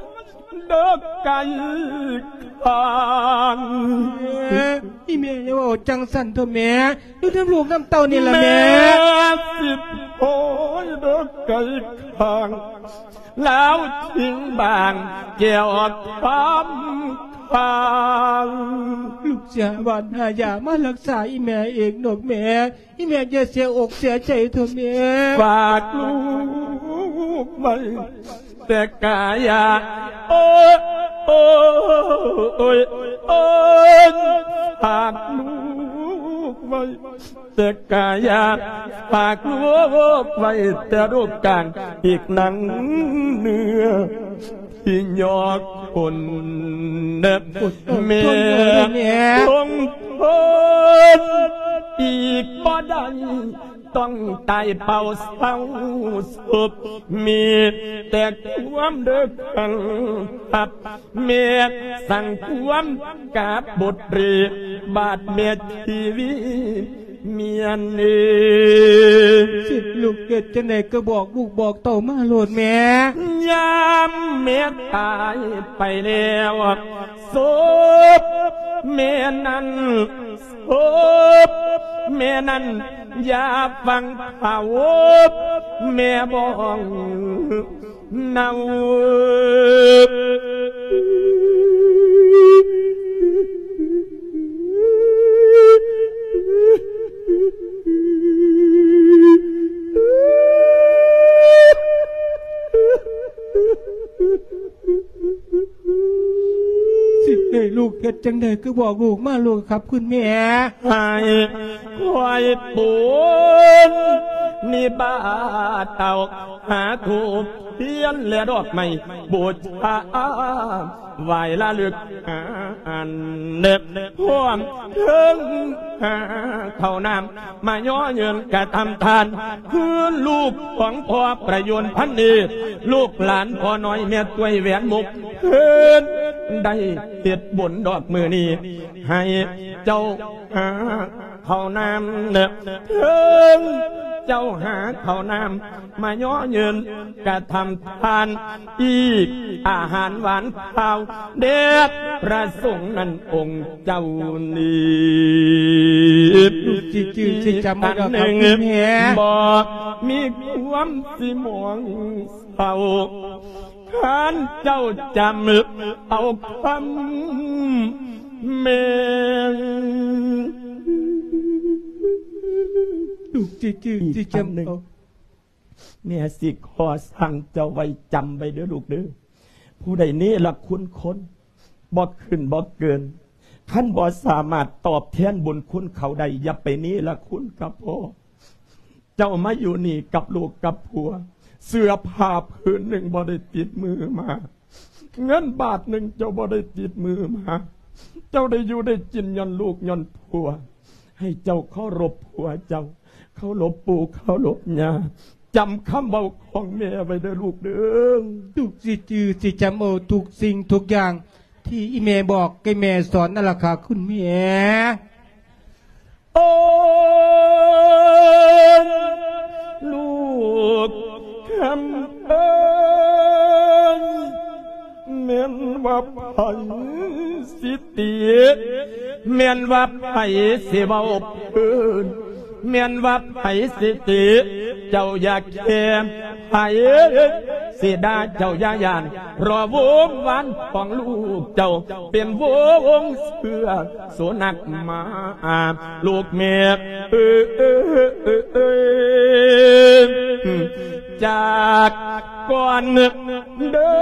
ດອກໄກ່ຂ້າງ. ແມ່ ອີແມ່ຢ່າເວົ້າຈັ່ງຊັ້ນເຖາະແມ່. ຢູ່ນຳລູກນຳເຕົ້ານີ້ລະແມ່. ແມ່ຊິໂພນດອກໄກ່ຂ້າງ ລາວຖິ້ມບາງແກ້ວຄຳຄາງ. ລູກຊິຫາຫວ່ານຫາຢາມາລັກສາອີແມ່ເອງດອກແມ່. ອີແມ່ຢ່າເສຍອົກເສຍໃຈເຖາະແມ່. ຝາກລູກໄວ້ແຕ່ກາຍາ ໂອ້ຍ ໂອ້ຍ ໂອ້ຍ ໂອ້ຍ ຝາກລູກໄວ້ ແຕ່ກາຍາ ຝາກລູກໄວ້ແຕ່ລູກກາງ ອີກໜັງເນື້ອທີ່ຍອກຄົນ ແມ່ ແມ່ ຄົງຄົນ ອີກບໍ່ໄດ້ ຕ້ອງຕາຍເປົ່າເສົ້າສົບ ມີແຕ່ຄວາມເດີກຄັນ ແມ່ສັ່ງຄວາມກາບບົດເຣ ບາດແມ່ຊີວິດ ເມຍເນ. ຊິລູກເຮັດຈັ່ງໃດກໍບອກລູກບອກເຕົ້າມາໂລດແມ່. ຍາມແມ່ຕາຍໄປແລ້ວ ສົບແມ່ນັ້ນ ສົບແມ່ນັ້ນ ຢ່າຟັງຂ່າວ ແມ່ບອກ ເນົ່າ ຊິໃຫ້ລູກເຮັດຈັ່ງໃດ ຄືບອກລູກມາໂລດຄັບຄຸນແມ່. ໃຫ້ຂ້ອຍປູນນິບາດເອົາ ຫາທູບທຽນແລະດອກໄມ້ບູຊາ ໄຫວ້ລະລຶກຫາອັນເດັບ ຮວມເຖິງຫາເຂົ້ານ້ຳ ມາຍໍເງິນກະທຳທານ ຄືລູກຂອງພໍ່ປະຍວນພັນເອກ ລູກຫຼານພໍ່ນ້ອຍແມ່ຕ້ວຍແຫວນມຸກ ເພິ່ນໄດ້ເຮັດບຸນດອກມື້ນີ້ ໃຫ້ເຈົ້າຫາເຂົ້ານ້ຳ ເຖິງເຈົ້າຫາເຂົ້ານ້ຳ ມາຍໍເງິນກະທຳທານ ອີກອາຫານຫວານຄາວ ແດ່ພະສົງນັ້ນອົງເຈົ້ານີ້ ລູກຊິຈື່ຊິຈຳເອົາດອກຄັບແມ່ ບໍ່ມີຄວາມຊິໝອງເສົ້າ ຄັນເຈົ້າຈຳເອົາຄຳແມ່ ລູກຊິຈື່ຊິຈຳເອົາ. ແມ່ຊິຂໍສັ່ງເຈົ້າໄວ້ ຈຳໄວ້ເດີລູກເດີ ຜູ້ໃດເນລະຄຸນຄົນ ບໍ່ຂຶ້ນບໍ່ເກີນ ຄັນບໍ່ສາມາດຕອບແທນບຸນຄຸນເຂົາໄດ້ ຢ່າໄປເນລະຄຸນກັບພໍ່. ເຈົ້າມາຢູ່ນີ້ກັບລູກກັບຜົວ ເສື້ອຜ້າຜືນໜຶ່ງບໍ່ໄດ້ຕິດມືມາ ເງິນບາດໜຶ່ງເຈົ້າບໍ່ໄດ້ຕິດມືມາ ເຈົ້າໄດ້ຢູ່ໄດ້ກິນຍ້ອນລູກຍ້ອນຜົວ ໃຫ້ເຈົ້າເຄົາລົບຜົວເຈົ້າ ເຄົາລົບປູ່ເຄົາລົບຍ່າ ຈຳຄຳເວົ້າຂອງແມ່ໄວ້ເດີລູກເດີ. ລູກຊິຈື່ຊິຈຳເອົາທຸກສິ່ງທຸກຢ່າງທີ່ອີ່ແມ່ບອກ ທີ່ແມ່ສອນນັ້ນລະຄ່ະຄຸນແມ່. ໂອ້ຍ ລູກຄຳເອີຍ ແມ່ນວ່າໃຜຊິຕິ ແມ່ນວ່າໃຜຊິເວົ້າເພິ່ນ ແມ່ນວ່າໃຜຊິຕິ ເຈົ້າຢ່າແຄ ໃຜຊິດ່າເຈົ້າຢ່າຢ້ານ ເພາະວົງວານຂອງລູກເຈົ້າ ເປັນວົງເຊື້ອສຸນັກໝາ ລູກແມ່ເອີຍ ຈາກກ່ອນເດີ.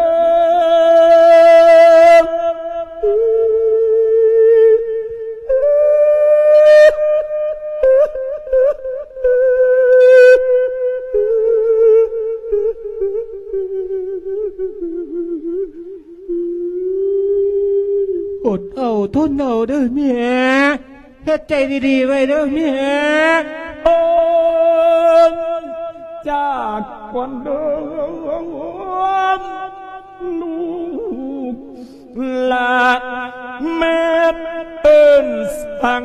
ອົດເອົາທົນເອົາເດີແມ່ ເຮັດໃຈດີໆໄວ້ເດີແມ່. ໂອ້ຍ ຈາກກ່ອນເດີລູກຫຼານ ແມ່ເອີ້ນສັ່ງ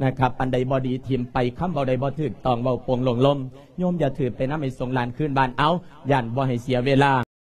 ນະຄັບ ອັນໃດບໍ່ດີຖິ້ມໄປ ຄຳເວົ້າໃດບໍ່ຖືກຕ້ອງເວົ້າໂປ່ງໂລ່ງລົມ ໂຍມຢ່າຖືໄປນຳ ໃຫ້ສົ່ງຫຼານຄືນບ້ານ ເອົາ ຢ້ານບໍ່ໃຫ້ເສຍເວລາ.